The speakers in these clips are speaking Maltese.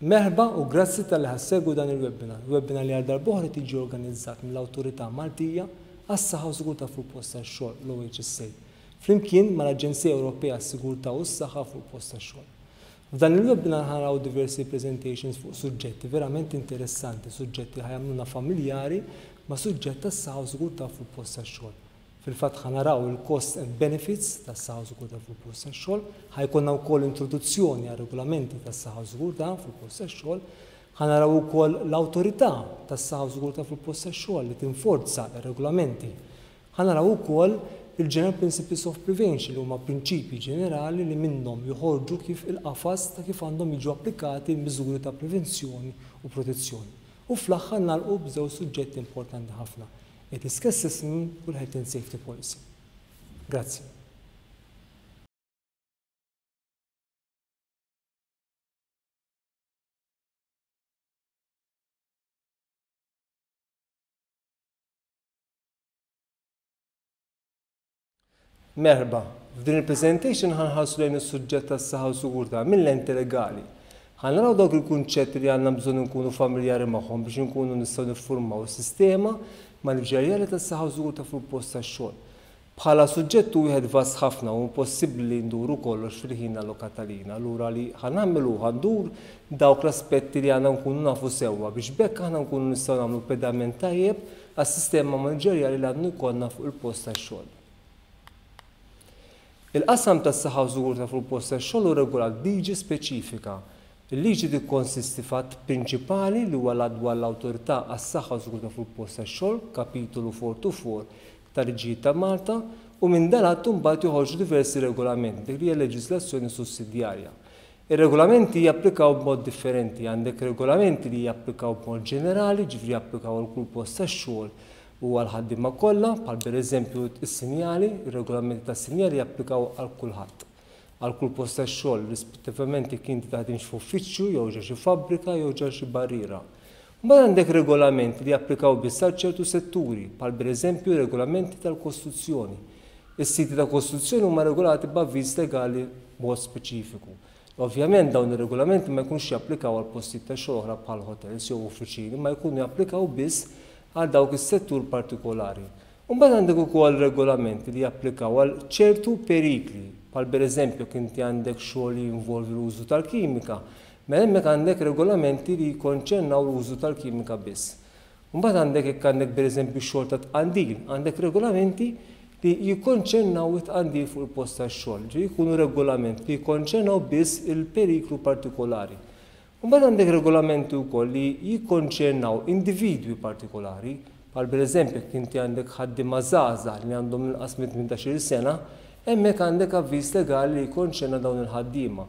Merħba u grazzi talli ħa ssegwu dan il-webinar, webinar li għal darb'oħra qed jiġi organizzat mill-Awtorità Maltija għas-Saħħa u Sigurtà fuq il-Post tax-Xogħol, l-OHSA, flimkien mal-Aġenzija Ewropea għas-Sigurtà u s-Saħħa fuq il-Post tax-Xogħol. F'dan il-webinar ħa naraw diversi presentations fuq suġġetti verament interessanti, suġġetti li ħa jagħmluna familjari ma' suġġett tas-saħħa u sigurtà fuq il-post tax-xogħol. Fil-fatt ħa naraw il-costs and benefits tas-saħħa u sigurtà fuq il-post tax-xogħol, ħa jkollna wkoll introduzzjoni għar-regolamenti tas-saħħa u sigurtà fuq il-post tax-xogħol, ħa naraw ukoll l-awtorità tas-saħħa u sigurtà fuq il-post tax-xogħol li tinforza r-regolamenti. Ħa naraw ukoll il-General Principles of Prevention li huma prinċipji ġenerali li minnhom joħorġu kif il-qafas ta' kif għandhom jiġu applikati l-miżuri ta' prevenzjoni u protezzjoni. U fl-aħħar nagħlqu b'żewġ suġġetti importanti ħafna, ir-Risk Assessment u l-Health and Safety Policy. Grazzi. Merħba. F'din il-presentation ħa nħarsu lejn is-suġġett tas-saħħa u sigurtà minn lenti legali. Ħa naraw dawk il-kunċetti li għandna bżonn inkunu familjari magħhom biex inkunu nistgħu niffurmaw sistema maniġerjali tas-saħħa u sigurtà fuq il-post tax-xogħol. Bħala suġġett hu wieħed vast ħafna u impossibbli li nduru kollox fil-ħin allokat għalina, allura li ħa nagħmel hu ħa ndur dawk l-aspetti li għandna nkunu nafu sewwa biex b'hekk aħna nkunu nistgħu nagħmlu pedament tajjeb għas-sistema maniġerjali li għandu jkollna fuq il-post tax-xogħol. Il-qasam tas-saħħa u sigurtà fuq il-post tax-xogħol hu regolat b'liġi speċifika. Il-liġi tikkonsisti f'att prinċipali li huwa l-Att dwar l-Awtorità għas-Saħħa u Sigurtà fuq il-Post tax-Xogħol, Kapitolu 44 tal-Liġijiet ta' Malta, u minn dan l-att imbagħad joħorġu diversi regolamenti, dik li hija leġiżlazzjoni sussidjarja. Ir-regolamenti japplikaw b'mod differenti. Għandek regolamenti li japplikaw b'mod ġenerali, jiġifieri japplikaw għal kull post tax-xogħol u għall-ħaddiema kollha, bħal pereżempju s-sinjali, ir-regolamenti tas-sinjali japplikaw għal kulħadd, għal kull post tax-xogħol, rispettivament jekk inti taħdimx f'uffiċċju jew ġo xi fabbrika jew ġo xi barriera. Mbagħad għandek regolamenti li japplikaw biss għal ċertu setturi, bħal pereżempju r-regolamenti tal-kostruzzjoni. Is-siti ta' kostruzzjoni huma regolati b'avviż legali b'mod speċifiku. Ovvjament dawn ir-regolamenti ma jkunux japplikaw għal postijiet ta' xogħol oħra bħal hotels jew uffiċini imma jkunu japplikaw biss għal dawk is-settur partikolari. U mbagħad għandek ukoll regolamenti li japplikaw għal ċertu perikli, bħal pereżempju jekk inti għandek xogħol li jinvolvi l-użu tal-kimika, mela hemmhekk għandek regolamenti li jikkonċernaw l-użu tal-kimika biss. Mbagħad għandek jekk għandek pereżempju x-xogħol ta' tqandil, għandek regolamenti li jikkonċernaw it-tqandil fuq il-post tax-xogħol, ġifieri jkunu regolamenti li jikkonċernaw biss il-periklu partikolari. Mbagħad għandek regolamenti wkoll li jikkonċernaw individwi partikolari, bħal pereżempju jekk inti għandek ħaddiema żgħażagħ li għandhom inqas minn 18-il sena, Hemmhekk għandek avviż legali li jikkonċerna dawn il-ħaddiema.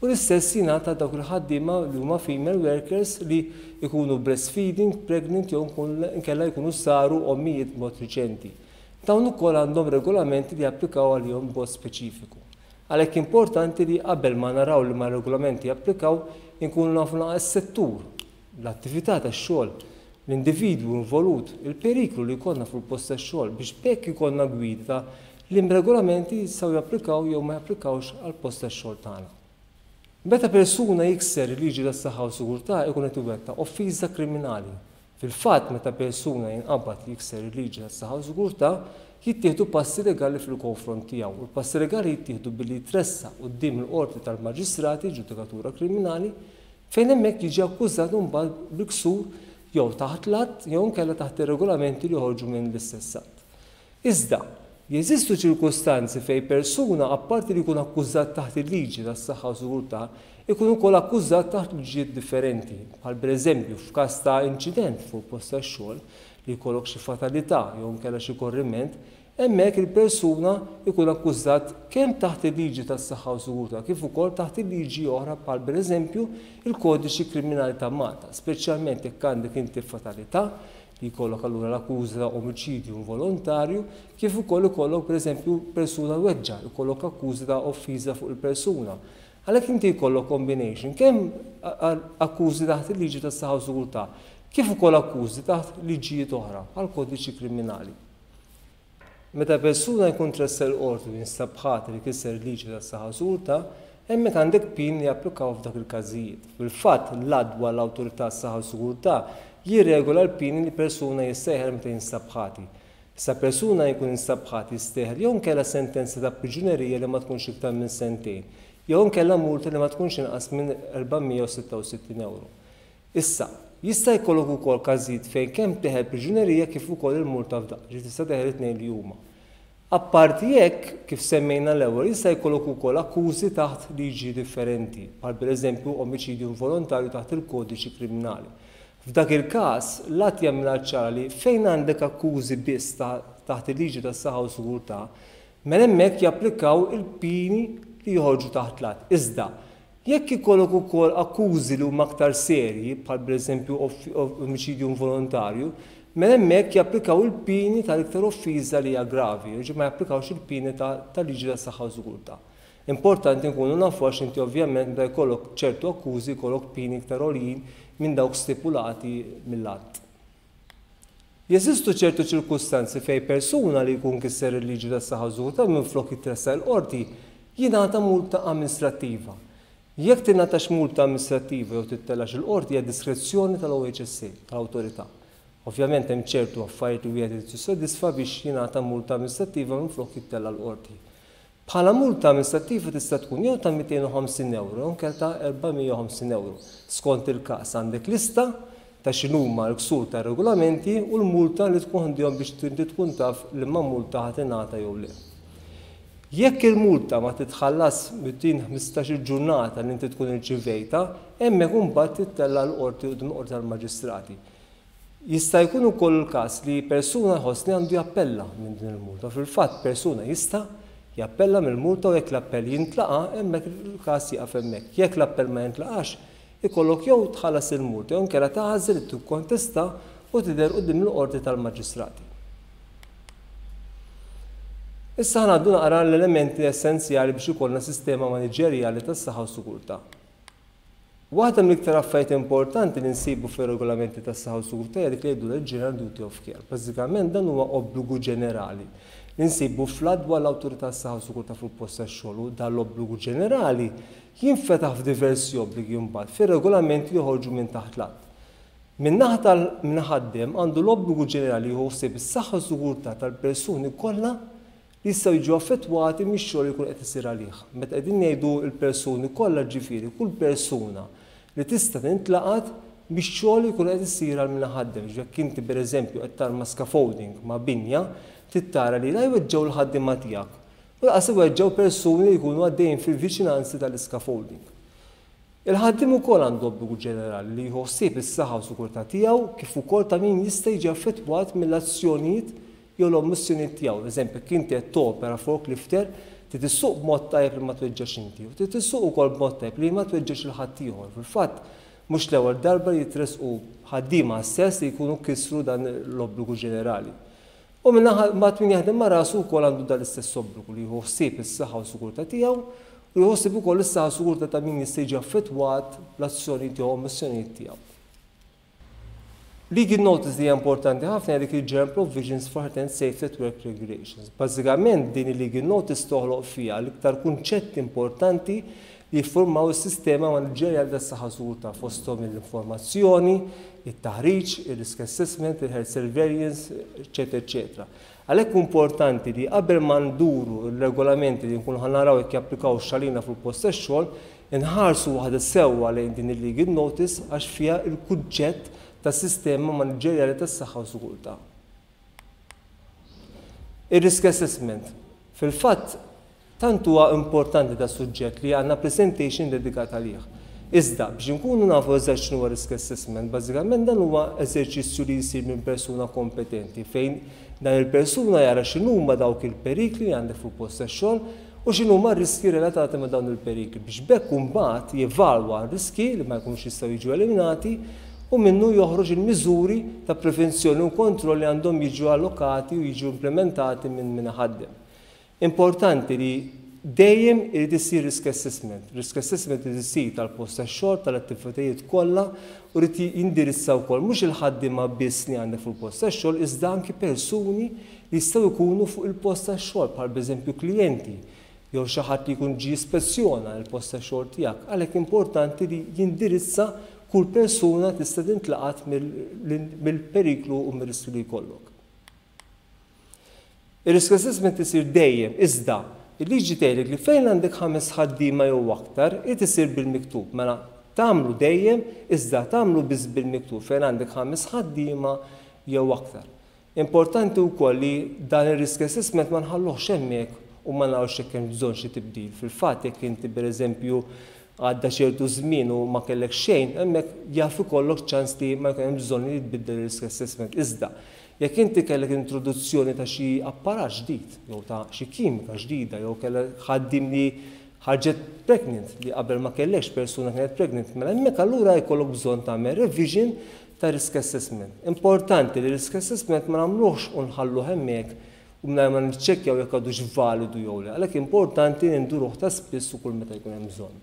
U l-istess jingħad għal dawk il-ħaddiema li huma female workers li jkunu breastfeeding, pregnant jew inkella jkunu saru ommijiet b'mod riċenti. Dawn ukoll għandhom regolamenti li japplikaw għalihom b'mod speċifiku. Għalhekk importanti li qabel ma naraw liema regolamenti japplikaw inkunu nafu naqra s-settur, l-attività tax-xogħol, l-individwu involut, il-periklu li jkollna fuq il-post tax-xogħol biex b'hekk ikollna gwida ta' liem regolamenti jistgħu japplikaw jew ma japplikawx għall-post tax-xogħol tagħna. Meta persuna jikser il-liġi tas-saħħa u sigurtà ikun qed iwettaq offiża kriminali. Fil-fatt meta persuna jinqabad jikser il-liġi tas-saħħa u sigurtà, jittieħdu passi legali fil-konfront tiegħu u l-passi legali jittieħdu billi jitressaq quddiem il-Qorti tal-Maġistrati, ġudikatura kriminali, fejn hemmhekk jiġi akkużat imbagħad bil-ksur jew taħt l-Att jew inkella taħt ir-regolamenti li joħorġu minn l-istess Att. Iżda, jeżistu ċirkustanzi fejn persuna apparti li jkun akkużat taħt il-liġi tas-saħħa u sigurtà, ikun ukoll akkużat taħt liġijiet differenti, bħal pereżempju f'każ ta' inċident fuq il-post tax-xogħol, li jkollok xi fatalità jew inkella xi korriment, Hemmhekk il-persuna jkun akkużat kemm taħt il-liġi tas-saħħa u sigurtà kif ukoll taħt il-liġi oħra bħal pereżempju il-Kodiċi Kriminali ta' Malta, speċjalment jekk għandek inti fatalità li jkollok allura l-akkuża ta' omiċidju involontarju kif ukoll ikollok pereżempju persuna weġġa', ikollok akkuża ta' offiża fuq il-persuna. Għalhekk inti jkollok combination kemm akkużi taħt il-liġi tas-saħħa u sigurtà kif ukoll akkużi taħt liġijiet oħra bħall-Kodiċi Kriminali. Meta persuna jkun tressaq il-Qorti u jinstab ħati li kiser il-liġi tas-saħħa u sigurtà, Hemmhekk għandek pieni li japplikaw f'dak il-każijiet. Fil-fatt, l-Att dwar l-Awtorità għas-Saħħa u s-Sigurtà jirregola l-pieni li persuna jista' jeħel meta jinstab ħati. Issa persuna jkun instab ħati jista' jeħel jew inkella sentenza ta' priġunerija li ma tkunx iktar minn sentejn, jew inkella multa li ma tkunx inqas minn 466 ewro. Issa, jista' jkollok ukoll każijiet fejn kemm teħel priġunerija kif ukoll il-multa f'daqqa, ġifieri tista' teħel it-tnejn li huma. Apparti hekk, kif semmejna l-ewwel, jista' jkollok ukoll akkużi taħt liġi differenti, bħal pereżempju omiċidju involontarju taħt il-Kodiċi Kriminali. F'dak il-każ, l-att jagħmilha ċara li fejn għandek akkużi biss taħt il-liġi tas-saħħa u sigurtà, mela hemmhekk japplikaw il-pieni li joħorġu taħt l-att. Iżda, Jekk ikollok ukoll akkużi li huma aktar serji, bħal pereżempju omiċidju involontarju, mela hemmhekk japplikaw il-pieni tal-iktar offiża li hija gravi, jiġifieri ma japplikawx il-pieni tal-liġi tas-saħħa u sigurtà. Importanti nkunu nafu għax inti ovvjament meta jkollok ċertu akkużi jkollok pieni iktar għoljin minn dawk stipulati mill-att. Jeżistu ċertu ċirkustanzi fejn persuna li jkun kisser il-liġi tas-saħħa u s-sigurtà minflok jitressaq il-qorti jingħata multa amministrattiva. Jekk tingħatax multa amministrattiva jew tittellax il-qorti hija diskrezzjoni tal-OHSA, tal-awtorità. Ovvjament hemm ċertu affarijiet li wieħed irid jissodisfa biex jingħata multa amministrattiva minflok jittella' l-qorti. Bħala multa amministrattiva tista' tkun jew ta' 250 ewro jew inkella ta' 450 ewro. Skont il-każ, għandek lista ta' x'inhuma l-ksur tar-regolamenti u l-multa li tkun ħdejhom biex inti tkun taf liema multa ħa tingħata jew le. Jekk il-multa ma titħallas within 15-il ġurnata li inti tkun irċivejtha, hemmhekk imbagħad tittella' l-qorti quddiem il-Qorti tal-Maġistrati. Jista' jkun ukoll il-każ li persuna jħoss li għandu jappella minn din il-multa. Fil-fatt, persuna jista' jappella mill-multa u jekk l-appell jintlaqa', hemmhekk il-każ jieqaf hemmhekk. Jekk l-appell ma jintlaqax, ikollok jew tħallas il-multa jew inkella tagħżel li tikkontesta u tidher quddiem il-Qorti tal-Maġistrati. Issa ħa ngħaddu naqra l-elementi essenzjali biex ikollna sistema maniġerjali tas-saħħa u s-sigurtà. Waħda mill-iktar affarijiet importanti li nsibu fir-regolamenti tas-saħħa u s-sigurtà hija dik li jgħidulha l-General Duty of Care. Bażikament dan huwa obbligu ġenerali li nsibu fl-Att dwar l-Awtorità għas-Saħħa u s-Sigurtà fuq il-Post tax-Xogħol u dan l-obbligu ġenerali jinfetaħ f'diversi obbligi mbagħad fir-regolamenti li joħorġu minn taħt l-Att. Min-naħa tal-min iħaddem għandu l-obbligu ġenerali jieħu ħsieb is-saħħa u s-sigurtà tal-persuni kollha li jistgħu jiġu affettwati mix-xogħol li jkun qed isir għalih. Meta qegħdin ngħidu l-persuni kollha ġifieri kull persuna li tista' tintlaqat mix-xogħol li jkun qed isir għal min iħaddem. Ġifieri jekk inti pereżempju qed tarma scaffolding ma' binja, trid tara li la jweġġgħu l-ħaddiema tiegħek u lanqas iweġġgħu persuni li jkunu għaddejjin fil-viċinanzi tal-iscaffolding. Il-ħaddiem ukoll għandu obbligu ġenerali li jieħu ħsieb is-saħħa u sigurtà tiegħu kif ukoll ta' min jista' jiġi affettwat mill-azzjonijiet jew l-ommissjonijiet tiegħu. Eżempju, jekk inti qed topera forklifter, trid issuq b'mod tajjeb li ma tweġġax inti u trid issuq ukoll b'mod tajjeb li ma tweġġax lil ħaddieħor. Fil-fatt, mhux l-ewwel darba li jitressqu ħaddiema stess li jkunu kisru dan l-obbligu ġenerali. U min-naħa mbagħad min jaħdem ma' rasu wkoll għandu dan l-istess obbligu li jieħu ħsieb is-saħħa u s-sigurtà tiegħu u jieħu ħsieb ukoll is-saħħa u s-sigurtà ta' min jista' jiġi affettwat bl-azzjonijiet jew ommissjonijiet tiegħu. Legal notice li hija importanti ħafna hija dik il-General Provisions for Health and Safety at Work Regulations. Bażikament din il-legal notice toħloq fiha l-iktar kunċetti importanti li jiffurmaw is-sistema maniġerjali tas-saħħa u sigurtà fosthom l-informazzjoni, it-taħriġ, ir-risk assessment, il-health surveillance, eċċetera eċċetera. Għalhekk hu importanti li qabel ma nduru r-regolamenti li nkunu ħa naraw jekk japplikawx għalina fuq il-post tax-xogħol, inħarsu waħda sewwa lejn din il-legal notice għax fiha l-kunċett tas-sistema maniġerjali tas-saħħa u sigurtà. Ir-risk assessment. Fil-fatt, tant huwa importanti da suġġett li għandna presentation dedikat għalih. Iżda, biex inkunu nafu eżatt x'inhuwa risk assessment, bażikament dan huwa eżerċizzju li jsir minn persuna kompetenti fejn dan il-persuna jara x'inhuma dawk il-perikli li għandek fuq post tax-xogħol u x'inhuma r-riskji relatati ma' dawn il-perikli biex b'hekk imbagħad jevalwa r-riskji li ma jkunux jistgħu jiġu eliminati u minnu joħroġ il-miżuri ta' prevenzjoni u kontroll li għandhom jiġu allokati u jiġu implimentati minn min iħaddem. Importanti li dejjem irid isir risk assessment. Risk assessment irid isir tal-post tax-xogħol, tal-attivitajiet kollha u jrid jindirizza wkoll mhux il-ħaddiema biss li għandek fuq il-post tax-xogħol iżda anki persuni li jistgħu jkunu fuq il-post tax-xogħol bħal pereżempju klijenti. jew xi ħadd li jkun ġie jispezzjona l-post tax-xogħol tiegħek. Għalhekk importanti li jindirizza kull persuna tista' tintlaqat mill-periklu u mir-riskju li jkollok. Ir-risk assessment isir dejjem, iżda il-liġi tgħidlek li fejn għandek ħames ħaddiema jew aktar, irid isir bil-miktub. Mela tagħmlu dejjem, iżda tagħmlu biss bil-miktub fejn għandek ħames ħaddiema jew aktar. Importanti wkoll li dan ir-risk assessment ma nħalluhx hemmhekk u ma narawx jekk hemmx bżonn xi tibdil. Fil-fatt jekk inti pereżempju għadda ċertu żmien u ma kellek xejn, hemmhekk jaf ikollok ċans li ma jkun hemm bżonn li jitbiddel ir-risk assessment. Iżda, jekk inti kellek introduzzjoni ta' xi apparat ġdid jew ta' xi kimika ġdida jew kellek ħaddiem li ħarġet pregnant li qabel ma kellekx persuna kienet pregnant, mela hemmhekk allura jkollok bżonn tagħmel revision ta' risk assessment. Importanti li risk assessment ma nagħmluhx u nħalluh hemmhekk u mingħajr ma niċċekkjaw jekk għadux validu jew le. Għalhekk importanti li nduruh ta' spiss u kull meta jkun hemm bżonn.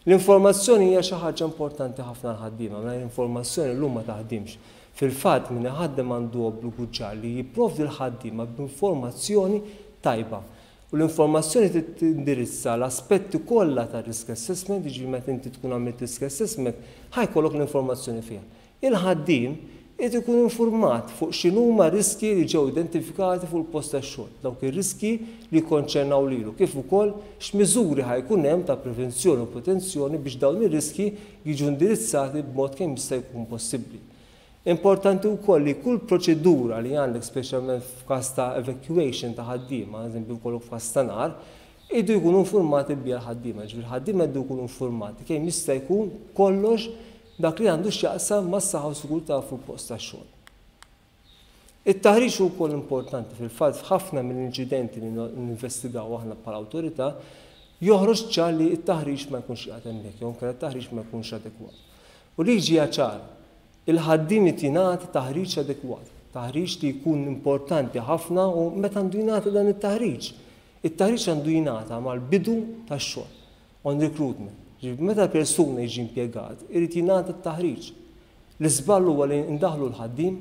L-informazzjoni hija xi ħaġa importanti ħafna għall-ħaddiema, mingħajr informazzjoni llum ma taħdimx. Fil-fatt min iħaddem għandu obbligu ċar li jipprovdi l-ħaddiema b'informazzjoni tajba. U l-informazzjoni trid tindirizza l-aspetti kollha tar-risk assessment, jiġifieri meta inti tkun għamilt risk assessment, ħa jkollok l-informazzjoni fiha. Il-ħaddiem irid ikun infurmat fuq x'inhuma r-riskji li ġew identifikati fuq il-post tax-xogħol, dawk ir-riskji li jikkonċernaw lilu, kif ukoll x'miżuri ħa jkun hemm ta' prevenzjoni u protenzjoni biex dawn ir-riskji jiġu indirizzati b'mod kemm jista' jkun possibbli. Importanti wkoll li kull proċedura li għandek speċjalment f'każ ta' evacuation ta' ħaddiema, eżempju jkollok f'każ ta' nar, iridu jkunu infurmati biha l-ħaddiema, jiġifieri l-ħaddiema jridu jkunu infurmati kemm jista' jkun kollox dak li għandu x'jaqsam mas-saħħa u sigurtà fuq il-post tax-xogħol. It-taħriġ hu wkoll importanti, fil-fatt f'ħafna mill-inċidenti li ninvestigaw aħna bħala awtorità joħroġ ċar li t-taħriġ ma jkunx qiegħed hemmhekk jew inkella t-taħriġ ma jkunx adekwat. U l-liġi hija ċara, il-ħaddiem irid jingħata taħriġ adekwat, taħriġ li jkun importanti ħafna u meta għandu jingħata dan it-taħriġ? It-taħriġ għandu jingħata mal-bidu tax-xogħol, on recruitment. Jiġifieri meta persuna jiġi impjegat, irid jingħata t-taħriġ. L-iżball huwa li ndaħħlu l-ħaddiem,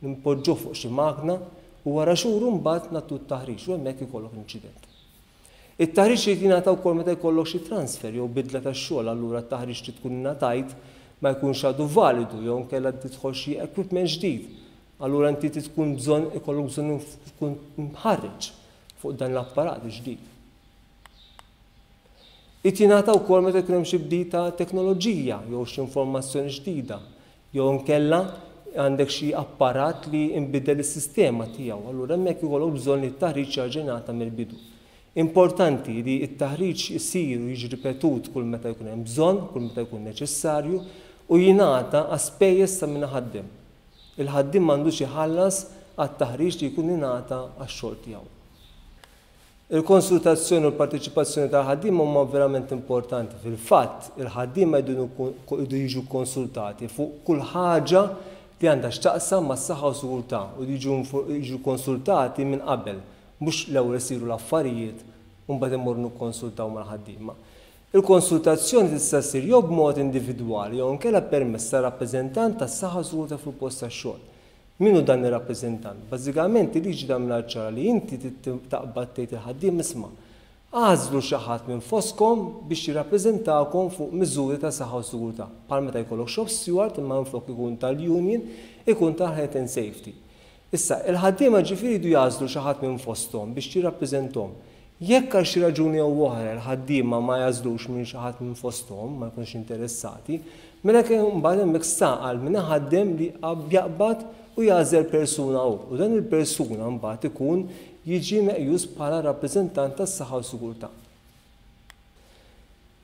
npoġġuh fuq xi magna u wara xhur imbagħad nagħtuh t-taħriġ u hemmhekk ikollok l-inċident. It-taħriġ irid jingħata wkoll meta jkollok xi transfer jew bidla ta' xogħol allura t-taħriġ li tkun ingħatajt ma jkunx għadu validu jew inkella tidħol xi equipment ġdid. Allura inti trid tkun bżonn ikollok bżonn tkun mħarreġ fuq dan l-apparat il-ġdid. Irid jingħata wkoll meta jkun hemm xi bdil ta' teknoloġija jew xi informazzjoni ġdida Jew inkella għandek xi apparat li nbidel is-sistema tiegħu, allura hemmhekk ikollok bżonn li t-taħriġ jerġa' jingħata mill-bidu. Importanti li t-taħriġ isir u jiġi ripetut kull meta jkun hemm bżonn, kull meta jkun neċessarju, u jingħata għas-spejjeż ta' min iħaddem. Il-ħaddiem m'għandux iħallas għat-taħriġ li jkun ingħata għax-xogħol tiegħu. Il-konsultazzjoni u l-parteċipazzjoni tal-ħaddiema huma verament importanti. Fil-fatt, il-ħaddiema jridu jiġu kkonsultati fuq kull ħaġa li għandha x'taqsam mas-saħħa u sigurtà u jiġu kkonsultati minn qabel, mhux l-ewwel isiru l-affarijiet u mbagħad immorru nikkonsultaw mal-ħaddiema. Il-konsultazzjoni tista' ssir jew b'mod individwali jew inkella permezz ta' rappreżentant tas-saħħa u sigurtà fuq il-post tax-xogħol. Min hu dan ir-rappreżentant? Bażikament il-liġi tagħmilha ċara li inti trid taqbad tgħid il-ħaddiem isma' agħżlu xi ħadd minn fostkom biex jirrappreżentakom fuq miżuri ta' saħħa u sigurtà, bħal meta jkollok shop steward imma minflok ikun tal-union ikun tal-health and safety. Issa, il-ħaddiema ġifieri jridu jagħżlu xi ħadd minn fosthom biex jirrappreżenthom. Jekk għal xi raġuni jew oħra l-ħaddiema ma jagħżlux minn xi ħadd minn fosthom, ma jkunux interessati, mela imbagħad hemmhekk sta għal min iħaddem li jaqbad u jagħżel persuna hu. U dan il-persuna mbagħad ikun jiġi meqjus bħala rappreżentant tas-saħħa u sigurtà.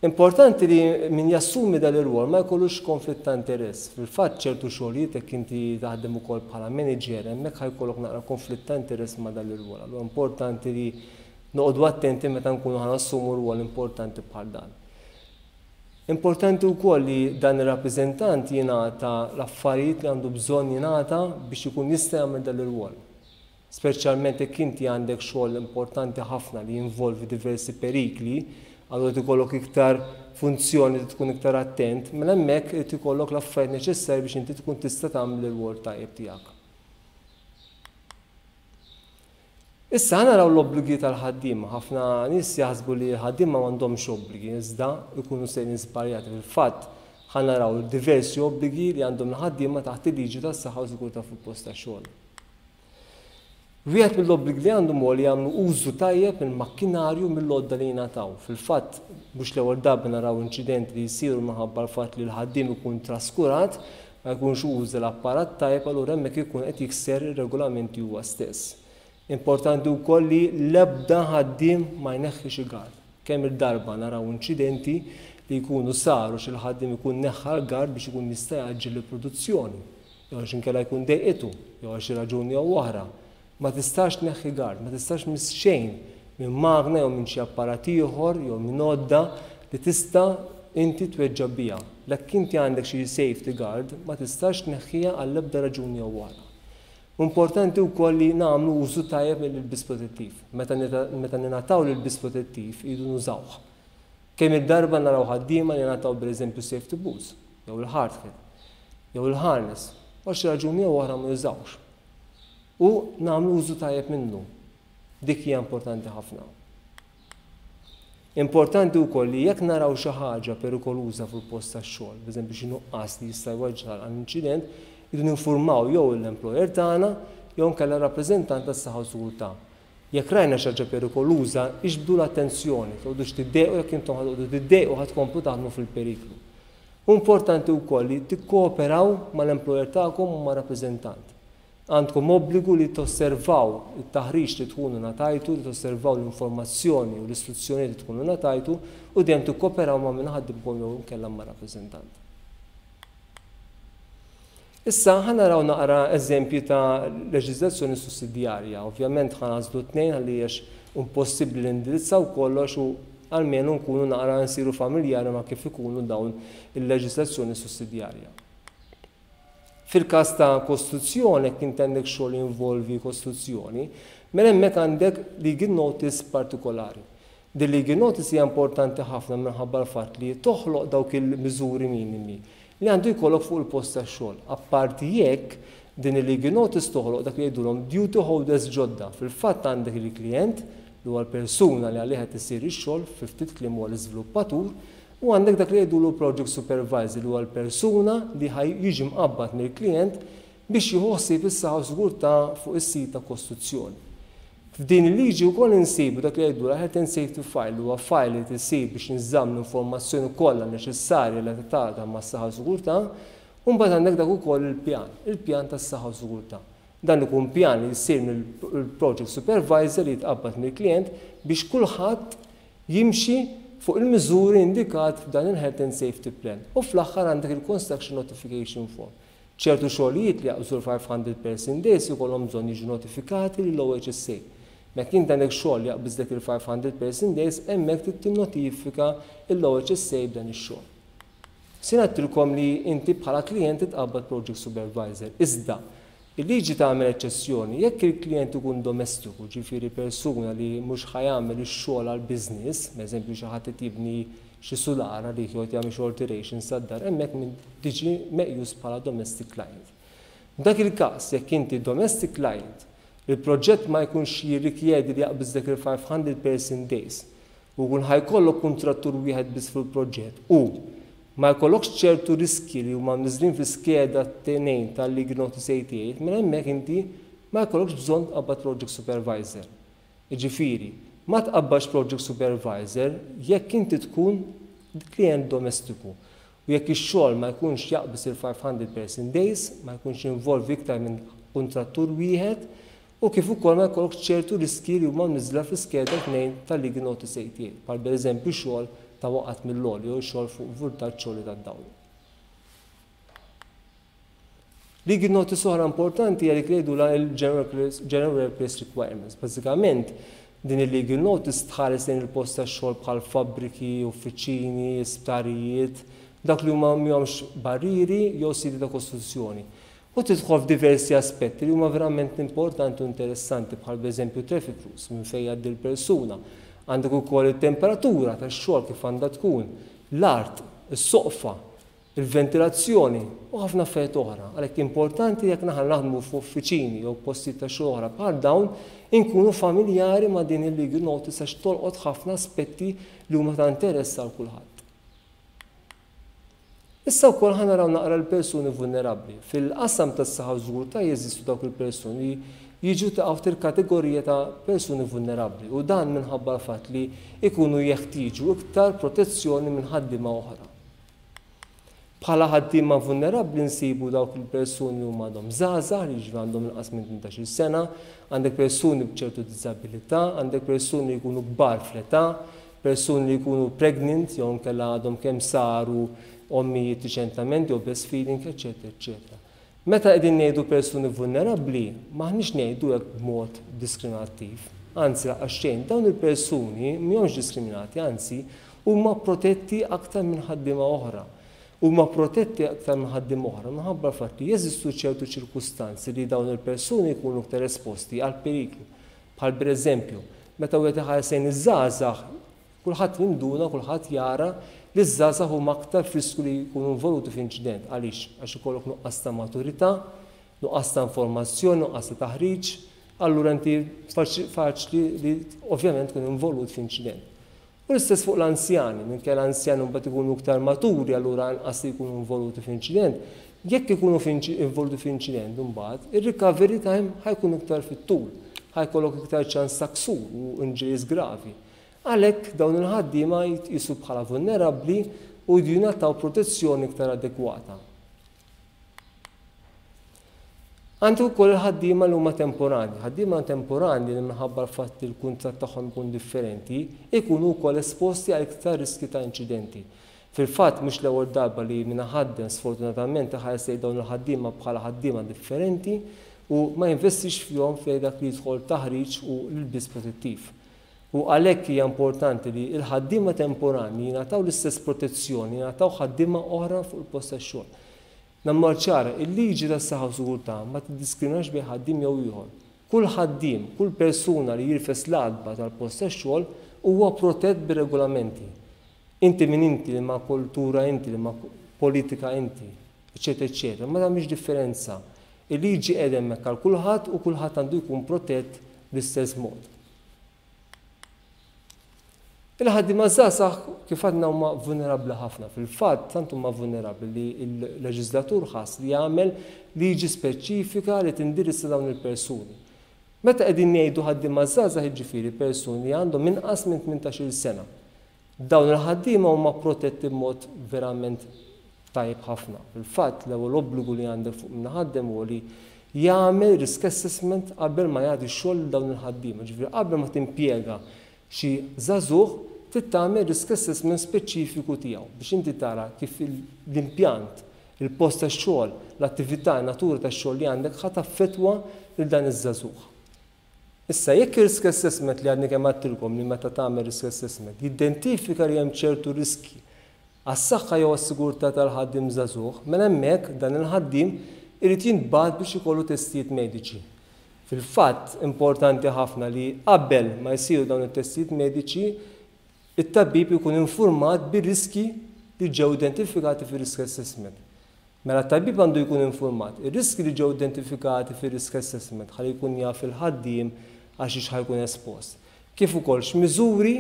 Importanti li min jassumi dan ir-rwol ma jkollux konflitt ta' interess. Fil-fatt ċertu xogħlijiet jekk inti taħdem ukoll bħala manager hemmhekk ħa jkollok naqra konflitt ta' interess ma' dan l-irwol. Allura importanti li noqogħdu attenti meta nkunu ħa nassumu rwol importanti bħal dan. Importanti wkoll li dan ir-rappreżentant jingħata l-affarijiet li għandu bżonn jingħata biex ikun jista' jagħmel dan l-irwol. Speċjalment jekk inti għandek xogħol importanti ħafna li jinvolvi diversi perikli, allura irid ikollok iktar funzjoni trid tkun iktar attent, mela hemmhekk irid ikollok l-affarijiet neċessarji biex inti tkun tista' tagħmel ir-rwol tajjeb tiegħek. Issa ħa naraw l-obbligi tal-ħaddiema. Ħafna nies jaħsbu li l-ħaddiema m'għandhomx obbligi, iżda jkunu sejrin żbaljati. Fil-fatt, ħa naraw diversi obbligi li għandhom il-ħaddiema taħt il-liġi tas-saħħa u sigurtà fuq il-post tax-xogħol. Wieħed mill-obbligi li għandhom huwa li jagħmlu użu tajjeb mill-makkinarju u mill-għodda li jingħataw. Fil-fatt, mhux l-ewwel darba naraw inċidenti li jsiru minħabba l-fatt li l-ħaddiem ikun traskurat, ma jkunx uża l-apparat tajjeb allura hemmhekk ikun qed jikser ir-regolamenti huwa stess. Importanti wkoll li l-ebda ħaddiem ma jneħħi xi gard. Kemm-il darba naraw inċidenti li jkunu saru xi l-ħaddiem ikun neħħa l-gard biex ikun jista' jgħaġġel il-produzzjoni. Jew għax inkella jkun dejqitu, jew għal xi raġuni jew oħra. Ma tistax tneħħi gard, ma tistax tmiss xejn minn magna jew minn xi apparat ieħor jew minn għodda li tista' inti tweġġa' biha. Jekk inti għandek xi safety guard, ma tistax tneħħiha għall-ebda raġuni jew oħra. Importanti wkoll li nagħmlu użu tajjeb mill-ilbies protettiv. Meta meta ningħataw l-ilbies protettiv irridu nużawh. Kemm-il darba naraw ħaddiema li ngħataw pereżempju safety boots, jew il-hard hat, jew il-harness, u għal xi raġuni jew oħra ma jużawhx. U nagħmlu użu tajjeb minnu. Dik hija importanti ħafna. Importanti wkoll li jekk naraw xi ħaġa perikoluża fuq il-post tax-xogħol, pereżempju xi nuqqas li jista' jwaġġal għal inċident, irridu ninfurmaw jew l-employer tagħna jew inkella rappreżentant tas-saħħa u sigurtà. Jekk rajna xi ħaġa perikoluża, iġbdu l-attenzjoni, toqgħodux tiddejqu jekk intom ħa toqgħodu tiddejqu ħa tkomplu taħdmu fil-periklu. Hu importanti wkoll li tikkooperaw mal-employer tagħkom u mar-rappreżentant. Għandkom obbligu li tosservaw it-taħriġ li tkunu ngħatajtu, li tosservaw l-informazzjoni u l-istruzzjonijiet li tkunu ngħatajtu u dejjem tikkooperaw ma' min iħaddimkom jew inkella mar-rappreżentant. Issa ħa naraw naqra eżempji ta' leġiżlazzjoni sussidjarja. Ovvjament ħa nagħżlu tnejn għaliex impossibbli li nindirizzaw kollox u almenu nkunu naqra nsiru familjari ma' kif ikunu dawn il-leġiżlazzjoni sussidjarja. Fil-każ ta' kostruzzjoni, jekk inti għandek xogħol jinvolvi kostruzzjoni, mela hemmhekk għandek legal notice partikolari. Din legal notice hija importanti ħafna minħabba l-fatt li toħloq dawk il-miżuri minimi li għandu jkollok fuq il-post tax-xogħol. Apparti jekk, din il-legal notice toħloq dak li jgħidulhom duty holders ġodda. Fil-fatt għandek il-klijent, li huwa l-persuna li għalih qed isir ix-xogħol, fi ftit kliem huwa l-iżviluppatur, u għandek dak li jgħidulu project supervisor li huwa l-persuna li ħa jiġi mqabbad mill-klijent biex jieħu ħsieb is-saħħa u sigurtà fuq is-sit ta' kostruzzjoni. F'din il-liġi wkoll insibu dak li jgħidulha Health and Safety File li huwa file li tisir biex jinżamm l-informazzjoni kollha neċessarja relatata mas-saħħa u sigurtà u mbagħad għandek dak ukoll il-pjan, il-pjan tas-saħħa u sigurtà. Dan ikun pjan li jsir mill-project supervisor li jitqabbad mill-klijent biex kulħadd jimxi fuq il-miżuri indikat f'dan il-Health and Safety Plan. U fl-aħħar għandek il-Construction Notification Form. Ċertu xogħlijiet li jaqbżu l-500 person days ikollhom bżonn jiġu notifikati lill-OHSA. Meta int għandek xogħol li jaqbiżlek il-500 person days, hemmhekk trid tinnotifika l-OHSA b'dan ix-xogħol. Sin għedtilkom li inti bħala klijent titqabbad project supervisor. Iżda, il-liġi tagħmel eċċezzjoni jekk il-klijent ikun domestiku, ġifieri persuna li mhux ħa jagħmel ix-xogħol għal business, eżempju xi ħadd qed jibni xi sular għalih jew qed jagħmel xi alterations tad-dar, hemmhekk min tiġi meqjus bħala domestic client. F'dak il-każ, jekk inti domestic client, il-proġett ma jkunx jirrikjedi li jaqbiżlek il-500 person days u jkun ħa jkollok kuntrattur wieħed biss fil-proġett u ma jkollokx ċertu riski li huma mniżżlin fl-iskeda 2 tal-Legal Notice 88, mela hemmhekk inti ma jkollokx bżonn tqabbad project supervisor. Jiġifieri, ma tqabbadx project supervisor jekk inti tkun klient domestiku u jekk ix-xogħol ma jkunx jaqbiż il-500 person days, ma jkunx jinvolvi iktar minn kuntrattur wieħed u kif ukoll ma jkollokx ċertu riski li huma mniżżla fl-iskeda 2 tal-Legal Notice 88, bħal pereżempju xogħol ta' waqgħat mill-għoli jew xogħol fuq vultaġġ għoli tad-dawl. Legal notice oħra importanti hija dik li jgħidulha il-General Workplace Requirements. Bażikament, din il-legal notice tħares lejn il-post tax-xogħol bħal fabbriki, uffiċini, isptarijiet, dak li huma m'hemmx barrieri jew siti ta' kostruzzjoni. U tidħol f'diversi aspetti li huma verament importanti u interessanti bħal pereżempju traffic rules minn fejn jgħaddi l-persuna. Għandek ukoll it-temperatura tax-xogħol kif għandha tkun, l-art, is-soqfa. il-ventilazzjoni u ħafna affarijiet oħra. Għalhekk importanti jekk aħna naħdmu f'uffiċini jew postijiet ta' xogħol oħra bħal dawn, inkunu familjari ma' din il-legal notice għax tolqot ħafna aspetti li huma ta' interess għal kulħadd. Issa wkoll ħa naraw naqra l-persuni vulnerabbli. Fil-qasam tas-saħħa u sigurtà jeżistu dawk il-persuni li jiġu taħt il-kategorija ta' persuni vulnerabbli u dan minħabba l-fatt li jkunu jeħtieġu iktar protezzjoni minn ħaddiema oħra. Bħala ħaddiema vulnerabbli nsibu dawk il-persuni li huma għadhom żgħażagħ li jiġri għandhom inqas minn 18-il sena, għandek persuni b'ċertu diżabilità, għandek persuni li jkunu kbar fl-età, persuni li jkunu pregnant jew inkella għadhom kemm saru ommijiet riċentament jew breastfeeding, eċetera, eċetera. Meta qegħdin ngħidu persuni vulnerabbli, m'aħniex ngħidu hekk b'mod diskriminattiv. Anzi, lanqas xejn, dawn il-persuni mhumiex diskriminati, anzi huma protetti aktar minn ħaddiema oħra. Huma protetti aktar minn ħaddiema oħra minħabba l-fatt li jeżistu ċertu ċirkustanzi li dawn il-persuni jkunu iktar esposti għal periklu. Bħal pereżempju, meta wieħed iħares lejn iż-żgħażagħ, kulħadd jinduna, kulħadd jara li ż-żgħażagħ huma aktar f'riskju li jkunu involuti f'inċident. Għaliex? Għax ikollok nuqqas ta' maturità, nuqqas ta' informazzjoni, nuqqas ta' taħriġ, allura inti faċli li ovvjament tkun involut f'inċident. U l-istess fuq l-anzjani, minkejja l-anzjani mbagħad ikunu iktar maturi allura anqas li jkunu involuti f'inċident, jekk ikunu involuti f'inċident imbagħad, ir-recovery time ħa jkun iktar fit-tul, ħa jkollok iktar ċans ta' ksur u injuries gravi. Għalhekk dawn il-ħaddiema jitqisu bħala vulnerabbli u jridu jingħataw protezzjoni iktar adekwata. Għandu wkoll il-ħaddiema li huma temporani. Ħaddiema temporani li minħabba l-fatt li l-kuntratt tagħhom ikun differenti, ikunu wkoll esposti għal iktar riski ta' inċidenti. Fil-fatt mhux l-ewwel darba li min iħaddem sfortunatament iħares lejn dawn il-ħaddiema bħala ħaddiema differenti u ma jinvestix fihom fejn dak li jidħol taħriġ u l-ilbies protettiv. U għalhekk hija importanti li l-ħaddiema temporani jingħataw l-istess protezzjoni, jingħataw ħaddiema oħra fuq il-post tax-xogħol. Nagħmluha ċara, il-liġi tas-saħħa u sigurtà ma tiddiskriminax bejn ħaddiem jew ieħor. Kull ħaddiem, kull persuna li jirfes l-għatba tal-post tax-xogħol huwa protett bir-regolamenti. Inti min inti, liema kultura inti, liema politika inti, eċċetera eċċetera, ma tagħmilx differenza. Il-liġi qiegħda hemmhekk għal kulħadd u kulħadd għandu jkun protett bl-istess mod. Il-ħaddiema żgħażagħ kif għadna huma vulnerabbli ħafna. Fil-fatt, tant huma vulnerabbli li l-leġislatur ħass li jagħmel liġi speċifika li tindirizza dawn il-persuni. Meta qegħdin ngħidu ħaddiema żgħażagħ jiġifieri persuni li għandhom inqas minn 18-il sena. Dawn il-ħaddiema huma protetti b'mod verament tajjeb ħafna. Fil-fatt, l-ewwel obbligu li għandek fuq min iħaddem huwa li jagħmel risk assessment qabel ma jagħti x-xogħol lil dawn il-ħaddiema. Ġifieri qabel ma timpjega xi żagħżugħ trid tagħmel risk assessment speċifiku tiegħu biex inti tara kif l-impjant, il-post tax-xogħol, l-attività, in-natura tax-xogħol li għandek ħa taffettwa lil dan iż-żagħżugħ. Issa, jekk ir-risk assessment li għadni kemm għedtilkom li meta tagħmel risk assessment jidentifika li hemm ċertu riskji għas-saħħa jew għas-sigurtà tal-ħaddiem żagħżugħ, mela hemmhekk dan il-ħaddiem irid jintbagħat biex ikollu testijiet mediċi. Fil-fatt, importanti ħafna li qabel ma jsiru dawn it-testijiet mediċi, it-tabib ikun infurmat bir-riskji li ġew identifikati fir-risk assessment. Mela t-tabib għandu jkun infurmat ir-riskji li ġew identifikati fir-risk assessment ħalli jkun jaf il-ħaddiem għal xiex ħa jkun espost. Kif ukoll x'miżuri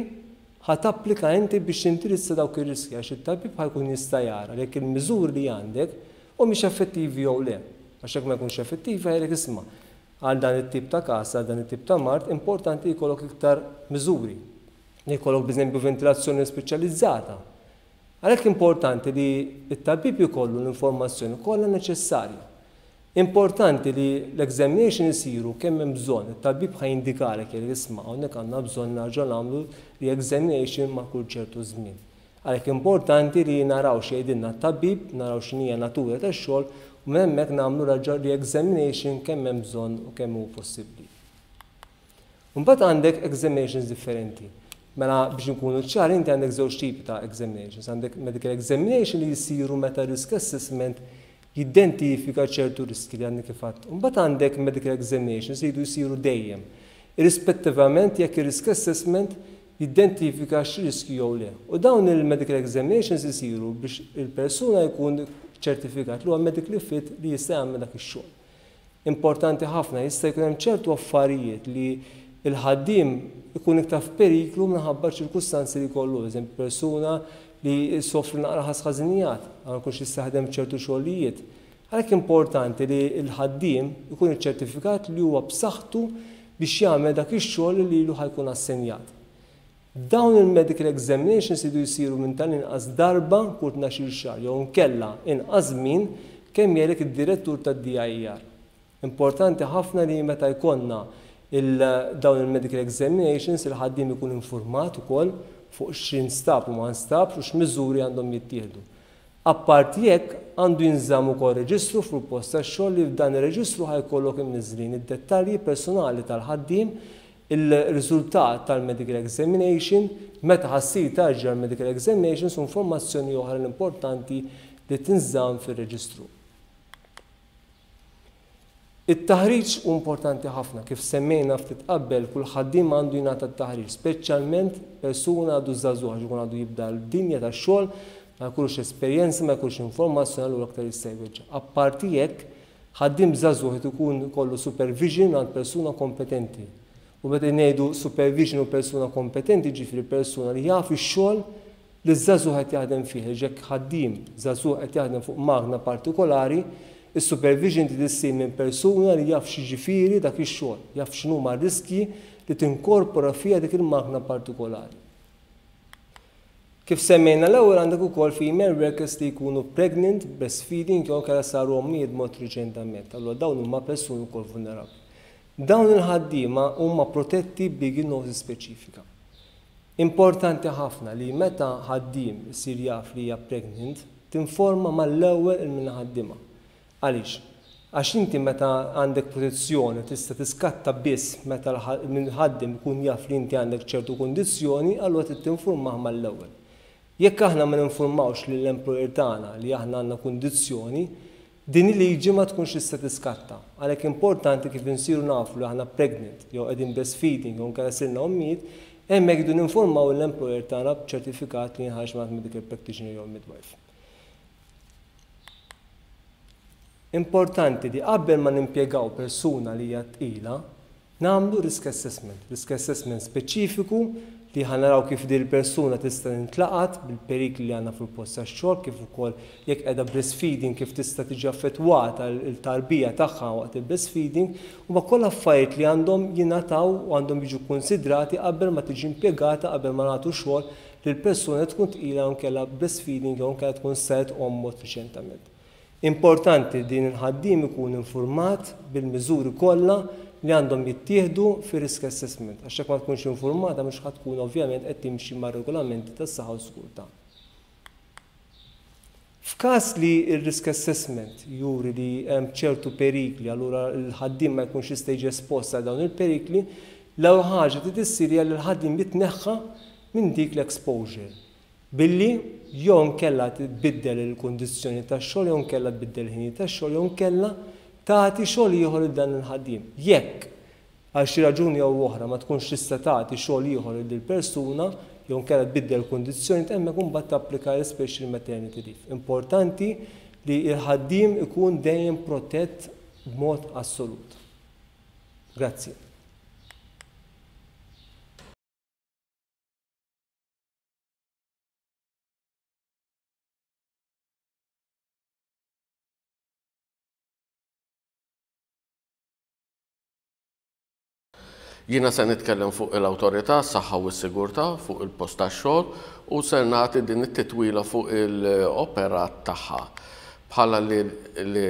ħa tapplika inti biex tindirizza dawk ir-riskji għax it-tabib ħa jkun jista' jara jekk il-miżuri li għandek humiex effettivi jew le. Għax jekk ma jkunx effettivi ħa jgħidlek isma' għal dan it-tip ta' każ, għal dan it-tip ta' mard, importanti li jkollok iktar miżuri. Li jkollok b'eżempju ventilazzjoni speċjalizzata. Għalhekk importanti li t-tabib ikollu l-informazzjoni kollha neċessarja. Importanti li l-examination isiru kemm hemm bżonn, it-tabib ħa jindikalek jgħidlek isma' hawnhekk għandna bżonn nerġgħu nagħmlu re-examination ma' kull ċertu żmien. Għalhekk importanti li naraw x'jgħidilna t-tabib, naraw x'inhija natura tax-xogħol u minn hemmhekk nagħmlu re-examination kemm hemm bżonn u kemm hu possibbli. Imbagħad għandek examinations differenti. Mela biex nkunu ċari inti għandek żewġ tipi ta' examinations. Għandek medical examination li jisiru meta risk assessment jidentifika ċertu riski li għandek kif għedt. Imbagħad għandek medical examinations li jridu jsiru dejjem. Irrispettivament jekk ir-risk assessment jiddentifika x'riskju jew le. U dawn il-medical examinations isiru biex il-persuna jkun ċertifikat li huwa medically fit li jista' jagħmel dak ix-xogħol. Importanti ħafna, jista' jkun hemm ċertu affarijiet li l-ħaddiem ikun iktar f'periklu minħabba ċirkustanzi li jkollu, eżempju persuna li ssofri naqra ħasħażinijat, ma jkunx jista' jaħdem f'ċertu xogħlijiet. Għalhekk importanti li l-ħaddiem ikun iċċertifikat li huwa b'saħħtu biex jagħmel dak ix-xogħol li lilu ħa jkun assenjat. Dawn il-medical examinations iridu jsiru minn tal-inqas darba kull tnax-il xahar jew inkella inqas żmien kemm jgħidlek id-direttur tad-DIER. Importanti ħafna li meta jkollna il dawn il-medical examinations il-ħaddiem ikun infurmat ukoll fuq x'instab u ma nstabx u x'miżuri għandhom jittieħdu. Apparti hekk, għandu jinżamm ukoll reġistru fuq il-post tax-xogħol li f'dan ir-reġistru ħa jkollok imniżżlin id-dettalji personali tal-ħaddiem, il-riżultat tal-medical examination, meta ħa ssir tarġa' l-medical examinations u informazzjoni oħra li importanti li tinżamm fir-reġistru. It-taħriġ hu importanti ħafna. Kif semmejna ftit qabel, kull ħaddiem għandu jingħata t-taħriġ, speċjalment persuna għadu żagħżugħ għax ikun għadu jibda l-dinja tax-xogħol, ma jkollux esperjenza, ma jkollux informazzjoni allura aktar jista' jweġġa'. Apparti hekk, ħaddiem żagħżugħ irid ikun ikollu supervision għand persuna kompetenti. U meta ngħidu supervision u persuna kompetenti jiġifieri persuna li jaf ix-xogħol li ż-żagħżugħ qed jaħdem fih, għax jekk ħaddiem żagħżugħ qed jaħdem fuq magna partikolari, is-supervision trid issir minn persuna li jaf x'jiġifieri dak ix-xogħol, jaf x'inhuma r-riskji li tinkorpora fiha dik il-magna partikolari. Kif semmejna l-ewwel għandek ukoll female workers li jkunu pregnant, breastfeeding jew inkella saru ommijiet b'mod riċentament. Allura dawn huma persuni wkoll vulnerabbli. Dawn il-ħaddiema huma protetti b'legal notice speċifika. Importanti ħafna li meta ħaddiem isir jaf li hija pregnant, tinforma mal-ewwel il min iħaddimha. Għaliex? Għax inti meta għandek protezzjoni tista' tiskatta biss meta min iħaddem ikun jaf li inti għandek ċertu kundizzjoni, allura trid tinfurmah mal-ewwel. Jekk aħna ma ninfurmawx lill-employer tagħna li aħna għandna kundizzjoni, din il-liġi ma tkunx tista' tiskatta. Għalhekk importanti kif insiru nafu li aħna pregnant jew qegħdin breastfeeding jew inkella sirna ommijiet, hemmhekk irridu ninfurmaw lill-employer tagħna b'ċertifikat li jinħareġ mingħand medical practitioner jew midwife. Importanti li qabel ma nimpjegaw persuna li hija tqila, Nagħmlu risk assessment, risk assessment speċifiku li ħa naraw kif din il-persuna tista' tintlaqat bil-perikli li għandna fil-post tax-xogħol kif ukoll jekk qiegħda breastfeeding kif tista' tiġi affettwata l-tarbija tagħha waqt il-breastfeeding huma kollha affarijiet li għandhom jingħataw u għandhom jiġu kkunsidrati qabel ma tiġi impjegata qabel ma nagħtu xogħol lil persuna li tkun tqila jew inkella breastfeeding jew inkella tkun saret omm mod riċentament. Importanti li din il-ħaddiem ikun infurmat bil-miżuri kollha li għandhom jittieħdu fir-risk assessment, għax jekk ma tkunx infurmata mhux ħa tkun ovvjament qed timxi mar-regolamenti tas-saħħa u s-sigurtà. F'każ li r-risk assessment juri li hemm ċertu perikli allura l-ħaddiem ma jkunx jista' jiġi espost għal dawn il-perikli, l-ewwel ħaġa trid issir hija li l-ħaddiem jitneħħa minn dik l-exposure. Billi jew inkella tbiddel il-kundizzjonijiet tax-xogħol jew inkella tbiddel il-ħinijiet tax-xogħol jew inkella tagħti xogħol ieħor lil dan il-ħaddiem. Jekk, għal xi raġuni jew oħra, ma tkunx tista' tagħti xogħol ieħor lil dil-persuna jew inkella tbiddel il-kundizzjonijiet hemmhekk imbagħad tapplika l-special maternity leave. Importanti li l-ħaddiem ikun dejjem protett b'mod assolut. Grazzi. Jiena se nitkellem fuq il-Awtorità għas-Saħħa u s-Sigurtà fuq il-post tax-xogħol u ser nagħti din it-titwila fuq il-operat tagħha. Bħala li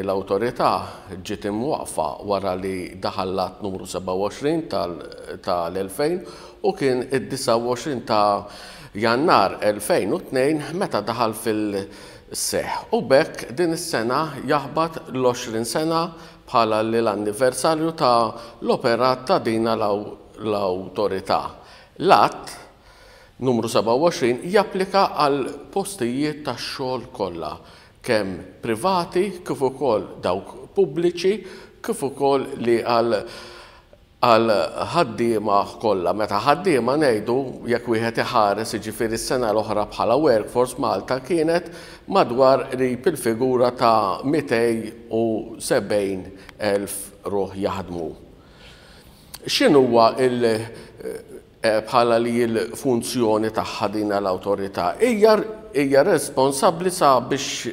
l-Awtorità ġiet imwaqqfa wara li daħal l-Att Numru 27 tal-2000 u kien id-29 ta' Jannar 2002 meta daħal fil-seħħ u b'hekk din is-sena jaħbat l-20 sena bħala li l-anniversarju ta' l-operat ta' din l-Awtorità. L-Att Numru 27 japplika għall-postijiet tax-xogħol kollha, kemm privati kif ukoll dawk pubbliċi, kif ukoll li għal Għal ħaddiema kollha. Meta ħaddiema ngħidu, jekk wieħed iħares jiġifieri s-sena l-oħra bħala workforce Malta kienet madwar qrib il-figura ta' 270,000 ruħ jaħdmu. X'inhuwa il bħala li l-funzjoni tagħha din l-awtorità? Hija hija responsabbli sabiex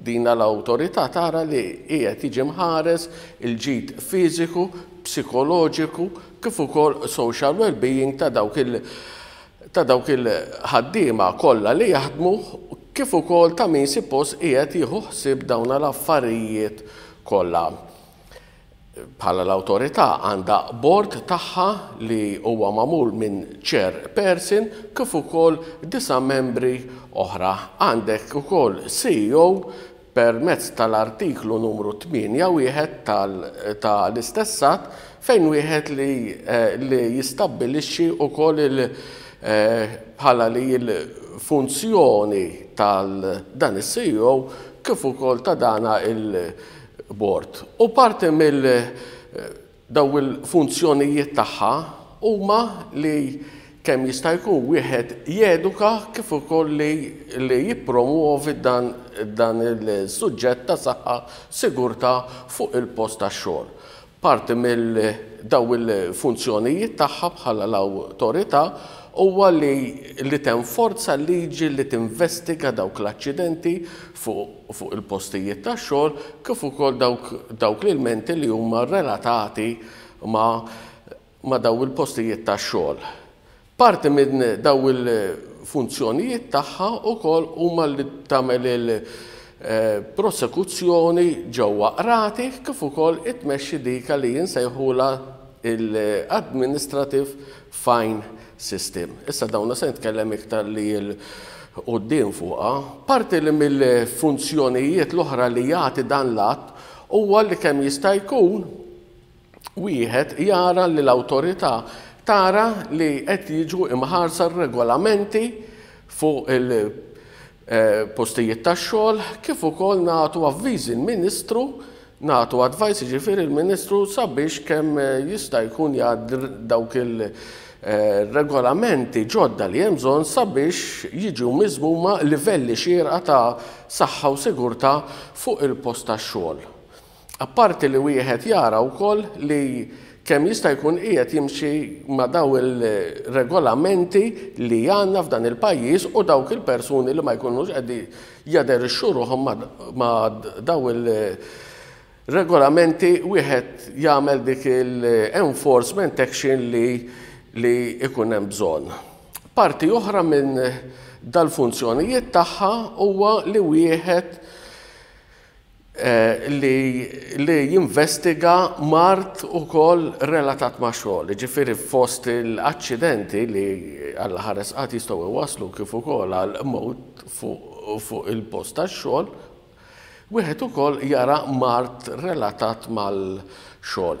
din l-awtorità tara li qiegħed jiġi mħares il-ġid fiżiku, psikoloġiku kif ukoll social well-being ta' dawk il ta' dawk il-ħaddiema kollha li jaħdmu kif ukoll ta' min suppost qiegħed jieħu ħsieb dawn l-affarijiet kollha. Bħala l-awtorità għandha bord tagħha li huwa magħmul minn chairperson kif ukoll disa' membri oħra. Għandek ukoll CEO permezz tal-artiklu numru 8 1 ta' l-istess att fejn wieħed li li jistabbilixxi wkoll il bħala li l-funzjoni tal dan is-CEO kif ukoll ta' dana il Bord. U parti mill daw il-funzjonijiet tagħha huma li kemm jista' jkun wieħed jeduka kif ukoll li li jippromwovi dan dan il-suġġett ta' saħħa sigurtà fuq il-post tax-xogħol. Parti mill daw il-funzjonijiet tagħha bħala l-awtorità huwa li li tenforza l-liġi li tinvestiga dawk l-aċċidenti fuq fuq il-postijiet tax-xogħol kif ukoll dawk dawk l-ilmenti li huma relatati ma' ma' daw il-postijiet tax-xogħol. Parti minn daw il-funzjonijiet tagħha wkoll huma li tagħmel il-prosekuzzjoni ġewwa qrati kif ukoll itmexxi dik li insejħulha l-administrative fine system. Issa dawna se nitkellem iktar li 'l quddiem fuqha. Parti li mill-funzjonijiet l-oħra li jagħti dan l-att huwa li kemm jista' jkun wieħed jara li l-awtorità tara li qed jiġu imħarsa r-regolamenti fuq il-postijiet tax-xogħol kif ukoll nagħtu avviżi l-Ministru, nagħtu advice jiġifieri l-Ministru sabiex kemm jista' jkun jgħaddi dawk il-regolamenti ġodda li hemm bżonn sabiex jiġu miżmuma livelli xierqa ta' saħħa u sigurtà fuq il-post tax-xogħol. Apparti li wieħed jara wkoll li kemm jista' jkun qiegħed jimxi ma' daw il-regolamenti li għandna f'dan il-pajjiż u dawk il-persuni li ma jkunux qegħdin jaderixxu ruħhom ma' daw il-regolamenti wieħed jagħmel dik il-enforcement action li li jkun hemm bżonn. Parti oħra minn dal-funzjonijiet tagħha huwa li wieħed li li jinvestiga mard ukoll relatat ma' xogħol. Jiġifieri fost l-aċċidenti li Alla ħares qatt jistgħu jwasslu kif ukoll għal mewt fuq il-post tax-xogħol, wieħed ukoll jara mard relatat mal-xogħol.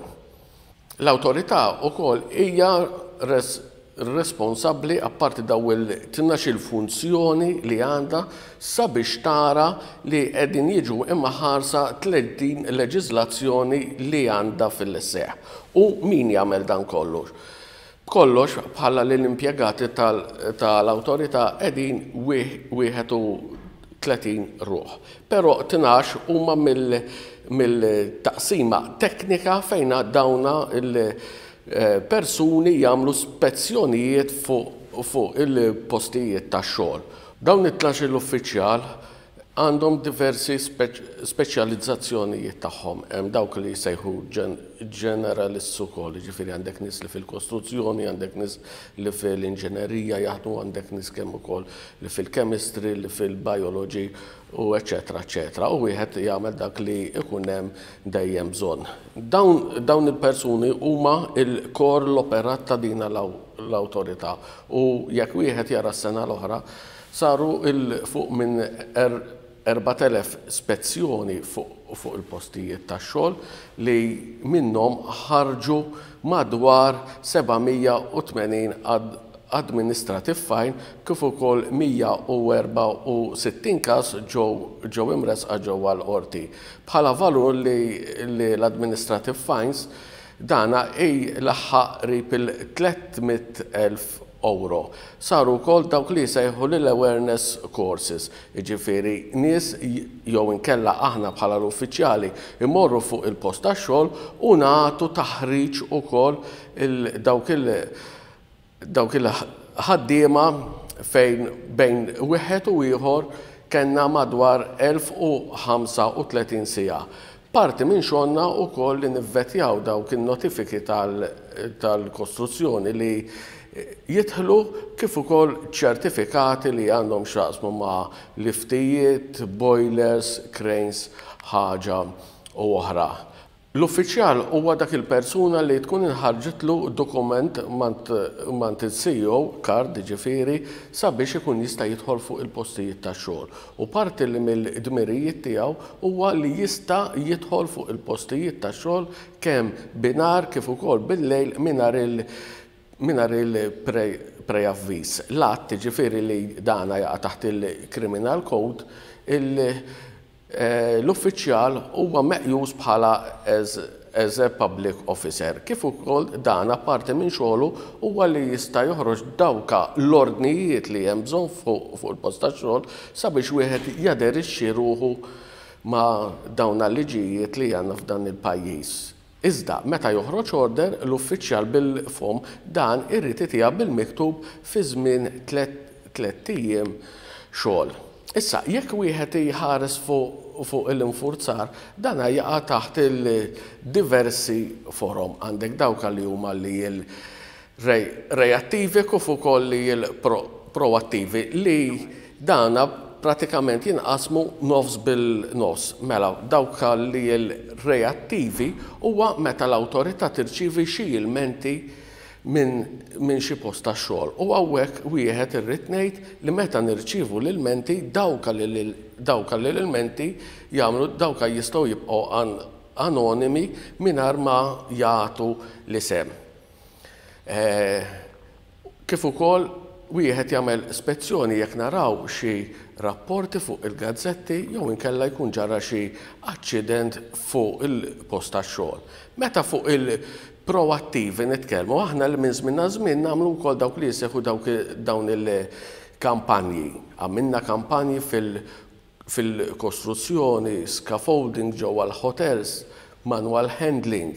L-awtorità wkoll hija responsabbli, apparti dawn il-tnax-il funzjoni li għandha, sabiex tara li qegħdin jiġu imħarsa 30 leġiżlazzjoni li għandha fil-seħħ. U min jagħmel dan kollu? B'kollox, bħala li l-impjegati tal-awtorità qegħdin 31 ruħ. Però 12 huma mill-taqsima teknika fejn dawna l-persuni jagħmlu spezzjonijiet fuq il-postijiet tax-xogħol. Dawn it-tnax-il uffiċjal għandhom diversi speċjalizzazzjonijiet tagħhom. Hemm dawk li jsejħu generalists ukoll, jiġifieri għandek nies li fil-kostruzzjoni, għandek nies li fil-inġinerija jaħdmu, għandek nies kemm ukoll li fil-chemistry, li fil-biology u eċċetera eċċetera. U wieħed jagħmel dak li jkun hemm dejjem bżonn. Dawn, dawn il-persuni huma l-core l-operat ta' din l-awtorità u jekk wieħed jara s-sena l-oħra saru 'l fuq minn 4,000 spezzjoni fuq il-postijiet tax-xogħol li minnhom ħarġu madwar 780 administrative fine kif ukoll 164 każ ġew imressqa ġewwa l-Qorti. Bħala valur li l-administrative fines. Dana jlaħħaq qrib il-300,000 ewro. Saru wkoll dawk li jsejħu lil awareness courses, jiġifieri nies jew inkella aħna bħala l-uffiċjali mmorru fuq il-post tax-xogħol u nagħtu taħriġ ukoll dawk il dawk il-ħaddiema fejn bejn wieħed u ieħor kellna madwar 1035 siegħa. Parti minn xogħolna wkoll li nivvetjaw dawk in-notifiki tal-kostruzzjoni li jidħlu kif ukoll ċertifikati li għandhom x'jaqsmu ma' liftijiet, boilers, cranes, ħaġa u oħra. L-uffiċjal huwa dak il-persuna li tkun inħarġitlu dokument m'għand il-CEO, card jiġifieri, sabiex ikun jista' jidħol fuq il-postijiet tax-xogħol. U parti li mill-dmirijiet tiegħu huwa li jista' jidħol fuq il-postijiet tax-xogħol kemm binhar kif ukoll bil-lejl mingħajr il mingħajr il-preavviż. L-att, jiġifieri li dana jaqa' taħt il-Criminal Code, il L-uffiċjal huwa meqjus bħala as as a public officer, kif ukoll dan apparti minn xogħlu huwa li jista' joħroġ dawka l-ordnijiet li hemm bżonn fuq fuq il-post tax-xogħol sabiex wieħed jaderixxi ruħu ma' dawn l-liġijiet li għandna f'dan il-pajjiż. Iżda, meta joħroġ order, l-uffiċjal bil-fomm dan irid itiha bil-miktub fi żmien tlett ijiem xogħol. Issa, jekk wieħed jħares fuq fuq l-infurzar, dan jaqa' taħt il-diversi forom. Għandek dawk li huma li reattivi kif ukoll li l-proattivi li dana pratikament jinqasmu nofs bil-nofs. Mela, dawk li l-reattivi huwa meta l-awtorità tirċievi xi ilmenti minn xi post tax-xogħol. U hawnhekk wieħed irrid ngħid li meta nirċievu l-ilmenti dawk li dawk li l-ilmenti jagħmlu dawk jistgħu jibqgħu anonimi mingħajr ma jagħtu l-isem. Kif ukoll wieħed jagħmel spezzjoni jekk naraw xi rapporti fuq il-gazzetti jew inkella jkun ġara xi aċċident fuq il-post tax-xogħol. Meta fuq il-proattivi nitkellmu, aħna li minn żmien għal żmien nagħmlu wkoll dawk li jseħħu dawk dawn il-kampanji. Għamilna kampanji fil fil-kostruzzjoni, scaffolding ġewwa l-hotels, manual handling,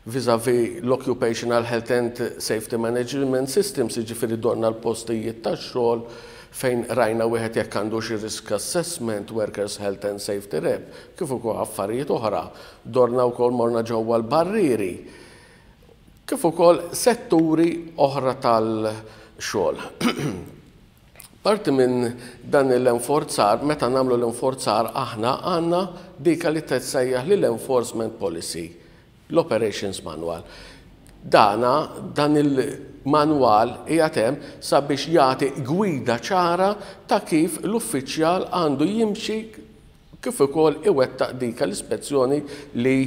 vis-à-vis l-Occupational Health and Safety Management Systems, jiġifieri dorna l-postijiet tax-xogħol fejn rajna wieħed jekk għandu xi risk assessment, Workers Health and Safety Rep, kif ukoll affarijiet oħra. Dorna wkoll morna ġewwa l-barrieri, kif ukoll setturi oħra tal-xogħol. Parti minn dan l-enforzar, meta nagħmlu l-enforzar aħna għandna dik li tissejjaħ li l-enforcement policy, l-operations manual. Dana, dan il-manwal qiegħed hemm sabiex jagħti gwida ċara ta' kif l-uffiċjal għandu jimxi kif ukoll iwettaq dik l-ispezzjoni li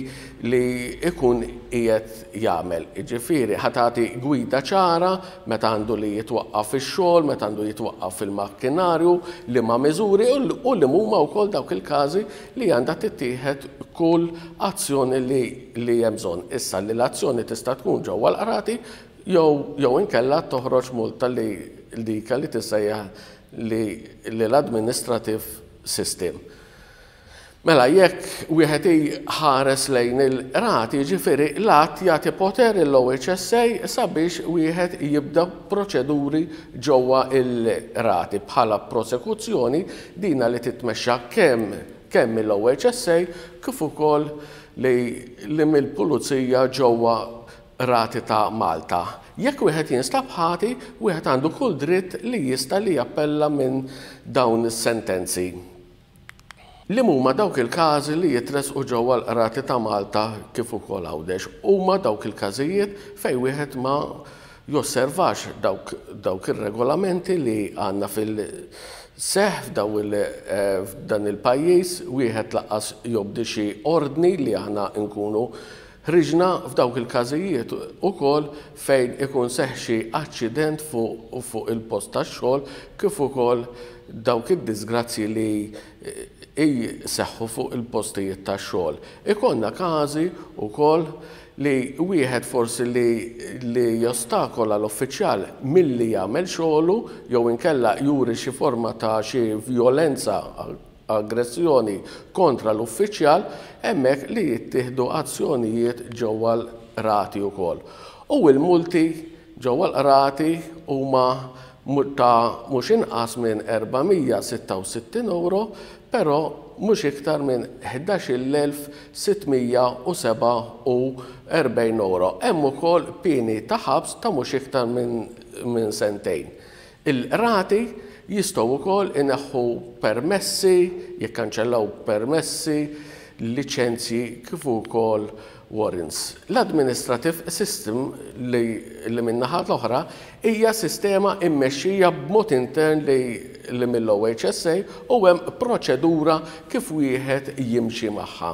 li ikun qiegħed jagħmel. Jiġifieri ħa tagħti gwida ċara meta għandu li jitwaqqaf ix-xogħol, meta għandu jitwaqqaf il-makkinarju, liema miżuri u li huma wkoll dawk il-każi li għandha tittieħed kull azzjoni li li hemm bżonn. Issa li l-azzjoni tista' tkun ġewwa l-qrati jew jew inkella toħroġ multa li dik li tissejjaħ li l-administrative system. Mela, jekk wieħed iħares lejn il-qrati, jiġifieri l-att jagħti poter l-OHSA sabiex wieħed jibda proċeduri ġewwa il-qrati bħala prosekuzzjoni dina li titmexxa kemm kemm mill-OHSA kif ukoll li, li mill-pulizija ġewwa qrati ta' Malta. Jekk wieħed jinstab ħati, wieħed għandu kull dritt li jista' li jappella minn dawn is-sentenzi. Li huma dawk il-każi li jitresqu ġewwa l-qrati ta' Malta kif ukoll Għawdex? Huma dawk il-każijiet fejn wieħed ma josservax dawk, dawk ir-regolamenti li għandna fil-seħ f'dan il-pajjiż, wieħed lanqas jobdi xi ordni li aħna nkunu Ħriġna f'dawk il-każijiet ukoll fejn ikun seħħ xi aċċident fuq fuq il-post tax-xogħol kif ukoll dawk id-diżgrazzji li jseħħu fuq il-postijiet tax-xogħol. Ikollna każi wkoll li wieħed forsi li li jostakola l-uffiċjal milli jagħmel xogħlu jew inkella juri xi forma ta' xi vjolenza, aggressjoni kontra l-uffiċjal, hemmhekk li jittieħdu azzjonijiet ġewwa l-qrati wkoll. U l-multi ġewwa l-qrati huma ta' mhux inqas minn 466 ewro, però mhux iktar minn 11,647 ewro. Hemm ukoll pieni ta' ħabs ta' mhux iktar minn sentejn. Il-qrati jistgħu wkoll ineħħu permessi, jikkanċellaw permessi, liċenzji kif ukoll warrants. L-administrative system li li min-naħa l-oħra hija sistema mmexxija b'mod intern li li mill-OHSA u hemm proċedura kif wieħed jimxi magħha.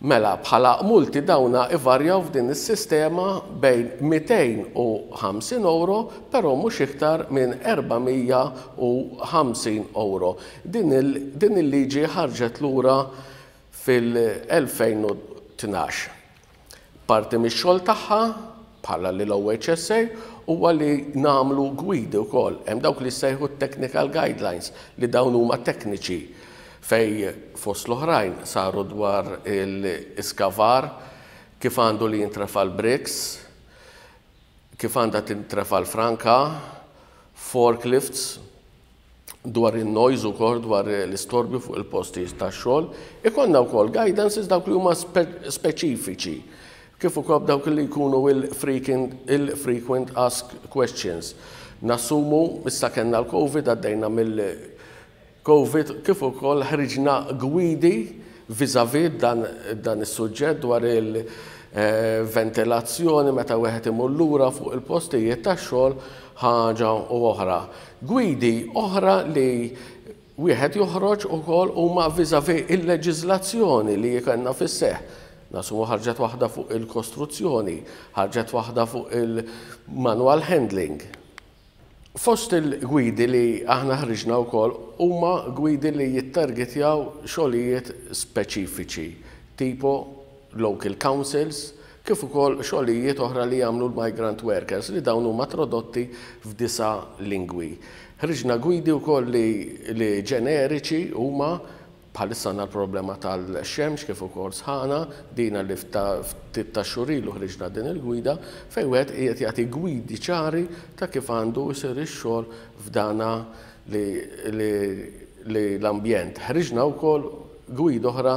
Mela, bħala multi dawna ivarjaw f'din is-sistema bejn 250 ewro però mhux iktar minn 450 ewro. Din il-liġi ħarġet lura fil-2012. Parti mix-xogħol tagħha, bħala li l-OHSA, huwa li nagħmlu gwidi wkoll. Hemm dawk li jissejħu t-technical guidelines li dawn huma tekniċi fejn fost l-oħrajn saru dwar l-iskavar, kif għandu li jintrefa' l-bricks, kif għandha tintrefa' l-franka, forklifts, dwar in-noise ukoll, dwar l-istorbju fuq il-postijiet tax-xogħol. Ikollna wkoll guidances dawk li huma speċifiċi, kif ukoll dawk li jkunu il-frequent asked questions. Nassumu issa kellna l-Covid, għaddejna mill-Covid, kif ukoll ħriġna gwidi vis-à-vis dan is-suġġett dwar il-ventilazzjoni meta wieħed imur lura fuq il-postijiet tax-xogħol ħaġa u oħra. Gwidi oħra li wieħed joħroġ ukoll huma vis-à-vis il-leġiżlazzjoni li kellna fis-seħħ. Nassumu ħarġet waħda fuq il-kostruzzjoni, ħarġet waħda fuq il-manual handling. Fost il-gwidi li aħna ħriġna wkoll huma gwidi li jittargetjaw xogħlijiet speċifiċi, tipo local councils, kif ukoll xogħlijiet oħra li jagħmlu l-migrant workers li dawn huma tradotti f'disa' lingwi. Ħriġna gwidi wkoll li li ġeneriċi huma bħalissa għandna l-problema tal-xemx kif ukoll sħana, dina li ftit ta' xhur ilu ħriġna din il-gwida fejn wieħed qiegħed jagħti gwidi ċari ta' kif għandu jsir ix-xogħol f'dana li li li l-ambjent. Ħriġna wkoll gwida oħra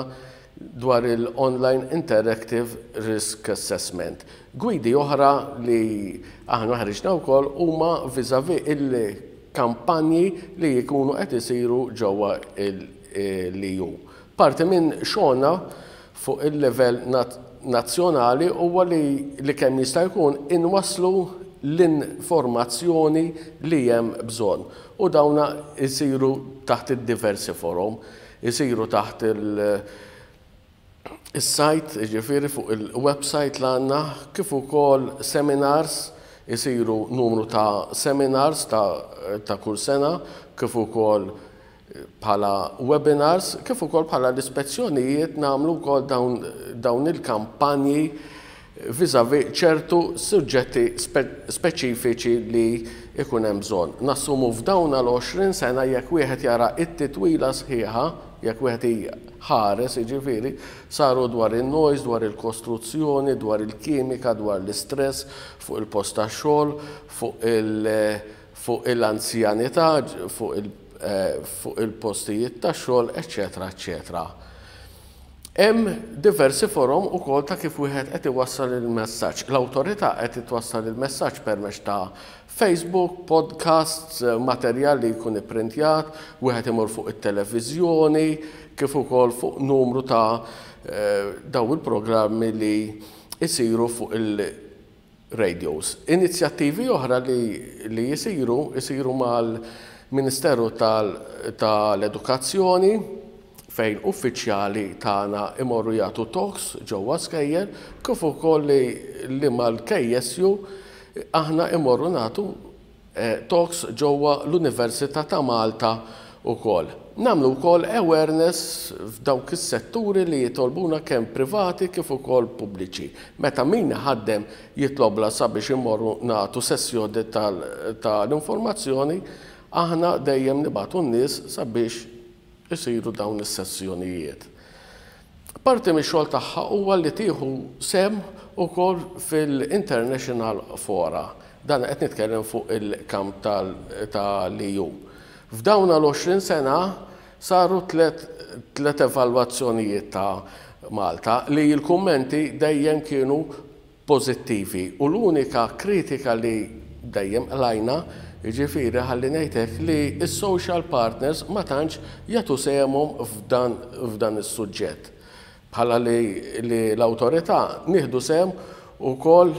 dwar il-Online Interactive Risk Assessment. Gwidi oħra li aħna ħriġna wkoll huma vis-à-vis il-kampanji li jkunu qed isiru ġewwa l-EU. Parti minn xogħolna fuq il-livell nazzjonali huwa li kemm jista' jkun inwasslu l-informazzjoni li hemm bżonn u dawna jsiru taħt id-diversi forom. Isiru taħt is-site, jiġifieri fuq il-website li għandna, kif ukoll seminars, isiru numru ta' seminars ta' kull sena, kif ukoll bħala webinars, kif ukoll bħala l-ispezzjonijiet nagħmlu wkoll dawn il-kampanji vis-à-vis ċertu suġġetti speċifiċi li jkun hemm bżonn. Nassumu f'dawn l-20 sena jekk wieħed jara t-titwila sħiħa, jekk wieħed iħares jiġifieri, saru dwar in-noise, dwar il-kostruzzjoni, dwar il-kimika, dwar l-istress fuq il-post tax-xogħol, fuq il fuq il-anzjanità, fuq il-postijiet tax-xogħol, eċċetera, eċċetera. Hemm diversi forom ukoll ta' kif wieħed qed iwassal il-messaġġ. L-awtorità qed twassal il-messaġġ permezz ta' Facebook, podcasts, materjal li jkun ipprintjat, wieħed imur fuq it-televiżjoni, kif ukoll fuq numru ta' dawn il-programmi li jsiru fuq il-radios. Inizjattivi oħra li jsiru, jsiru mal-Ministeru tal-Edukazzjoni. fejn uffiċjali tagħna imorru jagħtu talks ġewwa skejjel kif ukoll li, li mal-KSU aħna imorru nagħtu talks ġewwa l-Università ta' Malta wkoll. Nagħmlu wkoll awareness f'dawk is-setturi li jitolbuna kemm privati kif ukoll pubbliċi. Meta min iħaddem jitlobla sabiex immorru nagħtu sessjoni tal-informazzjoni, aħna dejjem nibagħtu n-nies sabiex isiru dawn is-sessjonijiet. Parti mix-xogħol tagħha huwa li tieħu sehem ukoll fil-International Fora. Dan qed nitkellem fuq il-kamp tal-EU. F'dawn l-20 sena saru tlet evalwazzjonijiet ta' Malta li l-kummenti dejjem kienu pożittivi u l-unika kritika li dejjem qlajna, jiġifieri ħalli ngħid hekk, li s-social partners ma tantx jagħtu sehemhom f'dan f'dan is-suġġett. Bħala li li l-awtorità nieħdu sehem ukoll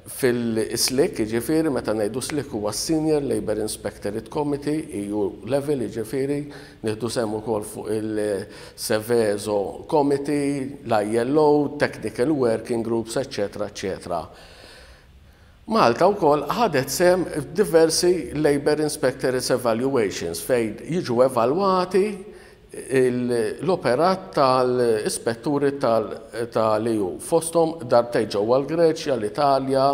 fil-SLIC, jiġifieri meta ngħidu SLIC huwa s-Senior Labour Inspectorate Committee, EU level, jiġifieri nieħdu sehem ukoll fuq il-Seveso Committee, l-ILO, Technical Working Groups, eċċetera eċċetera. Malta wkoll ħadet sehem f'diversi Labour Inspectorates Evaluations fejn jiġu evalwati l-operat tal-ispetturi tal-EU, fosthom darbtejn ġewwa l-Greċja, l-Italja,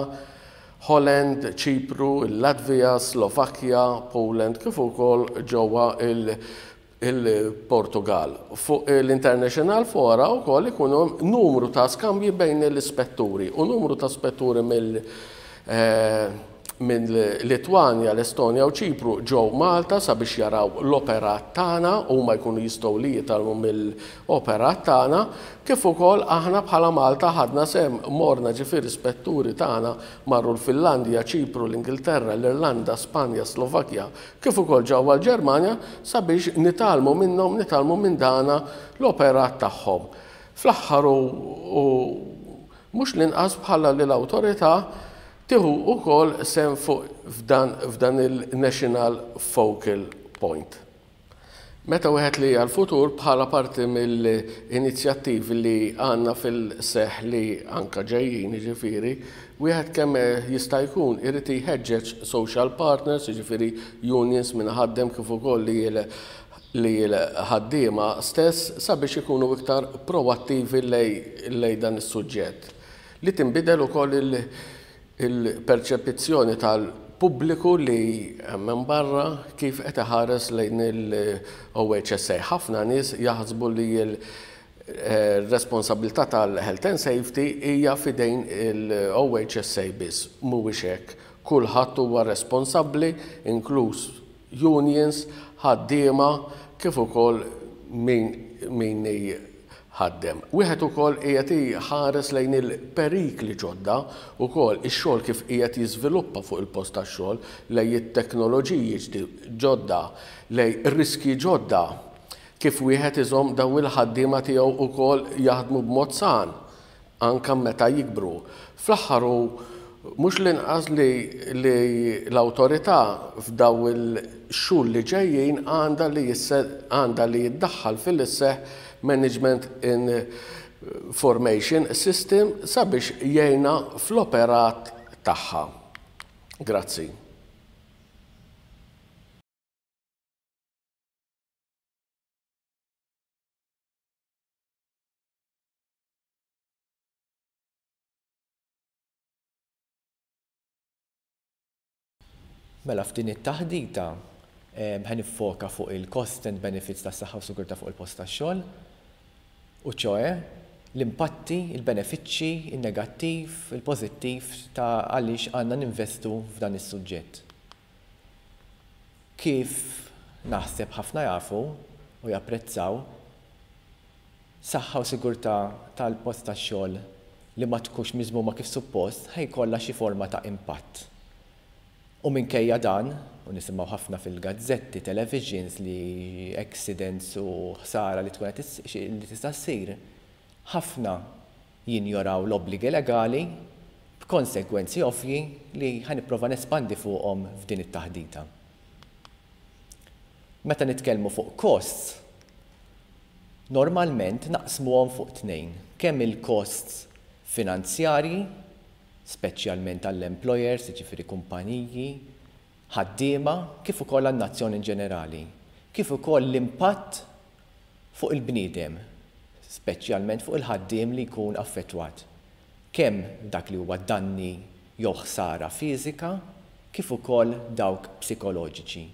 Holland, Ċipru, il-Latvija, Slovakkja, Poland kif ukoll ġewwa l-Portugall. Fuq l-International Fora wkoll ikun hemm numru ta' skambji bejn l-ispetturi u numru ta' spetturi mill minn Litwanja, l-Estonja u Ċipru ġew Malta sabiex jaraw l-operat tagħna, huma jkunu jistgħu li jitgħallmu mill-operat tagħna, kif ukoll aħna bħala Malta ħadna sehem, morna ġifieri spetturi tagħna marru l-Finlandja, Ċipru, l-Ingilterra, l-Irlanda, Spanja, Slovakkja, kif ukoll ġewwa l-Ġermanja sabiex nitgħallmu minnhom, nitgħallmu minn dana l-operat tagħhom. Fl-aħħar u mhux l-inqas bħala li l-awtorità Tieħu wkoll sehem fuq f'dan f'dan il-National Focal Point. Meta wieħed li għall-futur bħala parti mill-inizjattivi li għandna fil-seħħ li anke ġejjin jiġifieri, wieħed kemm jista' jkun irid jħeġġeġ social partners, jiġifieri unions min iħaddem kif ukoll li l-ħaddiema stess sabiex ikunu iktar proattivi lejn dan is-suġġett. Li tinbidel ukoll il-perċepizzjoni tal-pubbliku li hemm hemm barra kif qed iħares lejn il-OHSA. Ħafna nies jaħsbu li l-responsabbiltà tal-health and safety hija f'idejn il-OHSA biss. Mhuwiex hekk. Kulħadd huwa responsabbli, inkluż unions, ħaddiema kif ukoll min min jħaddem. Wieħed ukoll qiegħed iħares lejn il-perikli ġodda ukoll ix-xogħol kif qiegħed jiżviluppa fuq il-post tax-xogħol, lejn it-teknoloġiji ġodda, lejn riskji ġodda, kif wieħed iżomm dawn il-ħaddiema tiegħu wkoll jaħdmu b'mod san. anke meta jikbru. Fl-aħħar u mhux l-inqas li li l-awtorità f'daw il-xhur li ġejjin għandha li għandha li jiddaħħal fil-isseħħ Management Information System sabiex jgħinha fl-operat tagħha. Grazzi. Mela f'din it-taħdita ħa niffoka fuq il-costs and benefits tas-saħħa u sigurtà fuq il-post tax-xogħol, u ċoe l-impatti, il-benefiċċji, in-negattiv, il-pożittiv ta' għaliex għandna ninvestu f'dan is-suġġett. Kif naħseb ħafna jafu u japprezzaw, saħħa u sigurtà tal-post tax-xogħol li ma tkunx miżmuma kif suppost ħa jkollha xi forma ta' impatt. U minkejja dan, u nisimgħu ħafna fil-gazzetti, televisions li accidents u ħsara li tkun qed li tista' ssir, ħafna jinjoraw l-obbligi legali b'konsegwenzi ovvji li ħa nipprova nespandi fuqhom f'din it-taħdita. Meta nitkellmu fuq costs, Normalment naqsmuhom fuq tnejn, kemm il-costs finanzjarji, speċjalment għall-employers, jiġifieri kumpaniji, ħaddiema, kif ukoll għan-nazzjon in ġenerali, kif ukoll l-impatt fuq il-bniedem, speċjalment fuq il-ħaddiem li jkun affettwat, kemm dak li huwa danni jew ħsara fiżika, kif ukoll dawk psikoloġiċi.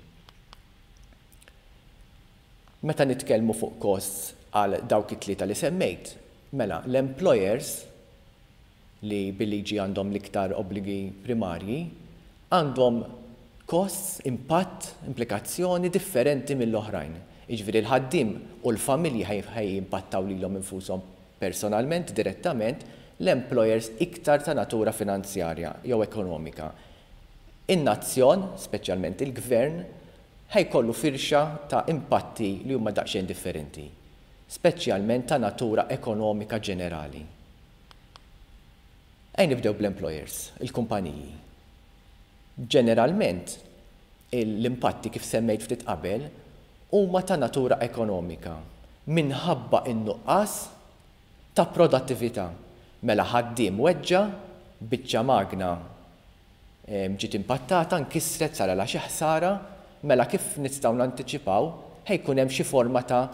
Meta nitkellmu fuq costs għal dawk it-tlieta li semmejt, mela l-employers, li bil-liġi għandhom l-iktar obbligi primarji, għandhom costs, impatt, implikazzjoni differenti mill-oħrajn. Jiġifieri l-ħaddiem u l-familji ħa jimpattaw lilhom infushom personalment, direttament, l-employers iktar ta' natura finanzjarja jew ekonomika. In-nazzjon, speċjalment il-gvern, ħa jkollu firxa ta' impatti li huma daqsxejn differenti, speċjalment ta' natura ekonomika ġenerali. Ejja nibdew bl-employers, il-kumpaniji. Ġeneralment, l-impatti, kif semmejt ftit qabel, huma ta' natura ekonomika minħabba in-nuqqas ta' produttività. Mela ħaddiem weġġa, biċċa magna ġiet impattata, nkisret, saralha xi ħsara, mela kif nistgħu nantiċipaw, ħa jkun hemm xi forma ta'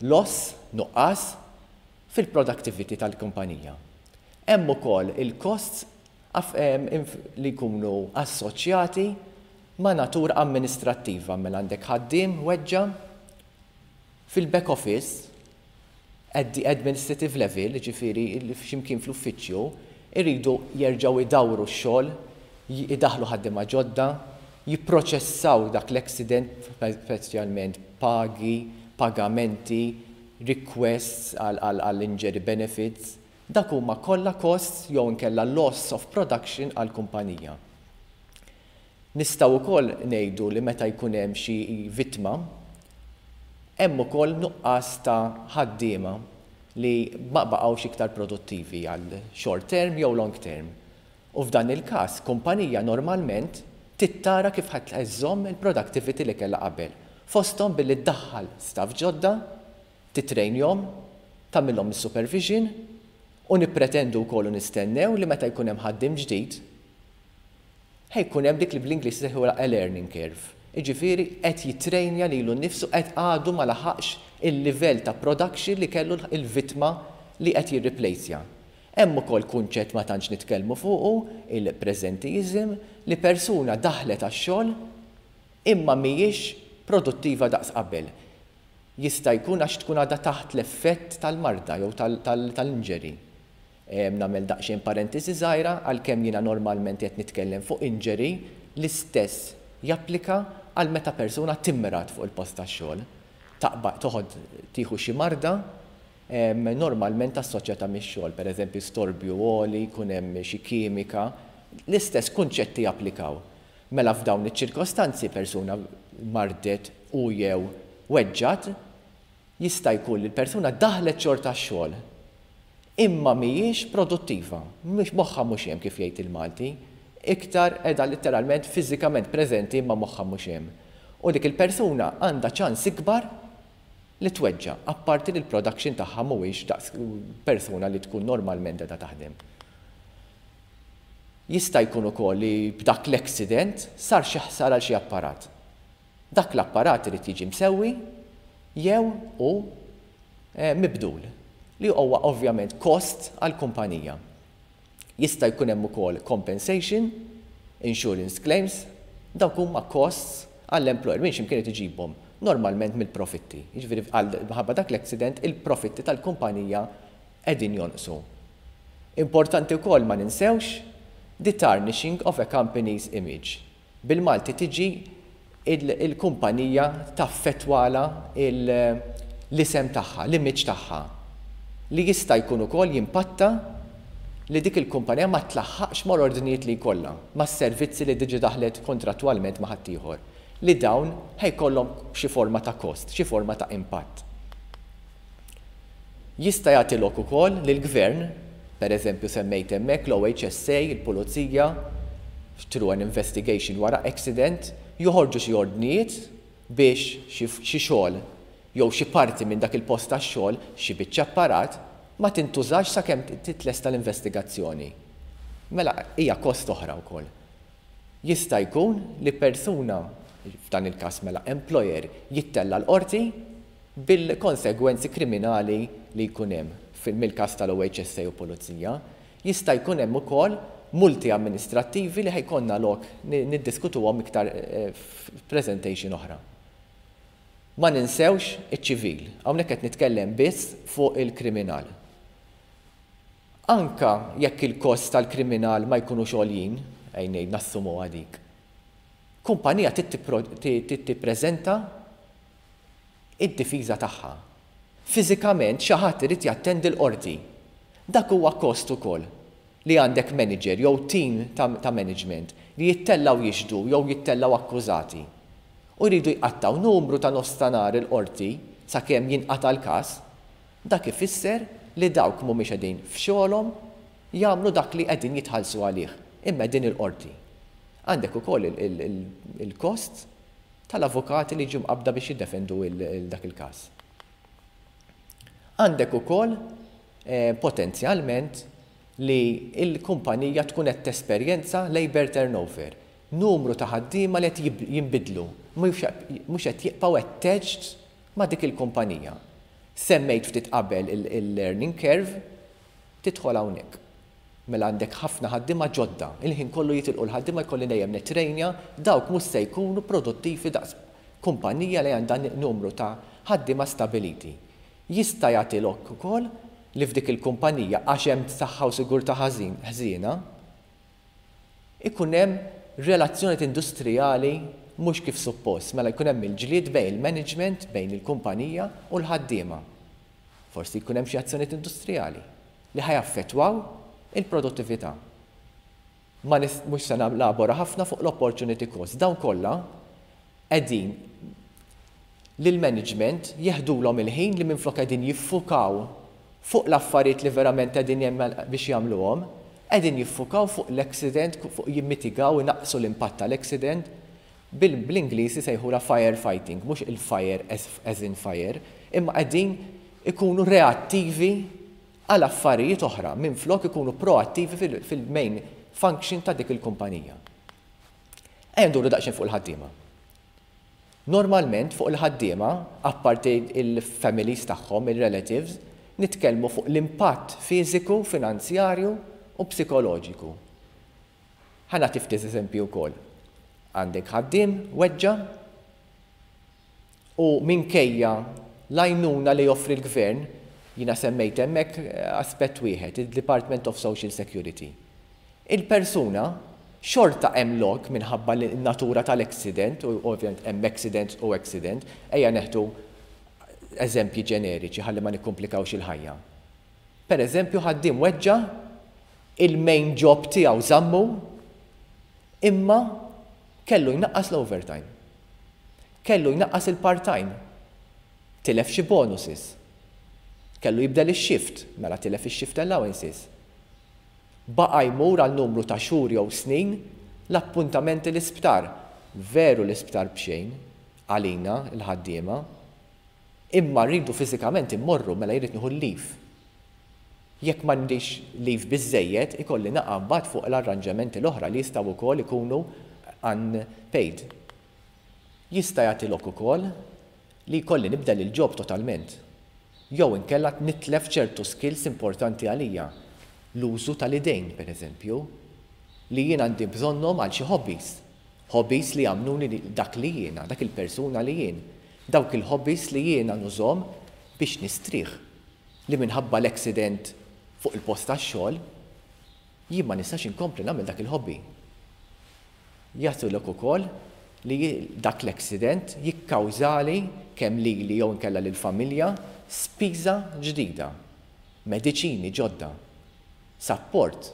loss, nuqqas fil-productivity tal-kumpanija. Hemm ukoll il-costs li jkunu assoċjati ma' natura amministrattiva. Mela għandek ħaddiem weġġa, fil-back office, at the administrative level, ġifieri x'imkien fl-uffiċċju, irridu jerġgħu idawru x-xogħol, idaħlu ħaddiema ġodda, jipproċessaw dak l-accident, speċjalment pagi, pagamenti, requests għall-injury benefits, dak huma kollha costs jew inkella loss of production għall-kumpanija. Nistgħu wkoll ngħidu li meta jkun hemm xi vittma, hemm ukoll nuqqas ta' ħaddiema li ma baqgħux iktar produttivi għal short term jew long term. U f'dan il-każ, kumpanija normalment trid tara kif ħa żżomm il-productivity li kellha qabel. Fosthom billi ddaħħal staff ġodda, titrejnjhom, tagħmilhom is-supervision u nippretendu wkoll u nistennew li meta jkun hemm ħaddiem ġdid, ħa jkun hemm dik li bl-Ingliż sejħu a learning curve. Iġifieri qed jitrejnja lilu nnifsu, qed għadu ma laħaqx il-livell ta' production li kellu il-vittma li qed jirreplacja. Hemm ukoll kunċett ma tantx nitkellmu fuqu, il-presenteeism, li persuna daħlet għax-xogħol imma mhijiex produttiva daqs qabel. Jista' jkun għax tkun għadha taħt l-effett tal-marda jew tal-injury. Nagħmel daqsxejn parentesi żgħira: għalkemm jiena normalment qed nitkellem fuq injury, l-istess japplika għal meta persuna timrad fuq il-post tax-xogħol. Taqbad toħod tieħu xi marda normalment assoċjata mix-xogħol, pereżempju storbju għoli, jkun hemm xi kimika, l-istess kunċetti japplikaw. Mela f'dawn iċ-ċirkostanzi persuna mardet u jew weġġat, jista' jkun li l-persuna daħlet xorta x-xogħol imma mhijiex produttiva, mhux moħħha mhux hemm, kif jgħid il-Malti, iktar qiegħda letteralment fiżikament preżenti imma moħħha mhux hemm. U dik il-persuna għandha ċans ikbar li tweġġa, apparti li l-production tagħha mhuwiex daqs persuna li tkun normalment qiegħda taħdem. Jista' jkun ukoll li b'dak l-accident sar xi ħsara għal xi apparat. Dak l-apparat irid jiġi msewwi jew u mibdul, li huwa ovvjament cost għall-kumpanija. Jista' jkun hemm ukoll compensation, insurance claims, dawk huma costs għall-employer minn x'imkien iġibhom, normalment mill-profitti. Jiġifieri minħabba dak l-accident il-profitti tal-kumpanija qegħdin jonqsu. Importanti wkoll ma ninsewx the tarnishing of a company's image. Bil-Malti tiġi il-kumpanija taffettwalha l-isem tagħha, l-image tagħha. Li jista' jkun ukoll jimpatta li dik il-kumpanija ma tlaħħaqx mal-ordnijiet li jkollha, mas-servizzi li diġi daħlet kontrattwalment ma' ħaddieħor, li dawn ħa jkollhom xi forma ta' cost, xi forma ta' impatt. Jista' jagħti lok ukoll li l-gvern, per eżempju semmejt hemmhekk l-OHSA, il-pulizija, through an investigation wara accident, joħorġu xi ordnijiet biex xi xogħol Jew xi parti minn dak il-post tax-xogħol, xi biċċa apparat, ma tintużax sakemm titlesta l-investigazzjoni. Mela hija kost oħra wkoll. Jista' jkun li persuna, f'dan il-każ mela employer, jittella' l-qorti bil-konsegwenzi kriminali li jkun hemm mill-każ tal-OHSA u pulizija. Jista' jkun hemm ukoll multi amministrattivi li ħa jkollna lok niddiskutuhom iktar f'presentation oħra. Ma ninsewx iċ-ċivil. Hawnhekk qed nitkellem biss fuq il-kriminal. Anka jekk il-kost tal-kriminal ma jkunux għoljin, ejja ngħid nassumuha dik, kumpanija trid tippreżenta id-difiża tagħha. Fiżikament xi ħadd irid jattendi l-qorti. Dak huwa kost ukoll li għandek manager jew team ta' management li jittellgħu jixhdu jew jittellgħu akkużati u jridu jqattgħu numru ta' nofs ta' nhar il-qorti sakemm jinqata' l-każ, dak ifisser li dawk mhumiex qegħdin f'xogħolhom jagħmlu dak li qegħdin jitħallsu għalih, imma qegħdin il-qorti. Għandek ukoll il-kost tal-avukati li jiġu mqabbda biex jiddefendu dak il-każ. Għandek ukoll potenzjalment li l-kumpanija tkun qed tesperjenza labour turnover, numru ta' ħaddiema li qed jinbidlu, mhux qed jibqgħu attached ma' dik il-kumpanija. Semmejt ftit qabel il-learning curve, tidħol hawnhekk. Mela għandek ħafna ħaddiema ġodda, il-ħin kollu jitilqu l-ħaddiema, jkolli dejjem nittrejnja, dawk mhux se jkunu produttivi daqs kumpanija li għandha numru ta' ħaddiema stabiliti. Jista' jagħti lok ukoll li f'dik il-kumpanija, għax hemm saħħa u sigurtà ħażin ħżiena, ikun hemm relazzjonijiet industrijali mhux kif suppost, mela jkun hemm il-ġlied bejn il-management, bejn il-kumpanija u l-ħaddiema. Forsi jkun hemm xi azzjonijiet industrijali li ħa jaffettwaw il-produttività. Ma mhux se nelabora ħafna fuq l-opportunity cost. Dawn kollha qegħdin lill-management jeħdulhom il-ħin li minflok qegħdin jiffukaw fuq l-affarijiet li verament qegħdin biex jagħmluhom, qegħdin jiffukaw fuq l-accident, fuq jimmitigaw, inaqqsu l-impatt tal-accident. Bl-Ingliż isejħulha firefighting, mhux il-fire as in fire, imma qegħdin ikunu reattivi għal affarijiet oħra minflok ikunu proattivi fil-main function ta' dik il-kumpanija. Ejja nduru daqsxejn fuq il-ħaddiema. Normalment fuq il-ħaddiema, apparti il-families tagħhom, il-relatives, nitkellmu fuq l-impatt fiżiku, finanzjarju u psikoloġiku. Ħa nagħti ftit eżempju wkoll. Għandek ħaddiem weġġa' u minkejja l-għajnuna li joffri l-gvern, jiena semmejt hemmhekk aspett wieħed, il-Department of Social Security. Il-persuna xorta hemm lok minħabba l-natura tal-accident, u ovvjament hemm accident u accident, ejja neħdu eżempji ġeneriċi ħalli ma nikkomplikawx il-ħajja. Per eżempju, ħaddiem weġġa', il-main job tiegħu żammu, imma kellu jnaqqas l-overtime. Kellu jnaqqas il-part-time. Tilef xi bonuses. Kellu jibdel ix-shift, mela tilef ix-shift allowances. Baqa' jmur għal numru ta' xhur jew snin l-appuntamenti l-isptar. Veru l-isptar b'xejn għalina l-ħaddiema, imma rridu fiżikament immorru, mela jrid nieħu l-leave. Jekk m'għandix leave biżżejjed, ikolli naqa' mbagħad fuq l-arranġamenti l-oħra li jistgħu wkoll ikunu unpaid. Jista' jagħti lok ukoll li jkolli nibdel il-job totalment. Jew inkella nitlef ċertu skills importanti għalija. L-użu tal-idejn, per eżempju, li jien għandi bżonnhom għal xi hobbies. Hobbies li jagħmluni dak li jiena, dak il-persuna li jien. Dawk il-hobbies li jiena nużhom biex nistrieħ. Li minħabba l-accident fuq il-post tax-xogħol, jien ma nistax inkompli nagħmel dak il-hobby. Jagħtulek ukoll li dak l-accident jikkawżali kemm lili jew inkella lill-familja spiża ġdida, mediċini ġodda, support,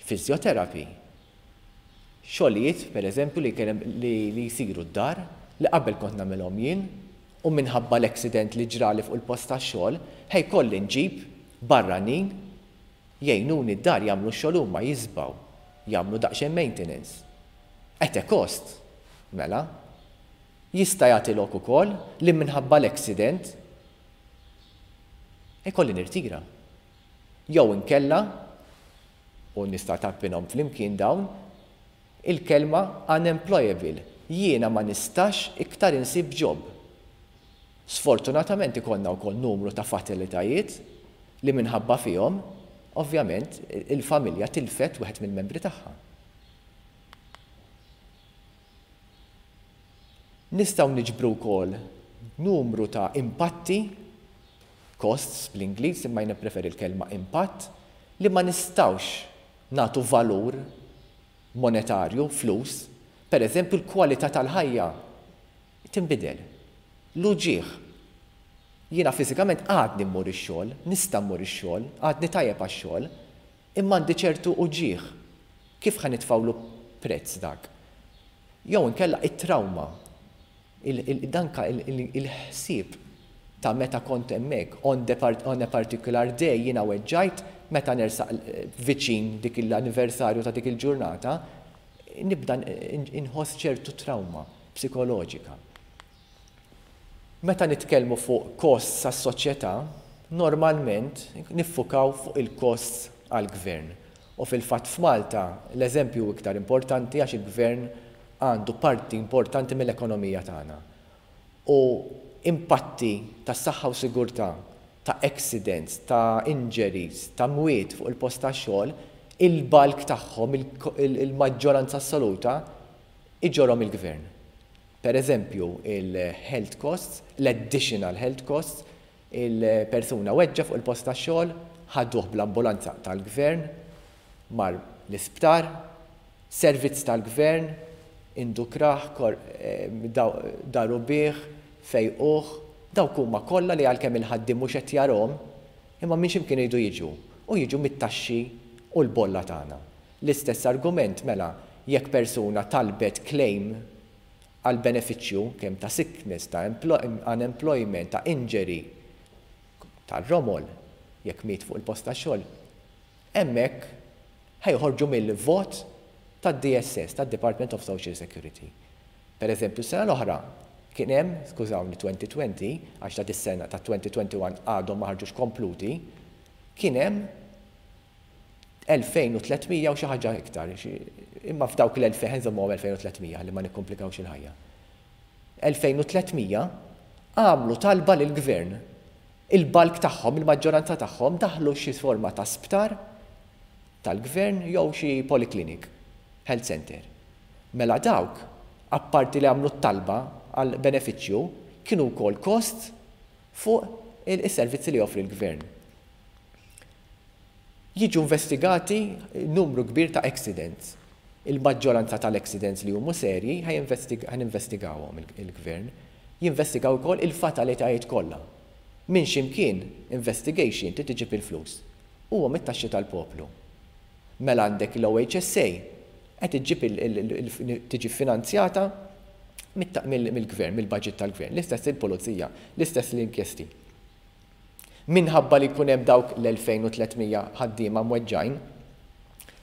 physiotherapy, xogħlijiet per eżempju li, li jsiru d-dar li qabel kont nagħmilhom jien u minħabba l-accident li ġrali fuq il-post tax-xogħol ħa jkolli nġib barranin jgħinuni d-dar jagħmlu x-xogħol huma, jiżbgħu, jagħmlu daqsxejn maintenance. At a cost, mela. Jista' jagħti lok ukoll li minħabba l-accident ikolli nirtira. Jew inkella, u nista' tgħabbinhom flimkien dawn, il-kelma unemployable, jiena ma nistax iktar insib job. Sfortunatament ikollna wkoll numru ta' fatalitajiet li minħabba fihom, ovvjament, il-familja tilfet wieħed mill-membri tagħha. Nistgħu niġbru wkoll numru ta' impatti, costs bl-Ingliż, imma jien nippreferi l-kelma impatt, li ma nistgħux nagħtu valur monetarju, flus. Per eżempju, l-kwalità tal-ħajja tinbidel. L-uġigħ. Jiena fiżikament għadni mmur ix-xogħol, nista' mmur ix-xogħol, għadni tajjeb għax-xogħol, imma għandi ċertu uġigħ. Kif ħa nitfgħulu prezz dak? Jew inkella it-trawma, danka il-ħsieb ta' meta kont hemmhekk, on the on a particular day jiena weġġajt, meta nersaq viċin dik l-anniversarju ta' dik il-ġurnata, nibda inħoss ċertu trawma psikoloġika. Meta nitkellmu fuq costs għas-soċjetà, normalment niffukaw fuq il-costs għall-gvern. U fil-fatt f'Malta l-eżempju hu iktar importanti għax il-gvern għandu parti importanti mill-ekonomija tagħna. U impatti ta' saħħa u sigurtà, ta' accidents, ta' injuries, ta' mwiet fuq il-post tax-xogħol, il-bulk tagħhom, il-maġġoranza assoluta, iġorhom il-gvern. Per eżempju, il-health costs, l-additional health costs, il-persuna weġġa' fuq il-post tax-xogħol, ħaduh bl-ambulanza tal-gvern, mar l-isptar, servizz tal-gvern, indukrah, daru bih, fejquh, dawk huma kollha li għalkemm il-ħaddiem mhux qed jarahom, imma minn xi mkien iridu jiġu, u jiġu mit-taxxi u l-bolla tagħna. L-istess argument mela jekk persuna talbet claim għal benefiċċju kemm ta' sickness, ta' unemployment, ta' injury, tar-romol, jekk miet fuq il-post tax-xogħol, hemmhekk ħa joħorġu mill-vot tad-DSS, tad-Department of Social Security. Per eżempju, s-sena l-oħra kien hemm, skużawni 2020, għax ta' dis-sena ta' 2021 għadhom ma ħarġux kompluti, kien hemm 2300 u xi ħaġa iktar, imma f'dawk l-2000 nżommuhom 2300 ħalli ma nikkomplikawx il-ħajja. 2300 għamlu talba lill-gvern. Il-bulk tagħhom, il-maġġoranza tagħhom daħlu xi forma ta' sptar tal-gvern jew xi polyclinic, health center. Mela dawk, apparti li għamlu t-talba għal benefiċċju, kienu wkoll kost fuq is-servizzi li joffri l-gvern. Jiġu investigati numru kbir ta' accidents. Il-maġġoranza tal-accidents li huma serji ħa investigawhom il-gvern. Jinvestigaw ukoll il-fatalitajiet kollha. Minn x'imkien investigation trid iġib il-flus. Huwa mit-taxxi tal-poplu. Mela għandek l-OHSA qed iġġib tiġi finanzjata mill-gvern, mill-budget tal-gvern. L-istess il-pulizija, l-istess l-inkjesti. Minħabba li jkun hemm dawk l-2300 ħaddiema mweġġajn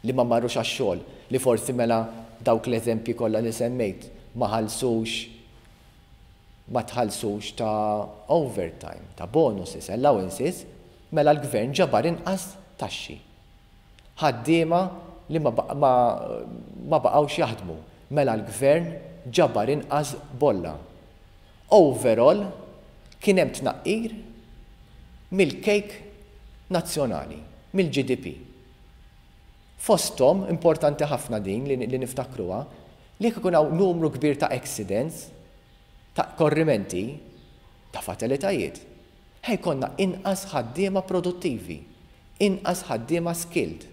li ma marrux għax-xogħol, li forsi mela dawk l-eżempji kollha li semmejt ma ħallsux ma tħallsux ta' overtime, ta' bonuses, allowances, mela l-gvern ġabar inqas taxxi. Ħaddiema li ma, ma, ma baqgħux jaħdmu, mela l-gvern ġabar inqas bolla. Overall, kien hemm tnaqqir mill-kejk nazzjonali, mill-GDP. Fosthom, importanti ħafna din li, li niftakruha, li jekk ikun hawn numru kbir ta' accidents, ta' korrimenti, ta' fatalitajiet, ħa jkollna inqas ħaddiema produttivi, inqas ħaddiema skilled.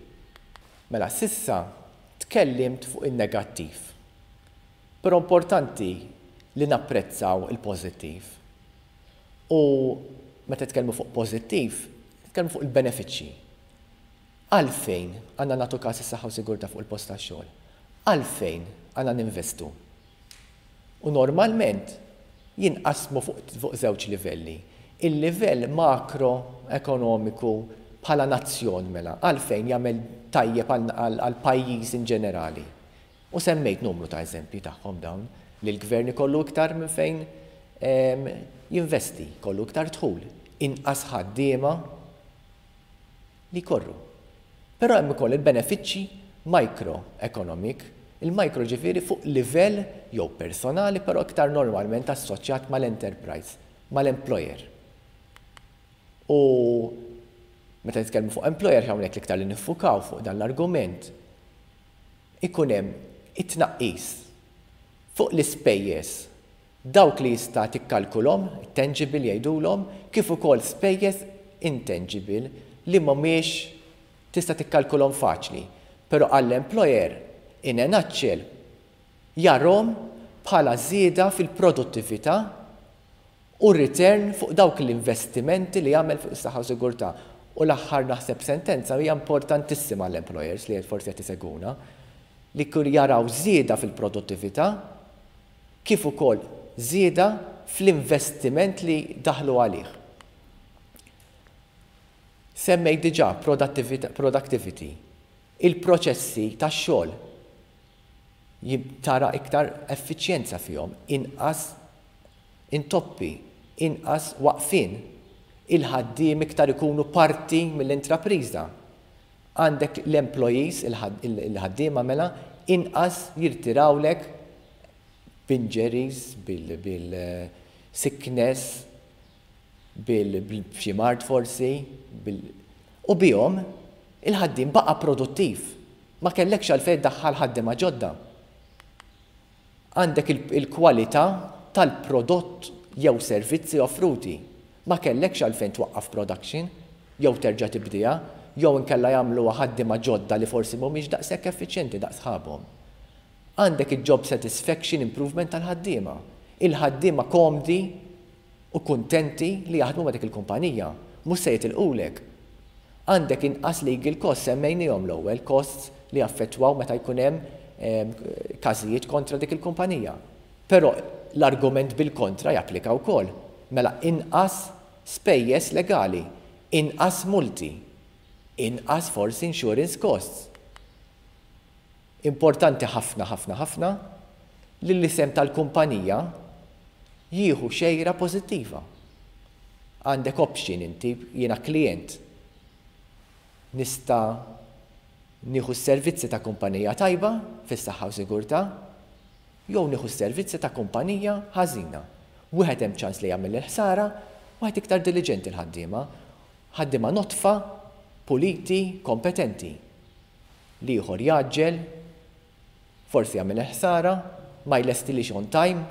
Mela s'issa tkellimt fuq in-negattiv. Però importanti li napprezzaw il-pożittiv. U meta nitkellmu fuq pożittiv, nitkellmu fuq il-benefiċċji. Għalfejn għandna nagħtu każ is-saħħa u sigurtà fuq il-post tax-xogħol? Għalfejn għandna ninvestu? U normalment jinqasmu fuq, fuq żewġ livelli. Il-livell makroekonomiku bħala nazzjon mela, għalfejn jagħmel tajjeb għal pajjiż in ġenerali. U semmejt numru ta' eżempji tagħhom dawn. Li l-gvern ikollu iktar minn fejn jinvesti, jkollu iktar dħul, inqas ħaddiema li jkorru. Però hemm ukoll il-benefiċċji micro-economic, il-micro ġifieri fuq livell jew personali però iktar normalment assoċjat mal-enterprise, mal-employer. U meta nitkellmu fuq employer hawnhekk l-iktar li niffukaw fuq dan l-argument, ikun hemm it-tnaqqis fuq l-ispejjeż dawk li jista' tikkalkulhom, tangible jgħidulhom, kif ukoll spejjeż intangible li mhumiex tista' tikkalkulhom faċli. Però għall-employer in a nutshell jarahom bħala żieda fil-produttività u return fuq dawk l-investimenti li jagħmel fuq is-saħħa u sigurtà. U l-aħħar naħseb sentenza hija importantissima għall-employers li forsi qed isegwuna, li kull jaraw żieda fil-produttività kif ukoll żieda fl-investiment li daħlu għalih. Semmejt diġà productivity, il-proċessi tax-xogħol tara iktar effiċjenza fihom, inqas intoppi, inqas waqfien, il-ħaddiem iktar ikunu parti mill-intrapriża. Għandek l-employees, il-ħaddiema mela, inqas jirtirawlek b'injuries, bil-sickness, bil-xi mard forsi, u bihom il-ħaddiem baqa' produttiv. Ma kellekx għalfejn daħħal ħaddiema ġodda. Għandek il-kwalità tal-prodott jew servizzi offruti. Ma kellekx għalfejn twaqqaf production jew terġa' tibdiha jew inkella jagħmluha ħaddiema ġodda li forsi mhumiex daqshekk effiċjenti daqs sħabhom. Għandek il-job satisfaction improvement tal-ħaddiema. Il-ħaddiema komdi u kuntenti li jaħdmu ma' dik il-kumpanija, mhux se jitilqulek. Għandek inqas legal costs, semmejniehom l-ewwel, costs li jaffettwaw meta jkun hemm każijiet kontra dik il-kumpanija. Però l-argument bil-kontra japplika wkoll. Mela inqas spejjeż legali, inqas multi, inqas forsi insurance costs. Importanti ħafna ħafna ħafna li l-isem tal-kumpanija jieħu xejra pożittiva. Għandek option inti, jiena klient, nista' nieħu s-servizzi ta' kumpanija tajba fis-saħħa u sigurtà, jew nieħu s-servizzi ta' kumpanija ħażina. Wieħed hemm ċans li jagħmel il-ħsara, wieħed iktar diliġenti l-ħaddiema. Ħaddiema nodfa, puliti, kompetenti. L-ieħor jgħaġġel, forsi jagħmel il-ħsara, ma jlestilix on time.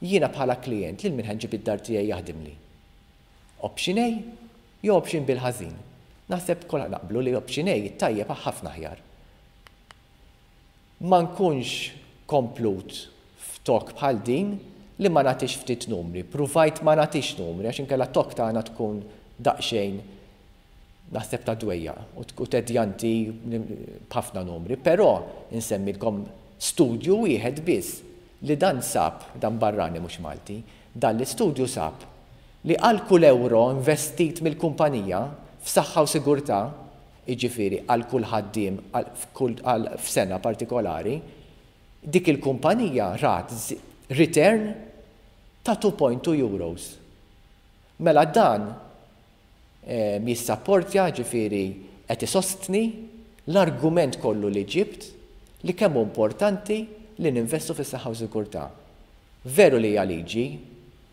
Jiena bħala klient lil min ħa nġib id-dar tiegħi jaħdimli. Option A jew option B l-ħażin. Naħseb kollha naqblu li option A it-tajjeb ħafna aħjar. Ma nkunx komplut f'talk bħal din li ma nagħtix ftit numri. Pruvajt ma nagħtix numri għax inkella talk tagħna tkun daqsxejn naħseb ta' dwejjaq u tedjanti b'ħafna numri, però insemmilkom studju wieħed biss li dan sab, dan barrani mhux Malti, dan l-istudju sab li għal kull euro investit mill-kumpanija f'saħħa u sigurtà, jiġifieri għal kull ħaddiem għal f'sena partikolari, dik il-kumpanija rat return ta' 2.2 euros. Mela dan jissapportja, ġifieri qed isostni l-argument kollu li ġibt li kemm hu importanti li ninvestu fis-saħħa u sigurtà. Veru li hija liġi,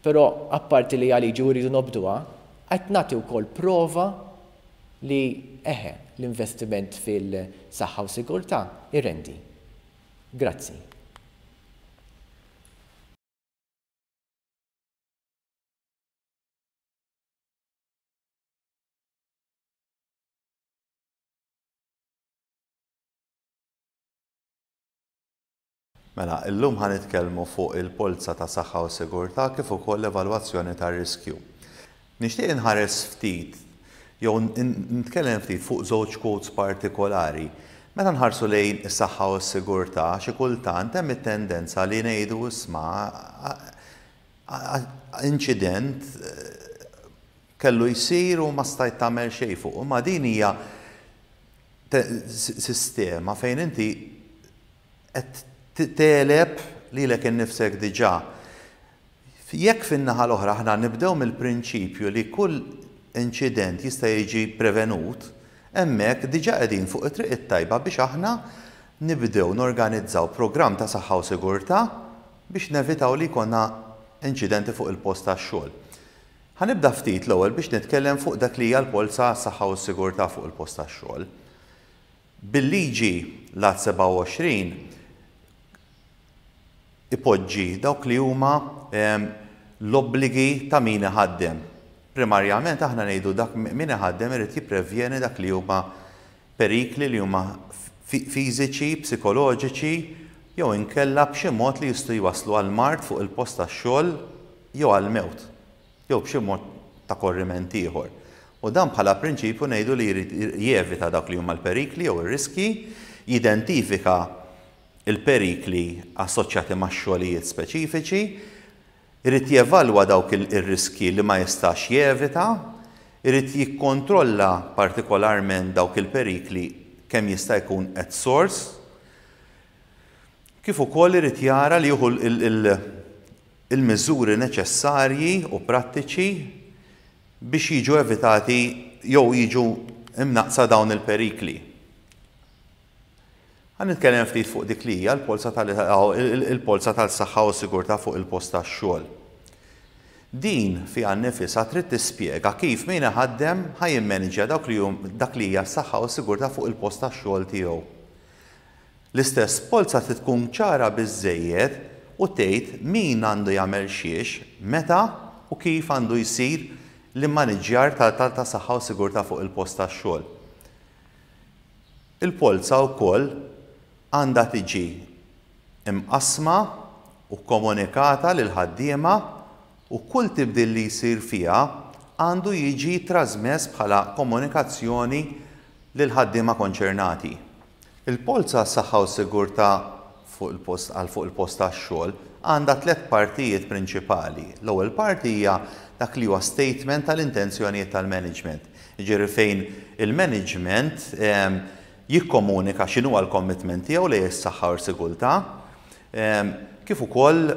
però apparti li hija liġi u rridu nobduha, qed nagħti wkoll prova li eħe l-investiment fil-saħħa u sigurtà irendi. Grazzi. Mela, illum ħa nitkellmu fuq il-polza ta' saħħa u sigurtà kif ukoll l-evalwazzjoni tar-riskju. Nixtieq inħares ftit jew nitkellem ftit fuq żewġ quotes partikolari. Meta nħarsu lejn is-saħħa u s-sigurtà, xi kultant hemm it-tendenza li ngħidu isma' inċident kellu jsir u ma stajt tagħmel xejn fuq. Imma din hija sistema fejn inti qed tegħleb. lilek innifsek diġà. Jekk fin-naħa l-oħra aħna nibdew mill-prinċipju li kull inċident jista' jiġi prevenut, hemmhekk diġà qegħdin fuq it-triq it-tajba biex aħna nibdew norganizzaw programm ta' saħħa u sigurtà biex nevitaw li jkollna inċidenti fuq il-post tax-xogħol. Ħa nibda ftit l-ewwel biex nitkellem fuq dak li hija l-polza għas-saħħa u s-sigurtà fuq il-post tax-xogħol. Bil-liġi l-Att 27 ipoġġi dawk li huma l-obbligi ta' min iħaddem. Primarjament aħna ngħidu dak min iħaddem irid jipprevjeni dak li huma perikli li huma fiżiċi, psikoloġiċi jew inkella b'xi mod li jistgħu jwasslu għal mard fuq il-post tax-xogħol jew għall-mewt jew b'xi mod ta' korriment ieħor. U dan bħala prinċipju ngħidu li jrid jevita dawk li huma l-perikli jew ir-riskji, jidentifika l-perikli assoċjati ma' xogħlijiet speċifiċi, irid jevalwa dawk ir-riskji li ma jistax jevita, irid jikkontrolla partikolarment dawk il-perikli kemm jista' jkun at source, kif ukoll irid jara li jieħu il-miżuri neċessarji u prattiċi biex jiġu evitati jew jiġu imnaqqsa dawn il-perikli. Ħa nitkellem ftit fuq dik li hija l-polza tal-polza tal-saħħa u s-sigurtà fuq il-post tax-xogħol. Din fiha nnifisha trid tispjega kif min iħaddem ħa jimmaniġja dawk li dak li hija s-saħħa u s-sigurtà fuq il-post tax-xogħol tiegħu. L-istess polza trid tkun ċara biżżejjed u tgħid min għandu jagħmel xiex, meta u kif għandu jsir l-immaniġġjar ta' saħħa u sigurtà fuq il-post tax-xogħol. Il-polza wkoll għandha tiġi mqassma u kkomunikata lill-ħaddiema u kull tibdil li jsir fiha għandu jiġi trażmess bħala komunikazzjoni lill-ħaddiema konċernati. Il-polza għas-saħħa u s-sigurtà fuq il-post għal fuq il-post tax-xogħol għandha tlett partijiet prinċipali. L-ewwel parti hija dak li huwa statement tal-intenzjonijiet tal-management. Jiġifieri fejn il-management jikkomunika x'inhuwa l-commitment tiegħu lejn is-saħħa u s-sigurtà, kif ukoll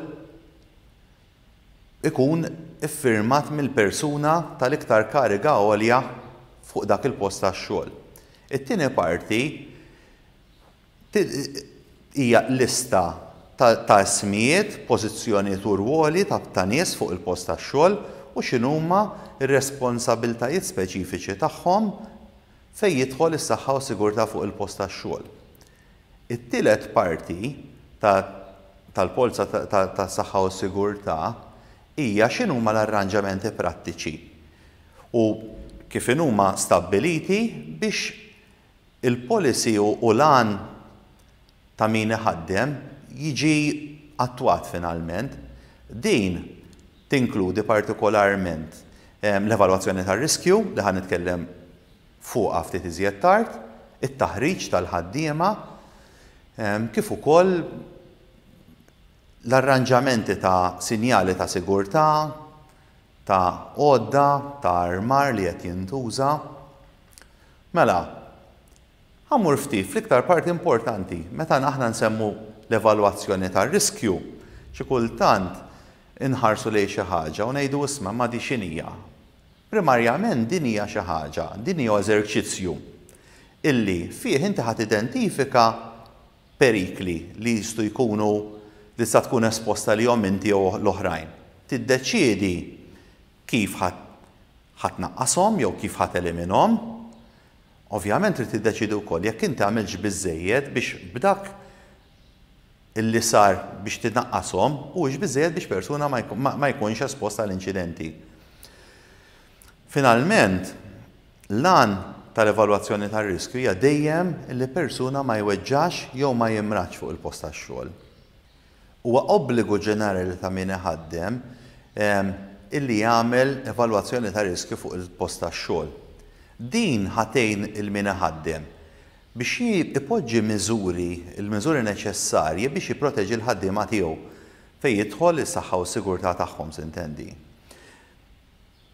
ikun iffirmat mill-persuna tal-iktar kariga għolja fuq dak il-post tax-xogħol. It-tieni parti hija lista ta' ismijiet, pożizzjonijiet u rwoli ta' nies fuq il-post tax-xogħol u x'inhuma r-responsabbiltajiet speċifiċi tagħhom fejn jidħol is-saħħa u s-sigurtà fuq il-post tax-xogħol. It-tielet parti tal-polza tas-saħħa u s-sigurtà hija x'inhuma l-arranġamenti prattiċi u kif inhuma stabbiliti biex il-policy u l-għan ta' min iħaddem jiġi attwat finalment. Din tinkludi partikolarment l-evalwazzjoni tar-riskju li ħa nitkellem fuqha ftit iżjed tard, it-taħriġ tal-ħaddiema, kif ukoll l-arranġamenti ta' sinjali ta' sigurtà, ta' għodda, ta' armar li qed jintuża. Mela, ħa mmur ftit fl-iktar parti importanti, meta aħna nsemmu l-evalwazzjoni tar-riskju, xi kultant inħarsu lejn xi ħaġa u ngħidu isma' ma di x'inhija? Primarjament din hija xi ħaġa, din hija eżerċizzju illi fih inti ħa tidentifika perikli li jistgħu jkunu li tista' tkun esposta lihom inti jew l-oħrajn. Tiddeċiedi kif ħa ħa tnaqqashom jew kif ħa teliminhom. Ovvjament trid tiddeċiedi wkoll jekk inti għamiltx biżżejjed biex b'dak illi sar biex tinaqqashom huwiex biżżejjed biex persuna ma jkunx espost għal inċidenti. Finalment, l-għan tal-evalwazzjoni tar-riskju hija dejjem li persuna ma jweġġax jew ma jimradx fuq il-post tax-xogħol. Huwa obbligu ġenerali ta' min iħaddem illi jagħmel evalwazzjoni ta' riskju fuq il-post tax-xogħol. Din ħa tgħin 'il min iħaddem biex ipoġġi miżuri, il-miżuri neċessarji biex jipproteġi l-ħaddiema tiegħu fejn jidħol is-saħħa u s-sigurtà tagħhom sintendi.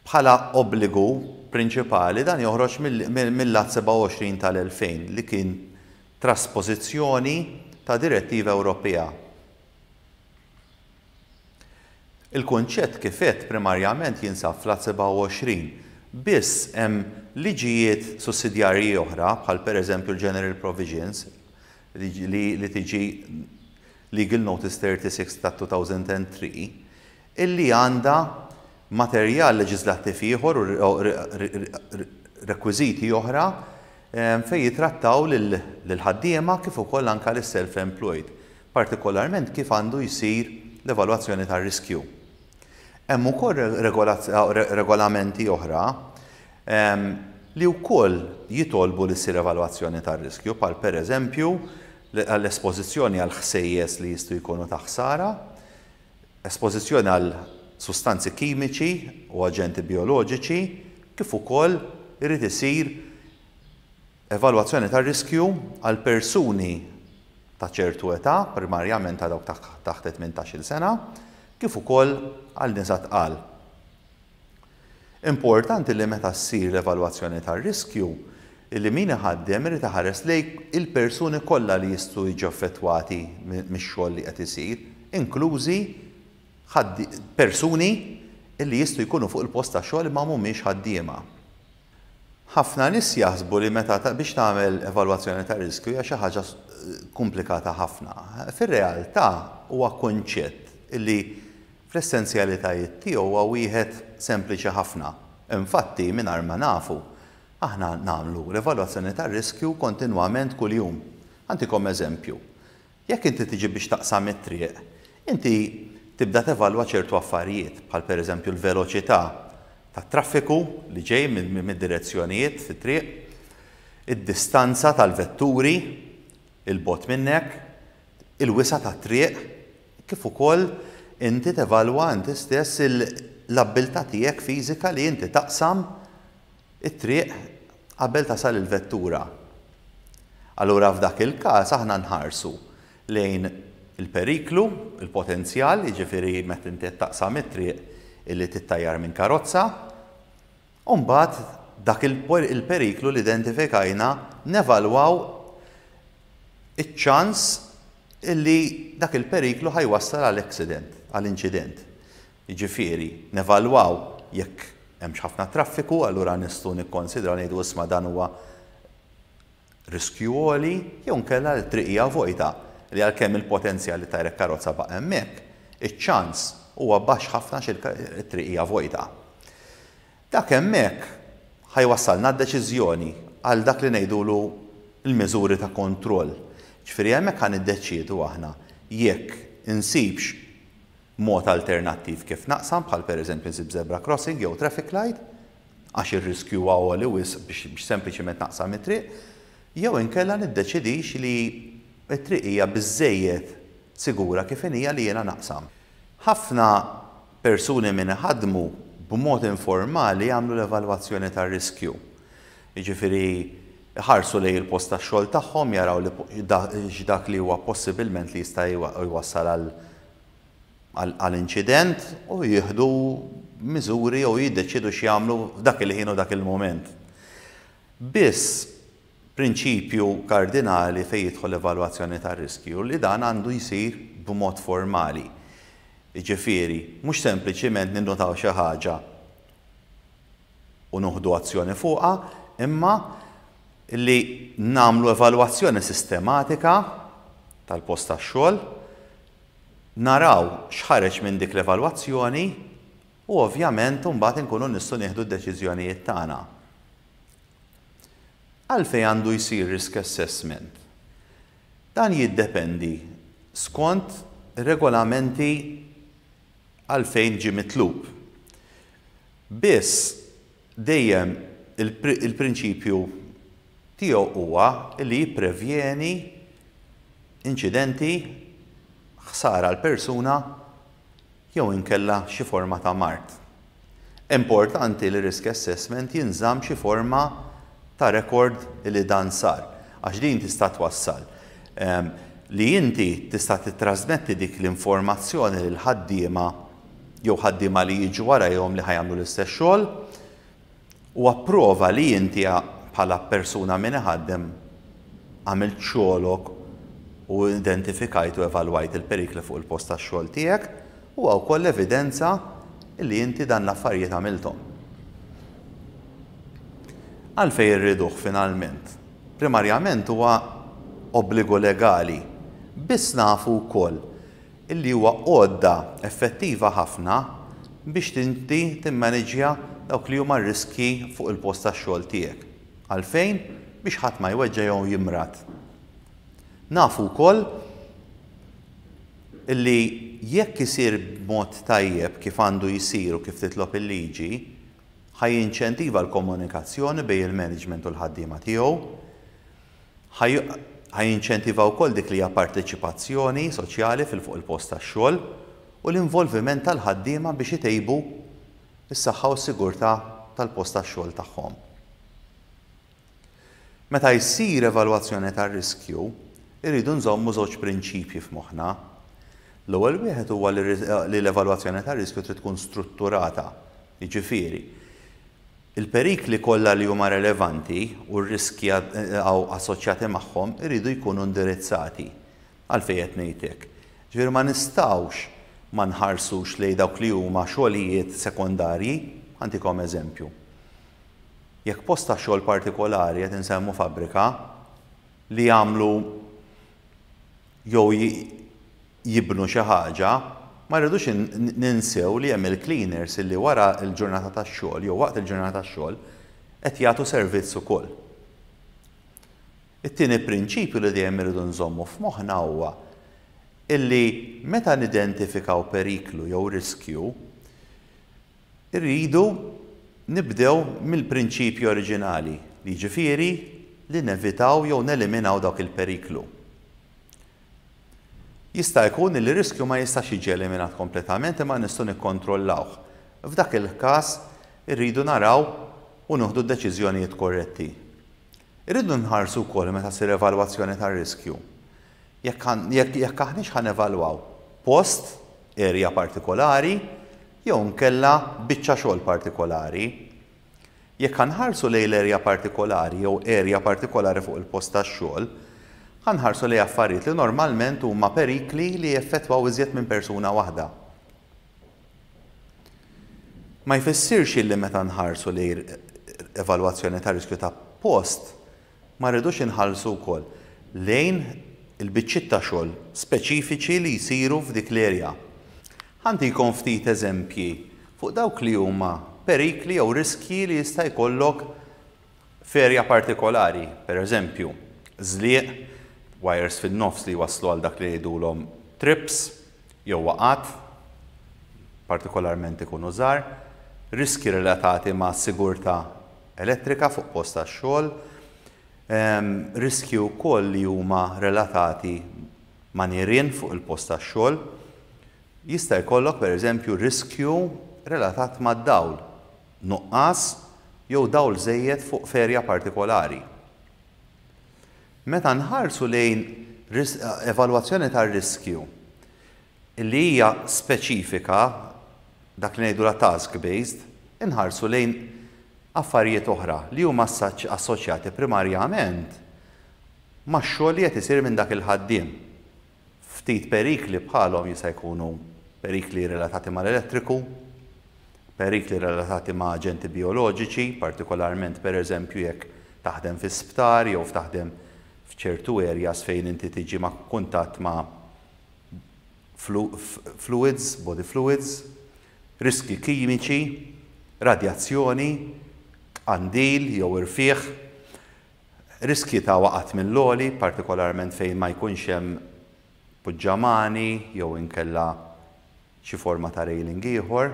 Bħala obbligu prinċipali dan joħroġ mill-Att 27 tal-2000 li kien traspożizzjoni ta' direttiva Ewropea. Il-kunċett kif għedt primarjament jinsab fl-Att 27, biss hemm liġijiet sussidjarji oħra bħal pereżempju l-General Provisions li li tiġi Legal Notice 36 ta' 2003 illi għandha materjal leġiżlattiv ieħor u rekwiżiti oħra fejn jitrattaw lill-ħaddiema kif ukoll anke lis-self-employed, partikolarment kif għandu jsir l-evalwazzjoni tar-riskju. Hemm ukoll regolamenti oħra li wkoll jitolbu li ssir evalwazzjoni tar-riskju, bħal pereżempju l-espożizzjoni għal ħsejjes li jistgħu jkunu ta' ħsara, espożizzjoni għal sustanzi kimiċi u aġenti bijoloġiċi, kif ukoll irid isir evalwazzjoni tar-riskju għal persuni ta' ċertu età, primarjament ta' dawk taħt it-tmintax-il sena, kif ukoll għal nisa tqal. Importanti li meta ssir l-evalwazzjoni tar-riskju, li min iħaddem irid iħares lejn il-persuni kollha li jistgħu jiġu affettwati mix-xogħol li qed isir, inklużi persuni li jistgħu jkunu fuq il-post tax-xogħol imma mhumiex ħaddiema. Ħafna nies jaħsbu li meta biex tagħmel evalwazzjoni ta' riskju hija xi ħaġa komplikata ħafna. Fir-realtà huwa kunċett li fl-essenzjalitajiet tiegħu huwa wieħed sempliċi ħafna. Infatti, mingħajr ma nafu, aħna nagħmlu l-evalwazzjoni tar-riskju kontinwament kuljum. Ħa ntikom eżempju. Jekk inti tiġi biex taqsam it-triq, inti tibda tevalwa ċertu affarijiet, bħal pereżempju l-veloċità tat-traffiku li ġej mid-direzzjonijiet fit-triq, id-distanza tal-vetturi 'il bogħod minnek, il-wisa' tat-triq, kif ukoll inti tevalwa inti stess l-abbiltà tiegħek fiżika li inti taqsam it-triq qabel tasal il-vettura. Allura f'dak il-każ aħna nħarsu lejn il-periklu, il-potenzjal, jiġifieri meta inti qed taqsam it-triq illi tittajjar minn karozza, u mbagħad dak il-periklu li identifikajna nevalwaw iċ-ċans illi dak il-periklu ħa jwassal għal accident, għal inċident. Jiġifieri, nevalwaw jekk hemmx ħafna traffiku, allura nistgħu nikkonsidraw ngħidu isma' dan huwa riskju għoli, jew inkella li t-triq hija vojta, li għalkemm il-potenzjal li tgħajrek karozza baqa' hemmhekk, iċ-ċans huwa baxx ħafna għax it-triq hija vojta. Dak hemmhekk ħa jwassalna għad-deċiżjoni, għal dak li ngħidulu l-miżuri ta' kontroll. Ġifieri hemmhekk ħa niddeċiedu aħna jekk insibx mod alternattiv kif naqsam, bħal pereżempju nsib zebra crossing jew traffic light, għax ir-riskju huwa għoli wisq biex sempliċement naqsam it-triq, jew inkella niddeċidix li t-triq hija biżżejjed sigura kif inhija li jiena naqsam. Ħafna persuni min iħaddmu b'mod informali jagħmlu l-evalwazzjoni tar-riskju. Jiġifieri iħarsu lejn il-post tax-xogħol tagħhom, jaraw li x'dak li huwa possibilment li jista' jwassal għal għal inċident u jieħdu miżuri jew jiddeċiedu x'jagħmlu f'dak il-ħin u dak il-mument. Biss prinċipju kardinali fejn jidħol l-evalwazzjoni tar-riskju li dan għandu jsir b'mod formali. Jiġifieri, mhux sempliċiment ninnutaw xi ħaġa u nieħdu azzjoni fuqha, imma li nagħmlu evalwazzjoni sistematika tal-post tax-xogħol, naraw x'ħareġ minn dik l-evalwazzjoni u ovvjament imbagħad inkunu nistgħu nieħdu d-deċiżjonijiet tagħna. Għalfejn għandu jsir risk assessment? Dan jiddependi skont regolamenti għalfejn ġie mitlub. Biss dejjem il-prinċipju tiegħu huwa li jipprevjeni inċidenti, ħsara għal persuna jew inkella xi forma ta' mard. Importanti li risk assessment jinżamm xi forma ta' rekord li dan sar, għax din tista' twassal li inti tista' tittrasmetti dik l-informazzjoni lil ħaddiema jew ħaddiema li jiġu warajhom li ħa jagħmlu l-istess xogħol, Huwa prova li inti bħala persuna min iħaddem għamilt xogħlok u identifikajt u evalwajt il-perikli fuq il-post tax-xogħol tiegħek huwa wkoll evidenza li inti dan l-affarijiet għamilthom. Għalfejn irriduh finalment? Primarjament huwa obbligu legali. Biss nafu wkoll illi huwa għodda effettiva ħafna biex inti timmaniġġja dawk li huma r-riskji fuq il-post tax-xogħol tiegħek. Għalfejn? Biex ħadd ma jweġġa' jew jimrad. Nafu wkoll illi jekk isir b'mod tajjeb kif għandu jsir u kif titlob il-liġi, ħa jinċentiva l-komunikazzjoni bejn il-management u l-ħaddiema tiegħu, ħa jinċentiva wkoll dik li hija parteċipazzjoni soċjali fil fuq il-post tax-xogħol u l-involviment tal-ħaddiema biex itejbu s-saħħa u s-sigurtà tal-post tax-xogħol tagħhom. Meta jsir evalwazzjoni tar-riskju, irridu nżommu żewġ prinċipji f'moħħna. L-ewwel wieħed huwa li l-evalwazzjoni tar-riskju trid tkun strutturata, jiġifieri, il-perikli kollha li huma relevanti u r-riskji assoċjati magħhom iridu jkunu indirizzati. Għalfejn qed ngħid hekk? Ġifieri ma nistgħux ma nħarsux lejn dawk li huma xogħlijiet sekondarji. Ħa ntikom eżempju. Jekk post ta' xogħol partikolari qed insemmu fabbrika li jagħmlu jew jibnu xi ħaġa, ma rridux ninsew li hemm il-cleaners illi wara l-ġurnata tax-xogħol jew waqt il-ġurnata tax-xogħol qed jagħtu servizz ukoll. It-tieni prinċipju li dejjem irridu nżommu f'moħħna huwa illi meta nidentifikaw periklu jew riskju, Irridu nibdew mill-prinċipji oriġinali, jiġifieri li nevitaw jew neliminaw dawk il-periklu. Jista' jkun li riskju ma jistax jiġi eliminat kompletament imma nistgħu nikkontrollawh. F'dak il-każ irridu naraw u nieħdu d-deċiżjonijiet korretti. Irridu nħarsu wkoll meta ssir evalwazzjoni tar-riskju jekk aħniex ħa nevalwaw post, area partikolari, jew inkella biċċa xogħol partikolari. Jekk ħa nħarsu lejn l-area partikolari jew area partikolari fuq il-post tax-xogħol, ħa nħarsu lejn affarijiet li normalment huma perikli li jeffettwaw iżjed minn persuna waħda. Ma jfissirx illi meta nħarsu lejn evalwazzjoni ta' riskju ta' post ma rridux inħallsu wkoll lejn il-biċċiet ta' xogħol speċifiċi li jsiru f'dik l-area. Ħa ntikom ftit eżempji fuq dawk li huma perikli jew riskji li jista' jkollok f'area partikolari, per eżempju, żlieq, wires fin-nofs li jwasslu għal dak li jgħidulhom trips jew waqgħat, partikolarment ikunu żgħar, riskji relatati ma' sigurtà elettrika fuq post tax-xogħol, riskji wkoll li huma relatati ma' nirien fuq il-post tax-xogħol. Jista' jkollok pereżempju riskju relatat mad-dawl, nuqqas jew dawl żejjed fuq f'erja partikolari. Meta nħarsu lejn evalwazzjoni tar-riskju li hija speċifika, dak li ngħidulha task-based, inħarsu lejn affarijiet oħra li huma assoċjati primarjament max-xogħol li qed isir minn dak il-ħaddiem. Ftit perikli bħalhom jista' jkunu perikli relatati mal-elettriku, perikli relatati ma' aġenti bijoloġiċi, partikolarment pereżempju jekk taħdem fi sptar jew taħdem f'ċertu areas fejn inti tiġi ma' kuntatt ma' fluids, body fluids, riskji kimiċi, radjazzjoni, tqandil jew irfigħ, riskji ta' waqgħat mill-għoli, partikolarment fejn ma jkunx hemm puġġamani jew inkella xi forma ta' railing ieħor.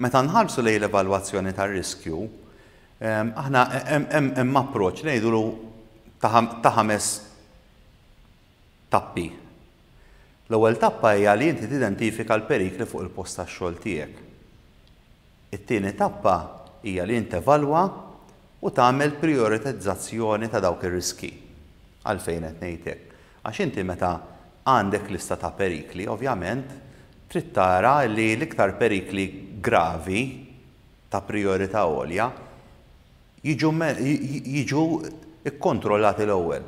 Meta nħarsu lejn l-evalwazzjoni tar-riskju, aħna hemm approċċ li ngħidulu ta' ħames tappi. L-ewwel tappa hija li inti tidentifika l-perikli fuq il-post tax-xogħol tiegħek. It-tieni tappa hija li int tevalwa u tagħmel prijoritizzazzjoni ta' dawk ir-riskji. Għalfejn qed ngħid hekk? Għax inti meta għandek lista ta' perikli, ovvjament trid tara li l-iktar perikli gravi ta' prijorità għolja jiġu jiġu kkontrollati l-ewwel.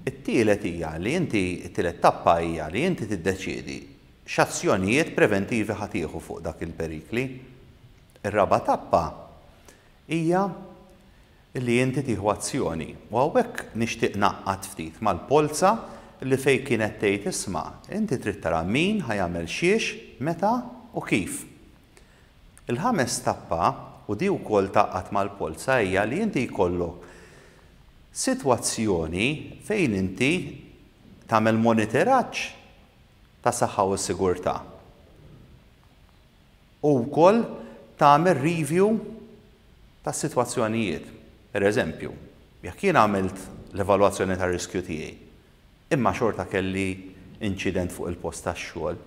It-tielet hija li inti, it-tielet tappa hija li inti tiddeċiedi x'azzjonijiet preventivi ħa tieħu fuq dak il-perikli. Ir-raba' tappa hija li inti tieħu azzjoni. U hawnhekk nixtieq ngħaqqad ftit mal-polza li fejn kienet tgħid isma' inti trid tara min ħa jagħmel xiex, meta u kif. Il-ħames tappa, u di wkoll tgħaqqad mal-polza, hija li inti jkollok sitwazzjoni fejn inti tagħmel monitoraġġ ta' saħħa u sigurtà. U wkoll tagħmel review tas-sitwazzjonijiet. Per eżempju, jekk jien għamilt l-evalwazzjoni tar-riskju tiegħi, imma xorta kelli inċident fuq il-post tax-xogħol,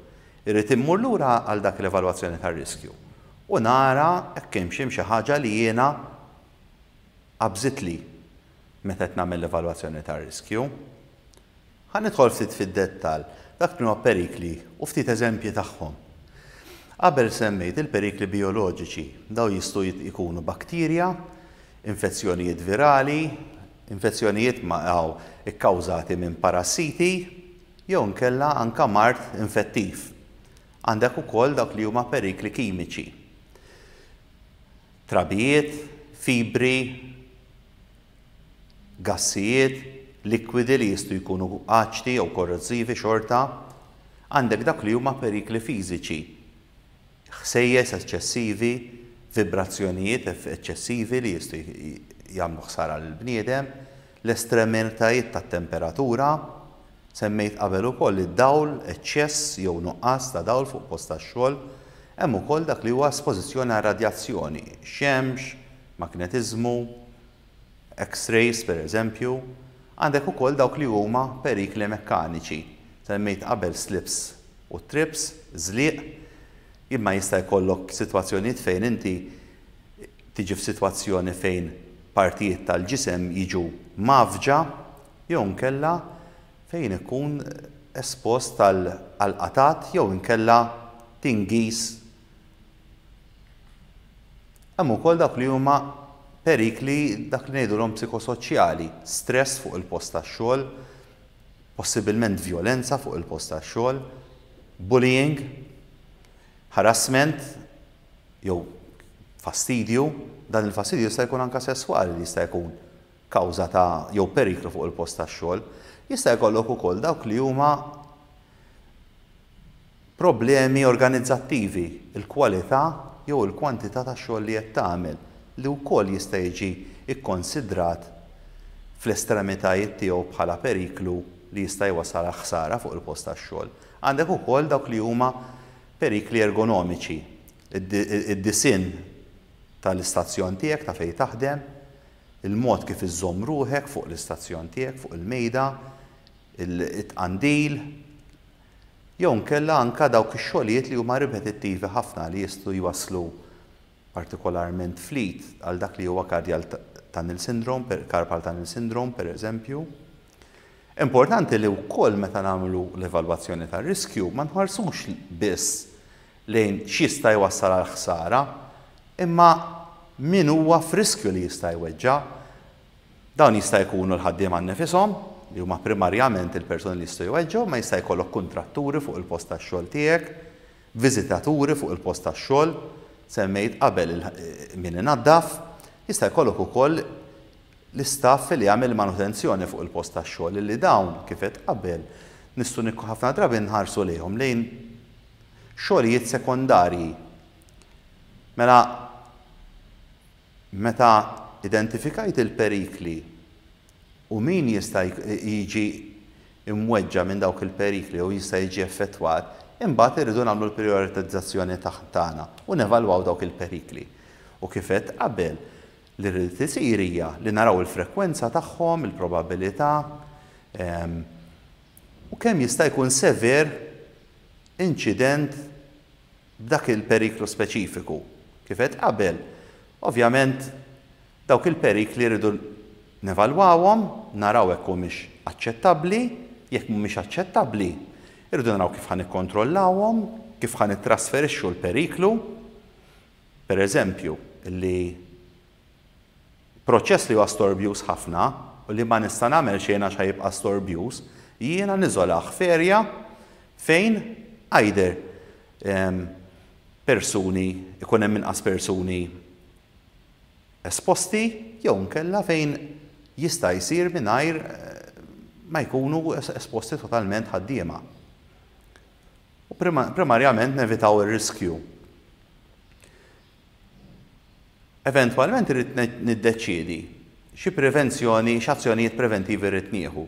irrid immur lura għal dak l-evalwazzjoni tar-riskju u nara jekk hemmx hemm xi ħaġa li jiena qabżitli meta qed nagħmel l-evalwazzjoni tar-riskju. Ħa nidħol ftit fid-dettall dak li huma perikli u ftit eżempji tagħhom. Qabel semmejt il-perikli bijoloġiċi, dawn jistgħu jkunu bakterja, infezzjonijiet virali, infezzjonijiet ikkawżati minn parassiti jew inkella anke mard infettiv. Għandek ukoll dawk li huma perikli kimiċi. Trabijiet, fibri, gassijiet, likwidi li jistgħu jkunu aċti jew korrożivi xorta. Għandek dak li huma perikli fiżiċi. Ħsejjes eċċessivi, vibrazzjonijiet eċċessivi li jistgħu jagħmlu ħsara lill-bniedem, l-estremitajiet tat-temperatura, semmejt qabel ukoll id-dawl, eċċess jew nuqqas ta' dawl fuq post tax-xogħol, hemm ukoll dak li huwa espożizzjoni għar-radjazzjoni, xemx, magnetiżmu, X-rays per eżempju, għandek ukoll dawk li huma perikli mekkaniċi. Semmejt qabel slips u trips, żliq, imma jista' jkollok sitwazzjonijiet fejn inti tiġi f'sitwazzjoni fejn partijiet tal-ġisem jiġu mgħaffġa jew inkella fejn ikun espost għal qatgħat jew inkella tingiż. Hemm ukoll dawk li huma perikli dak li ngħidulhom psikosoċjali, stress fuq il-post tax-xogħol, possibilment vjolenza fuq il-post tax-xogħol, bullying, harassment jew fastidju, dan il-fastidju jista' jkun anke sesswali li jista' jkun kawża ta' jew periklu fuq il-post tax-xogħol. Jista' jkollok ukoll dawk li huma Problemi organizzattivi, il-kwalità jew il-kwantità ta' xogħol li qed tagħmel, li wkoll jista' jiġi kkonsidrat fl-estremitajiet tiegħu bħala periklu li jista' jwassal għal ħsara fuq il-post tax-xogħol. Għandek ukoll dawk li huma perikli ergonomiċi, id-disinn tal-istazzjon tiegħek ta' fejn taħdem, il-mod kif iżżomm ruħek fuq l-istazzjon tiegħek, fuq il-mejda, it-tqandil, jew inkella anke dawk ix-xogħlijiet li huma ripetittivi ħafna li jistgħu jwasslu partikolarment fl-id għal dak li huwa cardial tunnel syndrome, carpal tunnel syndrome pereżempju. Importanti li wkoll meta nagħmlu l-evalwazzjoni tar-riskju ma nħarsux biss lejn x'jista' jwassal għal ħsara, imma min huwa f'riskju li jista' jweġġa'. Dawn jista' jkunu l-ħaddiema nnifishom, li huma primarjament il-persuni li jistgħu jweġġgħu, imma jista' jkollok kuntratturi fuq il-post tax-xogħol tiegħek, viżitaturi fuq il-post tax-xogħol, semmejt qabel min inaddaf, jista' jkollok ukoll l-istaff li jagħmel manutenzjoni fuq il-post tax-xogħol li dawn, kif għedt qabel, nistgħu ħafna drabi nħarsu lejhom lejn xogħlijiet sekondarji. Mela Meta identifikajt il-perikli u min jista' jiġi mweġġa' minn dawk il-perikli jew jista' jiġi effettwat, imbagħad irridu nagħmlu l-prijoritizzazzjoni tagħna u nevalwaw dawk il-perikli. U kif għedt qabel, li rrid isir hija li naraw il-frekwenza tagħhom, il-probabilità, u kemm jista' jkun sever inċident b'dak il-periklu speċifiku. Kif għedt qabel, ovvjament dawk il-perikli rridu nevalwawhom, naraw jekk humiex aċċettabbli, jekk mhumiex aċċettabbli, irridu naraw kif ħa nikkontrollawhom, kif ħa nittrasferixxu l-periklu. Per eżempju, li proċess li huwa storbjuż ħafna. u li ma nista' nagħmel xejn għax ħa jibqa' storbjuż, jiena niżolah f'area fejn either persuni, ikun hemm inqas persuni esposti jew inkella fejn jista' jsir mingħajr ma jkunu esposti totalment ħaddiema. U primarjament nevitaw ir-riskju. Eventwalment irrid niddeċiedi xi prevenzjoni, x'azzjonijiet preventivi rrid nieħu.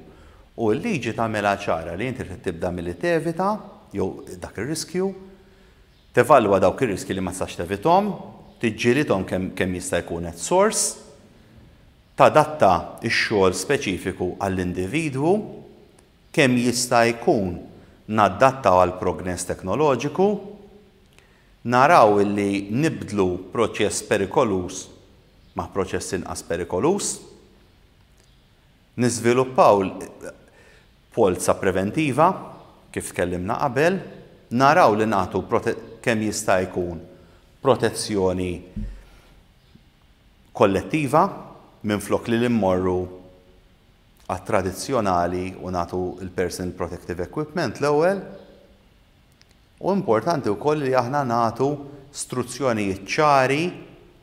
U l-liġi tagħmilha ċara li inti trid tibda milli tevita jew dak ir-riskju, tevalwa dawk ir-riskji li ma tistax tevithom, tiġġielidhom kemm jista' jkun at source, tadatta x-xogħol speċifiku għall-individwu, kemm jista' jkun nadattaw għall-progress teknoloġiku, naraw illi nibdlu proċess perikoluż ma' proċess inqas perikoluż, niżviluppaw polza preventiva, kif tkellimna qabel, naraw li nagħtu kemm jista' jkun protezzjoni kollettiva minflok li mmorru għat-tradizzjonali u nagħtu l-personal protective equipment l-ewwel. U importanti wkoll li aħna nagħtu struzzjonijiet ċari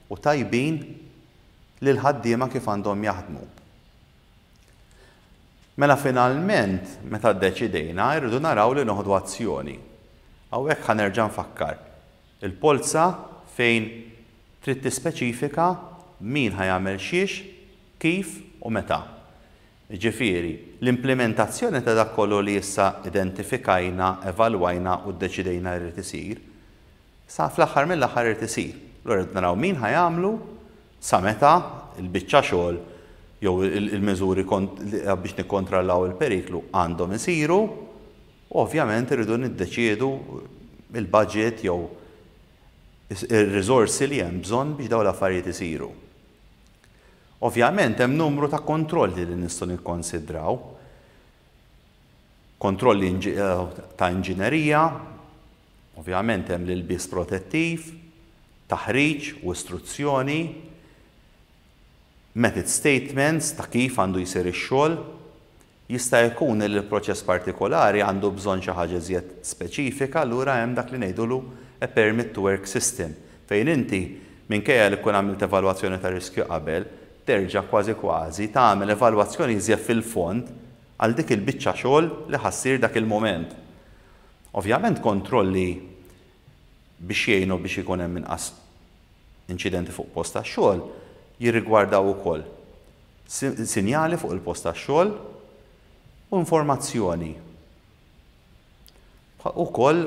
u tajbin lil ħaddiema kif għandhom jaħdmu. Mela finalment, meta ddeċidejna, irridu naraw li noħdu azzjoni. Hawnhekk ħa nerġa' nfakkar. Il-polza fejn trid tispeċifika min ħa jagħmel xiex, kif u meta. Jiġifieri, l-implementazzjoni ta' dak kollu li issa identifikajna, evalwajna u ddeċidejna jrid isir, sa fl-aħħar mill-aħħar irid isir. Allura rridu naraw min ħa jagħmlu, sa meta l-biċċa xogħol jew il-miżuri biex nikkontrollaw il-periklu għandhom isiru, u ovvjament irridu niddeċiedu il-budget jew ir-riżorsi li hemm bżonn biex dawn l-affarijiet isiru. Ovvjament hemm numru ta' kontrolli li nistgħu nikkonsidraw. Kontrolli ta' inġinerija, ovvjament hemm l-ilbies protettiv, taħriġ u istruzzjoni, method statements ta' kif għandu jsir ix-xogħol. Jista' jkun li l-proċess partikolari għandu bżonn xi ħaġa iżjed speċifika, allura hemm dak li ngħidulu a permit to work system, fejn inti minkejja li tkun għamilt evalwazzjoni ta' riskju qabel, terġa' kważi kważi tagħmel evalwazzjoni iżjed fil-fond għal dik il-biċċa xogħol li ħa ssir dak il-mument. Ovvjament kontrolli biex jgħinu biex ikun hemm inqas inċidenti fuq post tax-xogħol jirrigwardaw ukoll sinjali fuq il-post tax-xogħol u informazzjoni. Ukoll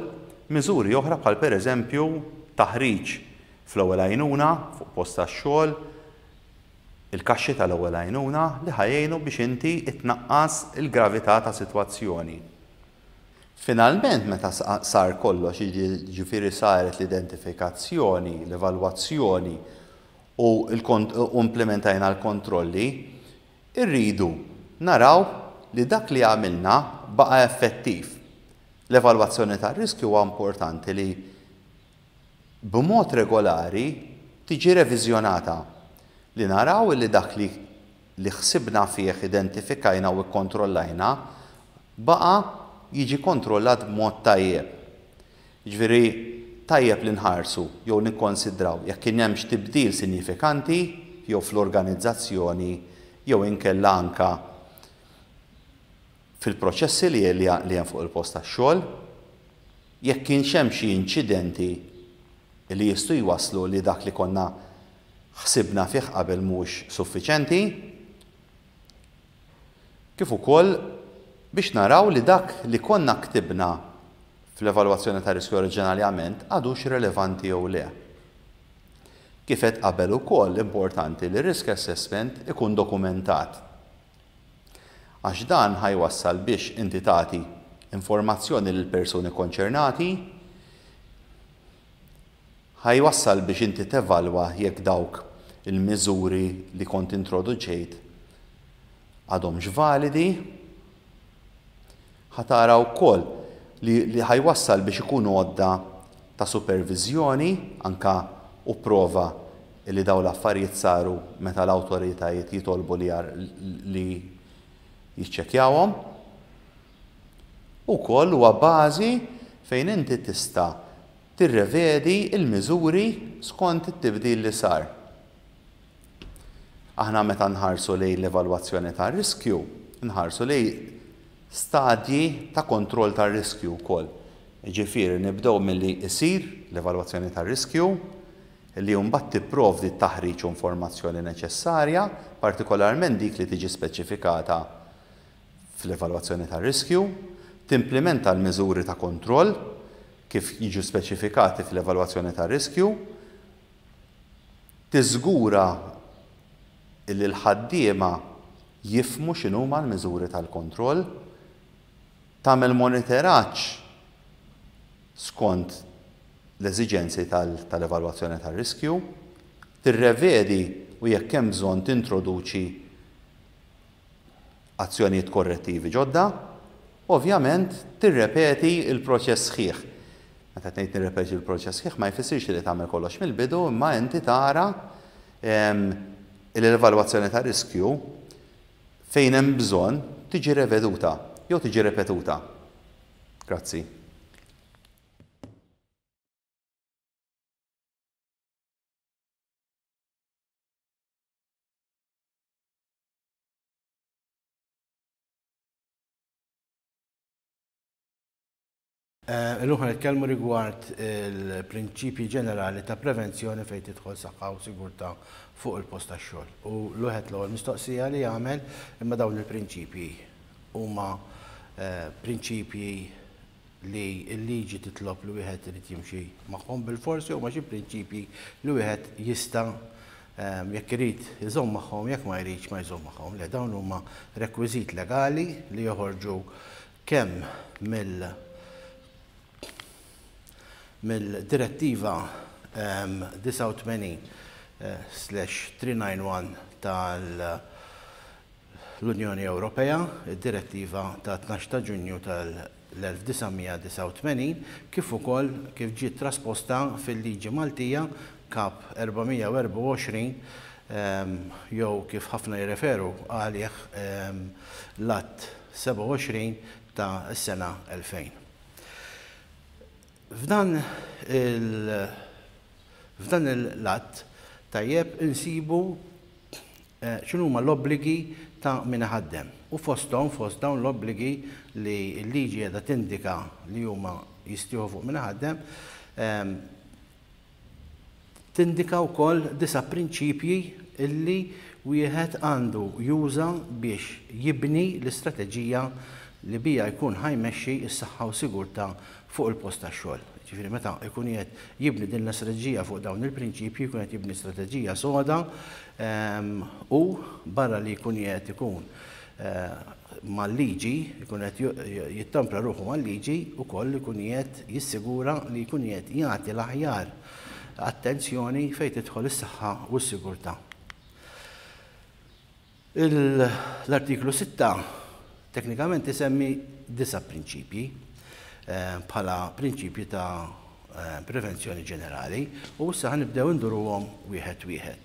miżuri oħra bħal pereżempju taħriġ fl-ewwel għajnuna fuq post tax-xogħol, il-kaxxi tal-ewwel għajnuna li ħa jgħinu biex inti tnaqqas il-gravità ta' sitwazzjoni. Finalment meta sar kollox, jiġifieri saret l-identifikazzjoni, l-evalwazzjoni u implementajna l-kontrolli, irridu naraw li dak li għamilna baqa' effettiv. L-evalwazzjoni tar-riskju huwa importanti li b'mod regolari tiġi reviżjonata, li naraw li dak li li ħsibna fih, identifikajna u kkontrollajna baqa' jiġi kontrollat b'mod tajjeb. Jiġifieri tajjeb li nħarsu jew nikkonsidraw jekk kien hemmx tibdil sinjifikanti jew fl-organizzazzjoni jew inkella anke fil-proċessi li li hemm fuq il-post tax-xogħol, jekk kienx hemm xi inċidenti li jistgħu jwasslu li dak li konna ħsibna fih qabel mhux suffiċenti, kif ukoll biex naraw li dak li konna ktibna fl-evalwazzjoni ta' riskju oriġinarjament għadux relevanti jew le. Kif għedt qabel ukoll importanti li risk assessment ikun dokumentat. Għax dan ħa jwassal biex inti tagħti informazzjoni lil persuni konċernati, ħa jwassal biex inti tevalwa jekk dawk il-miżuri li kont introduċejt għadhomx validi, ħa tara wkoll li ħa jwassal biex ikun għodda ta' superviżjoni anka u prova. illi dawn l-affarijiet saru meta l-awtoritajiet jitolbu li li jiċċekkjawhom. Ukoll huwa bażi fejn inti tista' tirrevedi l-miżuri skont it-tibdil li sar. Aħna meta nħarsu lejn l-evalwazzjoni tar-riskju, nħarsu lejn stadji ta' kontroll tar-riskju wkoll. Jiġifieri nibdew milli jsir l-evalwazzjoni tar-riskju, li mbagħad tipprovdi t-taħriġ u informazzjoni neċessarja, partikolarment dik li tiġi speċifikata fl-evalwazzjoni tar-riskju, timplimenta l-miżuri ta' kontroll kif jiġu speċifikati fl-evalwazzjoni tar-riskju, tiżgura li l-ħaddiema jifhmu x'inhuma l-miżuri tal-kontroll, tagħmel monitoraġġ skont l-eżiġenzi tal-evalwazzjoni tar-riskju, tirrevedi u jekk hemm bżonn tintroduċi azzjonijiet korrettivi ġodda, u ovvjament tirrepeti l-proċess sħiħ. Meta qed ngħid nirrepeti l-proċess sħiħ ma jfissirx li tagħmel kollox mill-bidu imma inti tara li l-evalwazzjoni ta' riskju fejn hemm bżonn tiġi reveduta jew tiġi repetuta. Grazzi. Illum ħa nitkellmu rigward il-prinċipji ġenerali ta' prevenzjoni fejn tidħol saħħa u sigurtà fuq il-post tax-xogħol. U l-wieħed l-ewwel mistoqsija li jagħmel imma dawn il-prinċipji huma prinċipji li l-liġi titlob li wieħed irid jimxi magħhom bilfors jew huma xi prinċipji li wieħed jista' jekk irid iżomm magħhom, jekk ma jridx ma jżomm magħhom. Le, dawn huma rekwiżit legali li joħorġu kemm mill mill-Direttiva 89/391 tal l-Unjoni Ewropea, id-Direttiva ta' 12 ta' Ġunju tal-1989, kif ukoll kif ġiet trasposta fil-liġi Maltija, Kap 424, jew kif ħafna jirreferu għalih l-Att 27 ta' s-sena 2000. F'dan il f'dan l-att tajjeb insibu x'inhuma l-obbligi ta' min iħaddem u fosthom, fost dawn l-obbligi li l-liġi qiegħda tindika li huma jistieħu fuq min iħaddem, tindika wkoll disa' prinċipji li wieħed għandu juża biex jibni l-istrateġija li biha jkun ħa jmexxi s-saħħa u sigurtà fuq il-post tax-xogħol. Jiġifieri meta jkun qiegħed jibni din l-istrateġija fuq dawn il-prinċipji jkun qed jibni strateġija soda u barra li jkun qiegħed ikun mal-liġi, jkun qed jittampra ruħu mal-liġi, ukoll ikun qiegħed jissigura li jkun qiegħed jagħti l-aħjar attenzjoni fejn tidħol is-saħħa u s-sigurtà. L-artiklu 6 teknikament isemmi disa' prinċipji bħala prinċipji ta' prevenzjoni ġenerali u issa ħa nibdew induruhom wieħed wieħed.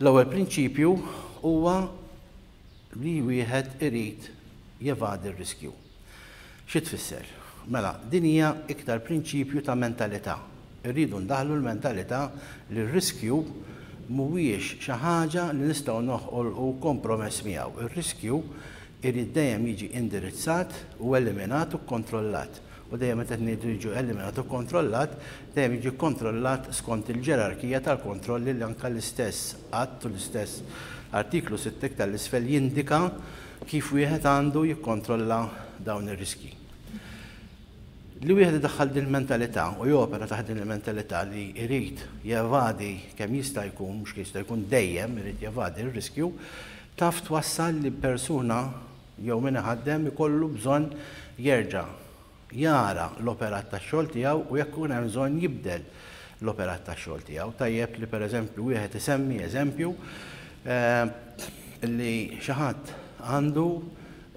L-ewwel prinċipju huwa li wieħed irid jevadi r-riskju. Xi tfisser? Mela, din hija iktar prinċipju ta' mentalità. Irridu ndaħħlu l-mentalità li r-riskju mhuwiex xi ħaġa li nistgħu noħolqu kompromess miegħu. Ir-riskju irid dejjem jiġi indirizzat u eliminat u kkontrollat. U dejjem meta qed ngħidu jiġu eliminat u kkontrollat, dejjem jiġi kkontrollat skont il-ġerarkija tal-kontrolli li anke l-istess Att u l-istess Artiklu 6 iktar 'l isfel jindika kif wieħed għandu jikkontrolla dawn ir-riskji. Li wieħed idaħħal din il-mentalità u jopera taħt din il-mentalità li jrid jevadi kemm jista' jkun, mhux kemm jista' jkun dejjem irid jevadi r-riskju, taf twassal li persuna jew min iħaddem ikollu bżonn jerġa' jara l-operat tax-xogħol tiegħu u jekk ikun hemm bżonn jibdel l-operat tax-xogħol tiegħu. Tajjeb li pereżempju wieħed isemmi eżempju li xi ħadd għandu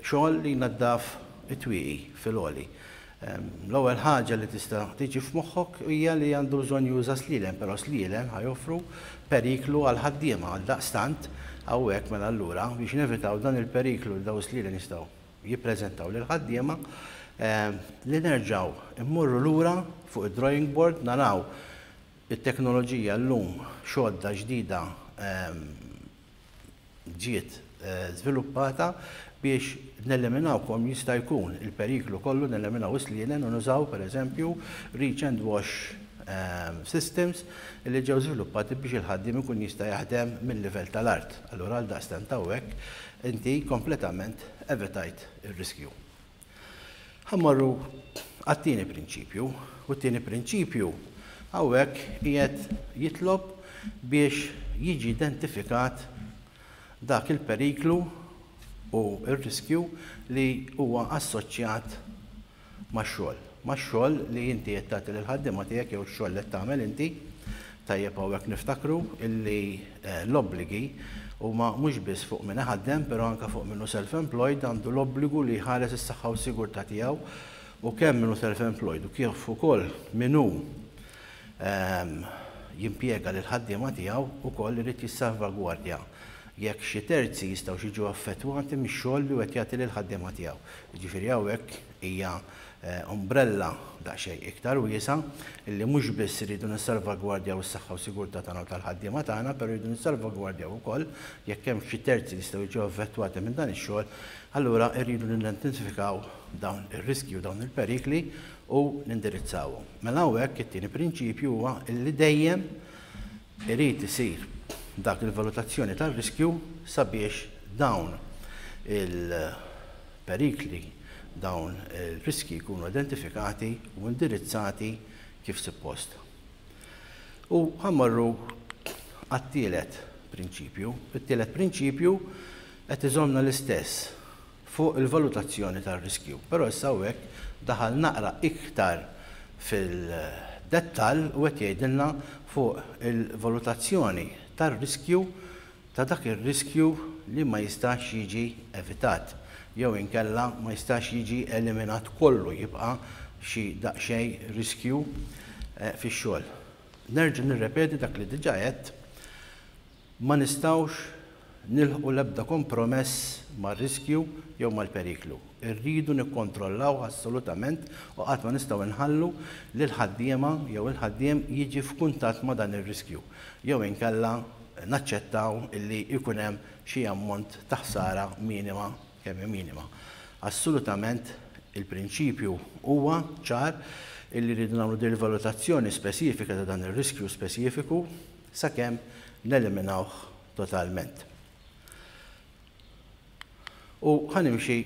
xogħol li jnaddaf it-twieqi fil-għoli. L-ewwel ħaġa li tista' tiġi f'moħħok hija li għandu bżonn juża slielem, però slielem ħa joffru periklu għall-ħaddiema. Għaldaqstant, hawnhekk mela allura biex nevitaw dan il-periklu li dawn is-slielem jistgħu jippreżentaw lill-ħaddiema, li nerġgħu mmorru lura fuq id-drawing board naraw it-teknoloġija llum x'għodda ġdida ġiet żviluppata biex neliminaw kemm jista' jkun il-periklu kollu, neliminaw is-slienen u nużaw pereżempju reach and wash systems li ġew żviluppati biex il-ħaddiem ikun jista' jaħdem mil-livell tal-art. Allura għaldaqstant hawnhekk inti kompletament evitajt ir-riskju. Ħa mmorru għat-tieni prinċipju, u t-tieni prinċipju hawnhekk qiegħed jitlob biex jiġi identifikat dak il-periklu u r-riskju li huwa assoċjat max-xogħol. Max-xogħol li inti qed tagħti lill-ħaddiema tiegħek jew ix-xogħol li qed tagħmel inti. Tajjeb hawnhekk niftakru illi l-obbligi huma mhux biss fuq min iħaddem però anke fuq min hu self-employed għandu l-obbligu li jħares is-saħħa u s-sigurtà tiegħu u kemm min hu self-employed u kif ukoll min hu jimpjega lill-ħaddiema tiegħu wkoll irid jissalvagwardja jekk xi terzi jistgħux jiġu affettwati mix-xogħol li hu qed jagħti lill-ħaddiema tiegħu. Jiġifieri hawnhekk hija umbrella daqsxejn iktar wiesgħa illi mhux biss irridu nissalvagwardjaw is-saħħa u sigurtà tagħna u tal-ħaddiema tagħna, però rridu nissalvagwardjaw ukoll jekk hemm xi terzi li jistgħu jiġu affettwati minn dan ix-xogħol, allura rridu nidentifikaw dawn ir-riskji u dawn il-perikli u nindirizzawhom. Mela hawnhekk it-tieni prinċipju huwa illi dejjem irid isir dak il-valutazzjoni tar-riskju sabiex dawn il-perikli, dawn il-riskji jkunu identifikati u indirizzati kif suppost. U ħa mmorru għat-tielet prinċipju. It-tielet prinċipju qed iżommna l-istess fuq il-valutazzjoni tar-riskju. Però issa hawnhekk daħal naqra iktar fil-dettall u qed jgħidilna fuq il-valutazzjoni tar-riskju ta' dak ir-riskju li ma jistax jiġi evitat jew inkella ma jistax jiġi eliminat kollu, jibqa' xi daqsxejn riskju fix-xogħol. Nerġa' nirrepeti dak li diġà għedt, ma nistgħux nilħqu l-ebda kompromess mar-riskju jew mal-periklu. Irridu nikkontrollawh assolutament u qatt ma nistgħu nħallu lill-ħaddiema jew il-ħaddiem jiġi f'kuntatt ma' dan ir-riskju jew inkella naċċettaw illi jkun hemm xi ammont ta' ħsara minima kemm hi minima. Assolutament il-prinċipju huwa ċar illi rridu nagħmlu din il-valutazzjoni spesifika ta' dan ir-riskju spesifiku sakemm neliminawh totalment. U ħa nimxi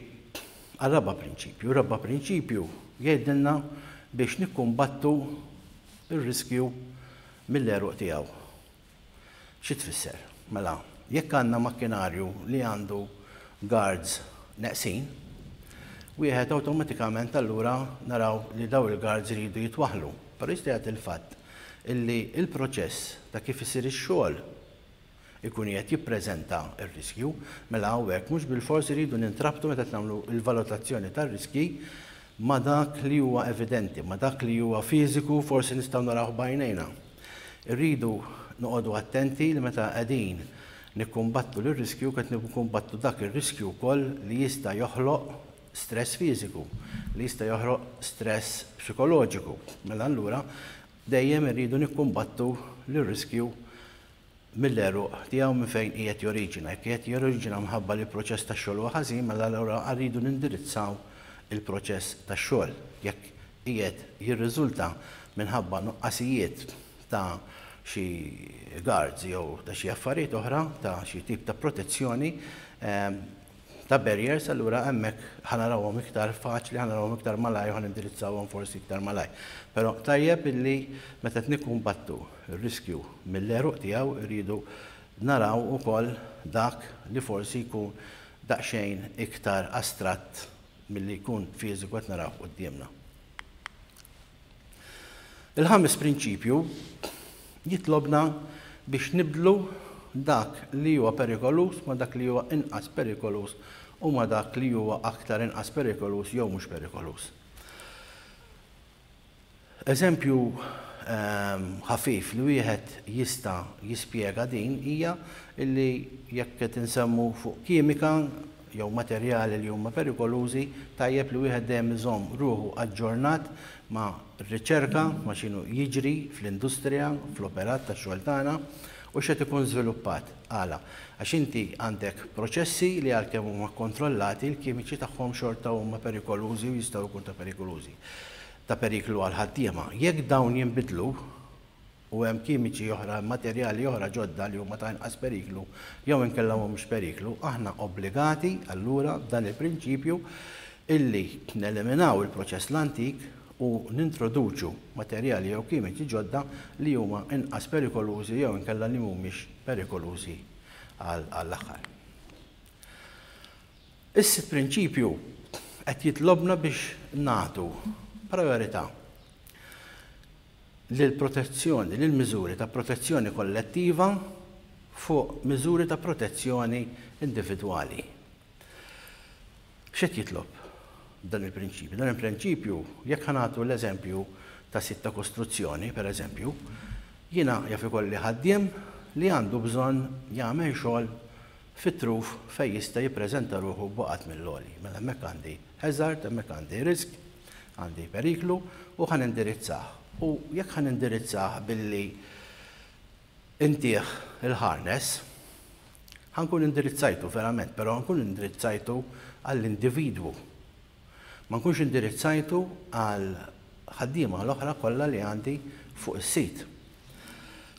għar-raba' prinċipju. Ir-raba' prinċipju jgħidilna biex nikkumbattu r-riskju mill-għeruq tiegħu. Xi tfisser? Mela, jekk għandna makkinarju li għandu guards neqsin, wieħed awtomatikament allura naraw li daw il-guards iridu jitwaħħlu. Però jista' jagħti l-fatt illi l-proċess ta' kif isir ix-xogħol ikun qiegħed jippreżenta r-riskju, mela hawnhekk mhux bilfors iridu nintrabtu meta qed nagħmlu l-valutazzjoni tar-riskji ma' dak li huwa evidenti, ma' dak li huwa fiżiku forsi nistgħu narawh b'għajnejna. Irridu noqogħdu attenti li meta qegħdin nikkumbattu lir-riskju qed nikkumbattu dak ir-riskju wkoll li jista' joħloq stress fiżiku, li jista' joħloq stress psikoloġiku. Mela allura dejjem irridu nikkumbattu lir-riskju mill-għeruq tiegħu minn fejn qiegħed joriġina. Jekk qiegħed joriġina minħabba li l-proċess tax-xogħol huwa ħażin, mela allura rridu nindirizzaw il-proċess tax-xogħol. Jekk qiegħed jirriżulta minħabba nuqqasijiet ta' xi guards jew ta' xi affarijiet oħra, ta' xi tip ta' protezzjoni, ta' barriers, allura hemmhekk ħa narawhom iktar faċli, ħa narawhom iktar malajr u ħa nindirizzawhom forsi iktar malajr. Però tajjeb illi meta qed nikkumbattu r-riskju mill-għeruq tiegħu rridu naraw ukoll dak li forsi jkun daqsxejn iktar astratt milli jkun fiżiku qed narawh quddiemna. Il-ħames prinċipju jitlobna biex nibdlu dak li huwa perikoluż ma' dak li huwa inqas perikoluż u ma' dak li huwa aktar inqas perikoluż jew mhux perikoluż. Eżempju ħafif li wieħed jista' jispjega din hija li jekk qed insemmu fuq kimika jew materjali li huma perikolużi, tajjeb li wieħed dejjem iżomm ruħu aġġornat ma' riċerka, ma' x'inhu jiġri fl-industrija, fl-operat tax-xogħol tagħna u x'qed ikun żviluppat. Għala? Għax inti għandek proċessi li għalkemm huma kkontrollati, il-kimiċi tagħhom xorta huma perikolużi u jistgħu jkunu ta' perikolużi. Ta' periklu għall-ħaddiema. Jekk dawn jinbidlu u hemm kimiċi oħra, materjali oħra ġodda li huma ta' inqas periklu jew inkella mhumiex periklu, aħna obbligati allura b'dan il-prinċipju illi neliminaw il-proċess l-antik u nintroduċu materjali jew kimiċi ġodda li huma inqas perikolużi jew inkella li mhumiex perikolużi għall-aħħar. Is-sitt prinċipju qed jitlobna biex nagħtu prijorità lill-protezzjoni, lill-miżuri ta' protezzjoni kollettiva fuq miżuri ta' protezzjoni individwali. X'qed jitlob dan il-prinċipju? Dan il-prinċipju, jekk ħa nagħtu l-eżempju ta' sit ta' kostruzzjoni, per eżempju, jiena jaf ikolli ħaddiem li għandu bżonn jagħmel xogħol fit-truf fejn jista' jippreżenta ruħu b'waqgħat mill-għoli. Mela hemmhekk għandi hazard, hemmhekk għandi risk, għandi periklu u ħa nindirizzah. U jekk ħa nindirizzah billi intih il-harness, ħa nkun indirizzajtu verament, però nkun indirizzajtu għall-individwu. Ma nkunx indirizzajtu għal ħaddiema l-oħra kollha li għandi fuq is-sit.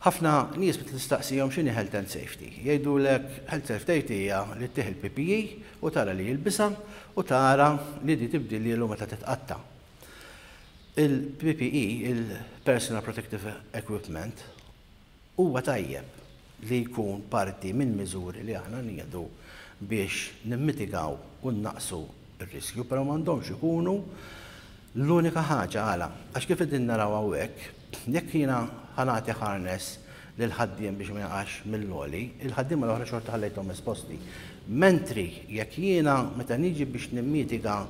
Ħafna nies meta tistaqsihom x'inhi health and safety, jgħidulek health and safety hija li ttih il-PPE u tara li jilbisha u tara li di tibdilhielu meta titqatta'. Il-PPE, il-Personal Protective Equipment, Huwa tajjeb li jkun parti mill-miżuri li aħna nieħdu biex nimmitigaw u nnaqqsu r-riskju, però m'għandhomx ikunu l-unika ħaġa. Għala? Għax kif qegħdin naraw hawnhekk, jekk jiena ħa nagħti harness lill-ħaddiem biex ma jaqax mill-għoli, il-ħaddiema l-oħra xorta ħallejthom esposti. Mentri jekk jiena meta niġi biex nimmitiga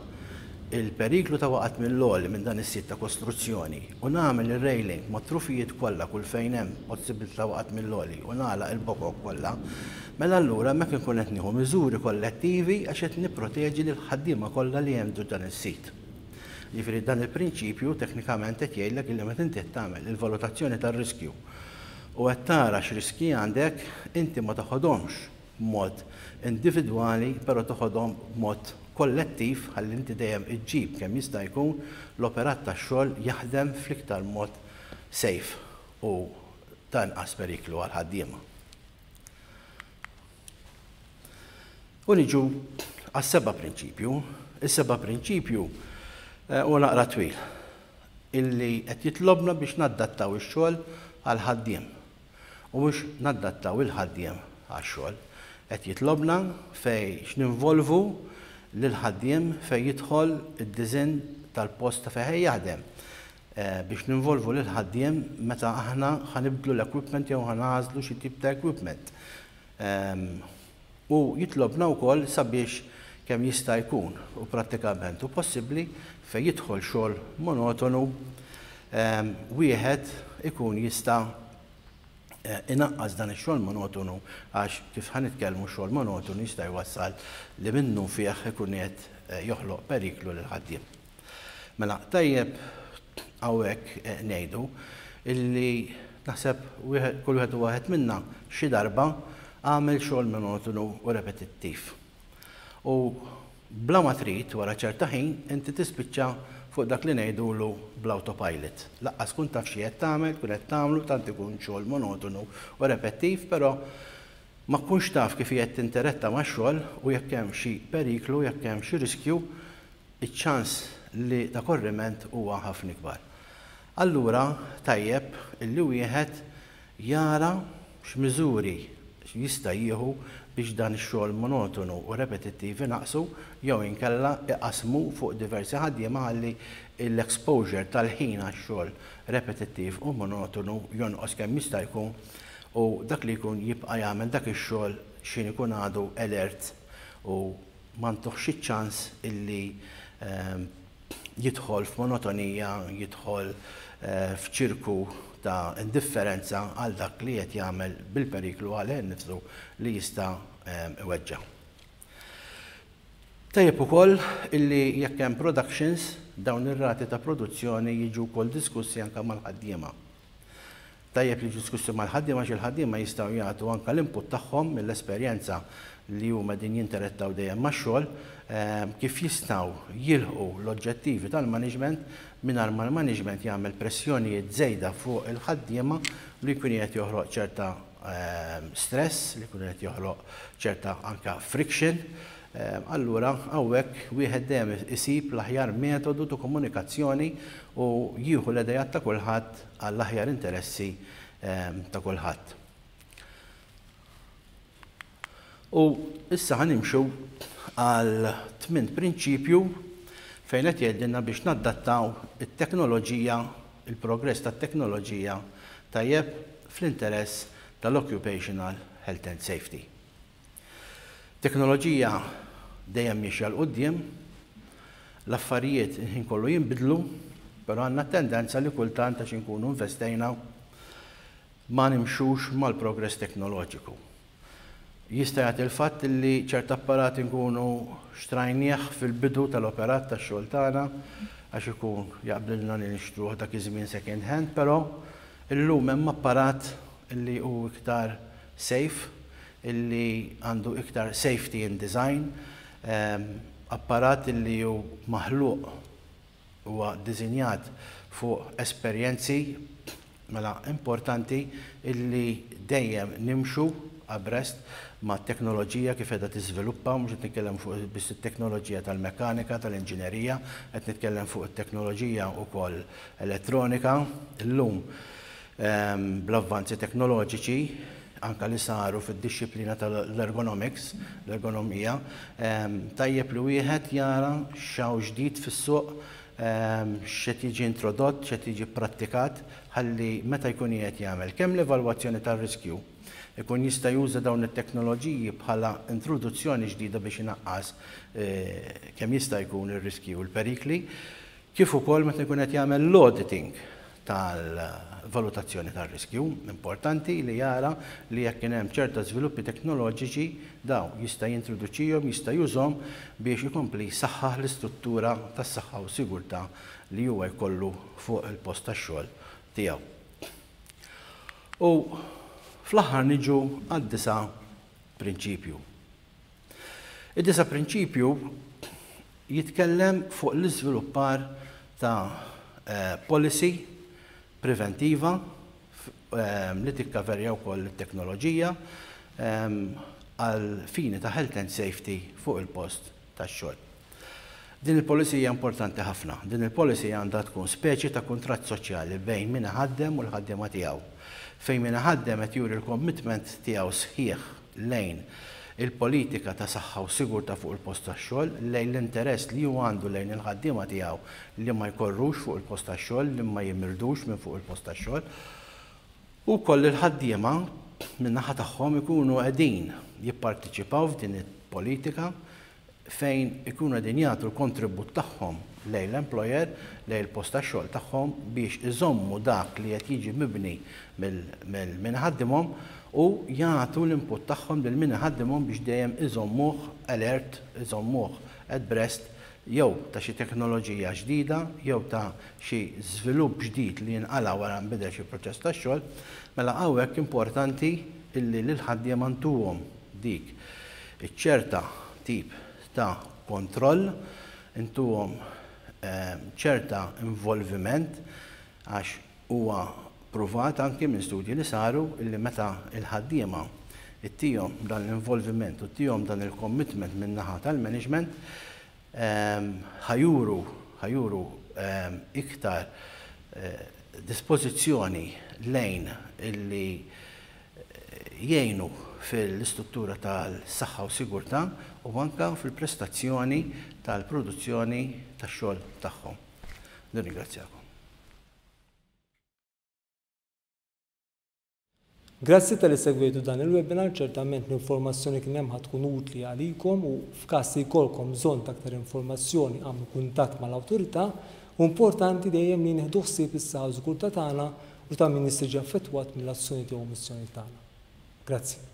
l-periklu ta' waqgħat mill-għoli minn dan is-sit ta' kostruzzjoni u nagħmel ir-railing mat-trufijiet kollha kull fejn hemm possibilità ta' waqgħat mill-għoli u nagħlaq il-bokok kollha, mela allura hemmhekk inkun qed nieħu miżuri kollettivi għax qed nipproteġi lill-ħaddiema kollha li hemm ġo dan is-sit. Jiġifieri dan il-prinċipju teknikament qed jgħidlek illi meta inti qed tagħmel il-valutazzjoni tar-riskju u qed tara x'riskji għandek, inti ma toħodhomx b'mod individwali però toħodhom b'mod kollettiv ħalli inti dejjem iġġib kemm jista' jkun l-operat tax-xogħol jaħdem fl-iktar mod safe u ta' inqas periklu għall-ħaddiema. U niġu għas-seba' prinċipju. Is-seba' prinċipju huwa naqra twil illi qed jitlobna biex naddattaw ix-xogħol għall-ħaddiem. u mhux naddattaw il-ħaddiem għax-xogħol. Qed jitlobna fejn x'ninvolvu lill-ħaddiem fejn jidħol id-diżinn tal-post ta' fejn ħa jaħdem biex ninvolvu lill-ħaddiem meta aħna ħa nibdlu l-equipment jew ħa nagħżlu xi tip ta' equipment. U jitlobna wkoll sabiex kemm jista' jkun u prattikament hu possibbli fejn jidħol xogħol monotonu wieħed ikun jista' inaqqas dan ix-xogħol monotonu għax kif ħa nitkellmu x-xogħol monotonu jista' jwassal li minnufih ikun qed joħloq periklu lill-ħaddiem. Mela tajjeb hawnhekk ngħidu illi naħseb kull wieħed u waħed minna xi darba għamel xogħol monotonu u repetittiv. U bla ma trid, wara ċerta ħin, inti tispiċċa fuq dak li ngħidulu bl-autopilot. Laqqas tkun taf xi qed tagħmel, tkun qed tagħmlu, tant ikun xogħol monotonu u repettiv, però ma tkunx taf kif qiegħed tinteretta max-xogħol u jekk hemm xi periklu, jekk hemm xi riskju, iċ-ċans li ta' korriment huwa ħafna ikbar. Allura tajjeb illi wieħed jara x'miżuri jista' jieħu biex dan ix-xogħol monotonu u repetittiv inaqqsu jew inkella iqassmu fuq diversi ħaddiema ħalli l-exposure tal-ħin għax-xogħol repetittiv u monotonu jonqos kemm jista' jkun u dak li jkun jibqa' jagħmel dak ix-xogħol x'ħin ikun għadu alert u ma ntuhx iċ-ċans illi jidħol f'monotonija, jidħol f'ċirku ta' indifferenza għal dak li qed jagħmel bil-periklu għalih innifsu li jista' iweġġa'. Tajjeb ukoll illi jekk hemm productions, dawn ir-rati ta' produzzjoni jiġu wkoll diskussi anke mal-ħaddiema. Tajjeb li jiġu diskussi mal-ħaddiema għax il-ħaddiema jistgħu jagħtu anke l-input tagħhom mill-esperjenza li huma qegħdin jinterettaw dejjem max-xogħol, kif jistgħu jilħqu l-oġġettivi tal-management mingħajr ma l-management jagħmel pressjonijiet żejda fuq il-ħaddiema li jkun qiegħed joħloq ċerta stress, li jkun qiegħed joħloq ċerta anke friction. Allura hawnhekk wieħed dejjem isib l-aħjar metodu ta' komunikazzjoni u jieħu l-idejat ta' kulħadd għall-aħjar interessi ta' kulħadd. U issa ħa nimxu għal tmint prinċipju fejn qed jgħidilna biex naddattaw it-teknoloġija, il-progress tat-teknoloġija tajjeb fl-interess tal-occupational health and safety. Teknoloġija dejjem miexja 'l quddiem, l-affarijiet il-ħin kollu jinbidlu, però għandna t-tendenza li kultant għax inkunu investejna ma nimxux mal-progress teknoloġiku. Jista' jagħti l-fatt li ċert apparat inkunu xtrajnieh fil-bidu tal-operat tax-xogħol tagħna għax ikun jaqblilna li nixtruh dak iż-żmien second hand, però illum hemm apparat li hu iktar safe, illi għandu iktar safety in design, apparat illi hu maħluq, huwa ddisinjat fuq esperjenzi, mela importanti illi dejjem nimxu abreast mat-teknoloġija kif qiegħda tiżviluppa, mhux qed nitkellem fuq biss it-teknoloġija tal-mekkanika, tal-inġinerija, qed nitkellem fuq it-teknoloġija wkoll elettronika. Illum bl-avvanzi teknoloġiċi anke li saru fid-dixxiplina tal-ergonomics, l-ergonomija, tajjeb li wieħed jara x'hawn ġdid fis-suq, x'qed jiġi introdott, x'qed jiġi pprattikat, ħalli meta jkun qiegħed jagħmel kemm l-evalwazzjoni tar-riskju, ikun jista' juża dawn it-teknoloġiji bħala introduzzjoni ġdida biex inaqqas kemm jista' jkun ir-riskji u l-perikli, kif ukoll meta jkun qed jagħmel l-auditing tal-valutazzjoni tar-riskju. Importanti li jara li jekk kien hemm ċerta żviluppi teknoloġiċi dawn jista' jintroduċihom, jista' jużhom biex ikompli jsaħħaħ l-istruttura tas-saħħa u sigurtà li huwa jkollu fuq il-post tax-xogħol tiegħu. U fl-aħħar niġu għad-disa' prinċipju. Id-disa' prinċipju jitkellem fuq l-iżviluppar ta' policy preventiva li tikkaverja wkoll it-teknoloġija għal fini ta' health and safety fuq il-post tax-xogħol. Din il-policy hija importanti ħafna. Din il-policy għandha tkun speċi ta' kuntratt soċjali bejn min iħaddem u l-ħaddiema tiegħu, fejn min iħaddem qed juri l-commitment tiegħu sħiħ lejn il-politika ta' saħħa u sigurtà fuq il-post tax-xogħol, lejn l-interess li hu għandu lejn il-ħaddiema tiegħu li ma jkorrux fuq il-post tax-xogħol, li ma jimirdux minn fuq il-post tax-xogħol, u wkoll il-ħaddiema min-naħa tagħhom ikunu qegħdin jipparteċipaw f'din il-politika fejn ikunu qegħdin jagħtu l-kontribut tagħhom lejn l-employer, lejn il-post tax-xogħol tagħhom biex iżommu dak li qed jiġi mibni mill min iħaddimhom u jagħtu l-input tagħhom lil min iħaddimhom biex dejjem iżommuh alert, iżommuh at breast jew ta' xi teknoloġija ġdida jew ta' xi żvilupp ġdid li jinqala' wara nbidel xi proċess tax-xogħol. Mela hawnhekk importanti illi lill-ħaddiema ntuhom dik iċ-ċerta tip ta' kontroll, intuhom ċerta involviment għax huwa pruvat anki minn studji li saru illi meta l-ħaddiema ttihom dan l-involviment u ttihom dan il-commitment min-naħa tal-management ħa juru ħa juru iktar dispożizzjoni lejn illi jgħinu fil-istruttura tal-saħħa u sigurtà u anke fil-prestazzjoni tal-produzzjoni tax-xogħol tagħhom. Nirringrazzjakom. Grazzi talli segwejtu dan il-webinar, ċertament l-informazzjoni kien hemm ħa tkun utli għalikom u f'każ li jkollkom bżonn ta' aktar informazzjoni agħmlu kuntatt mal-awtorità. Hu importanti dejjem li nieħdu ħsieb is-saħħa u s-sigurtà tagħna u ta' min jista' jiġi affettwat mill-azzjonijiet jew omissjonijiet tagħna. Grazzi.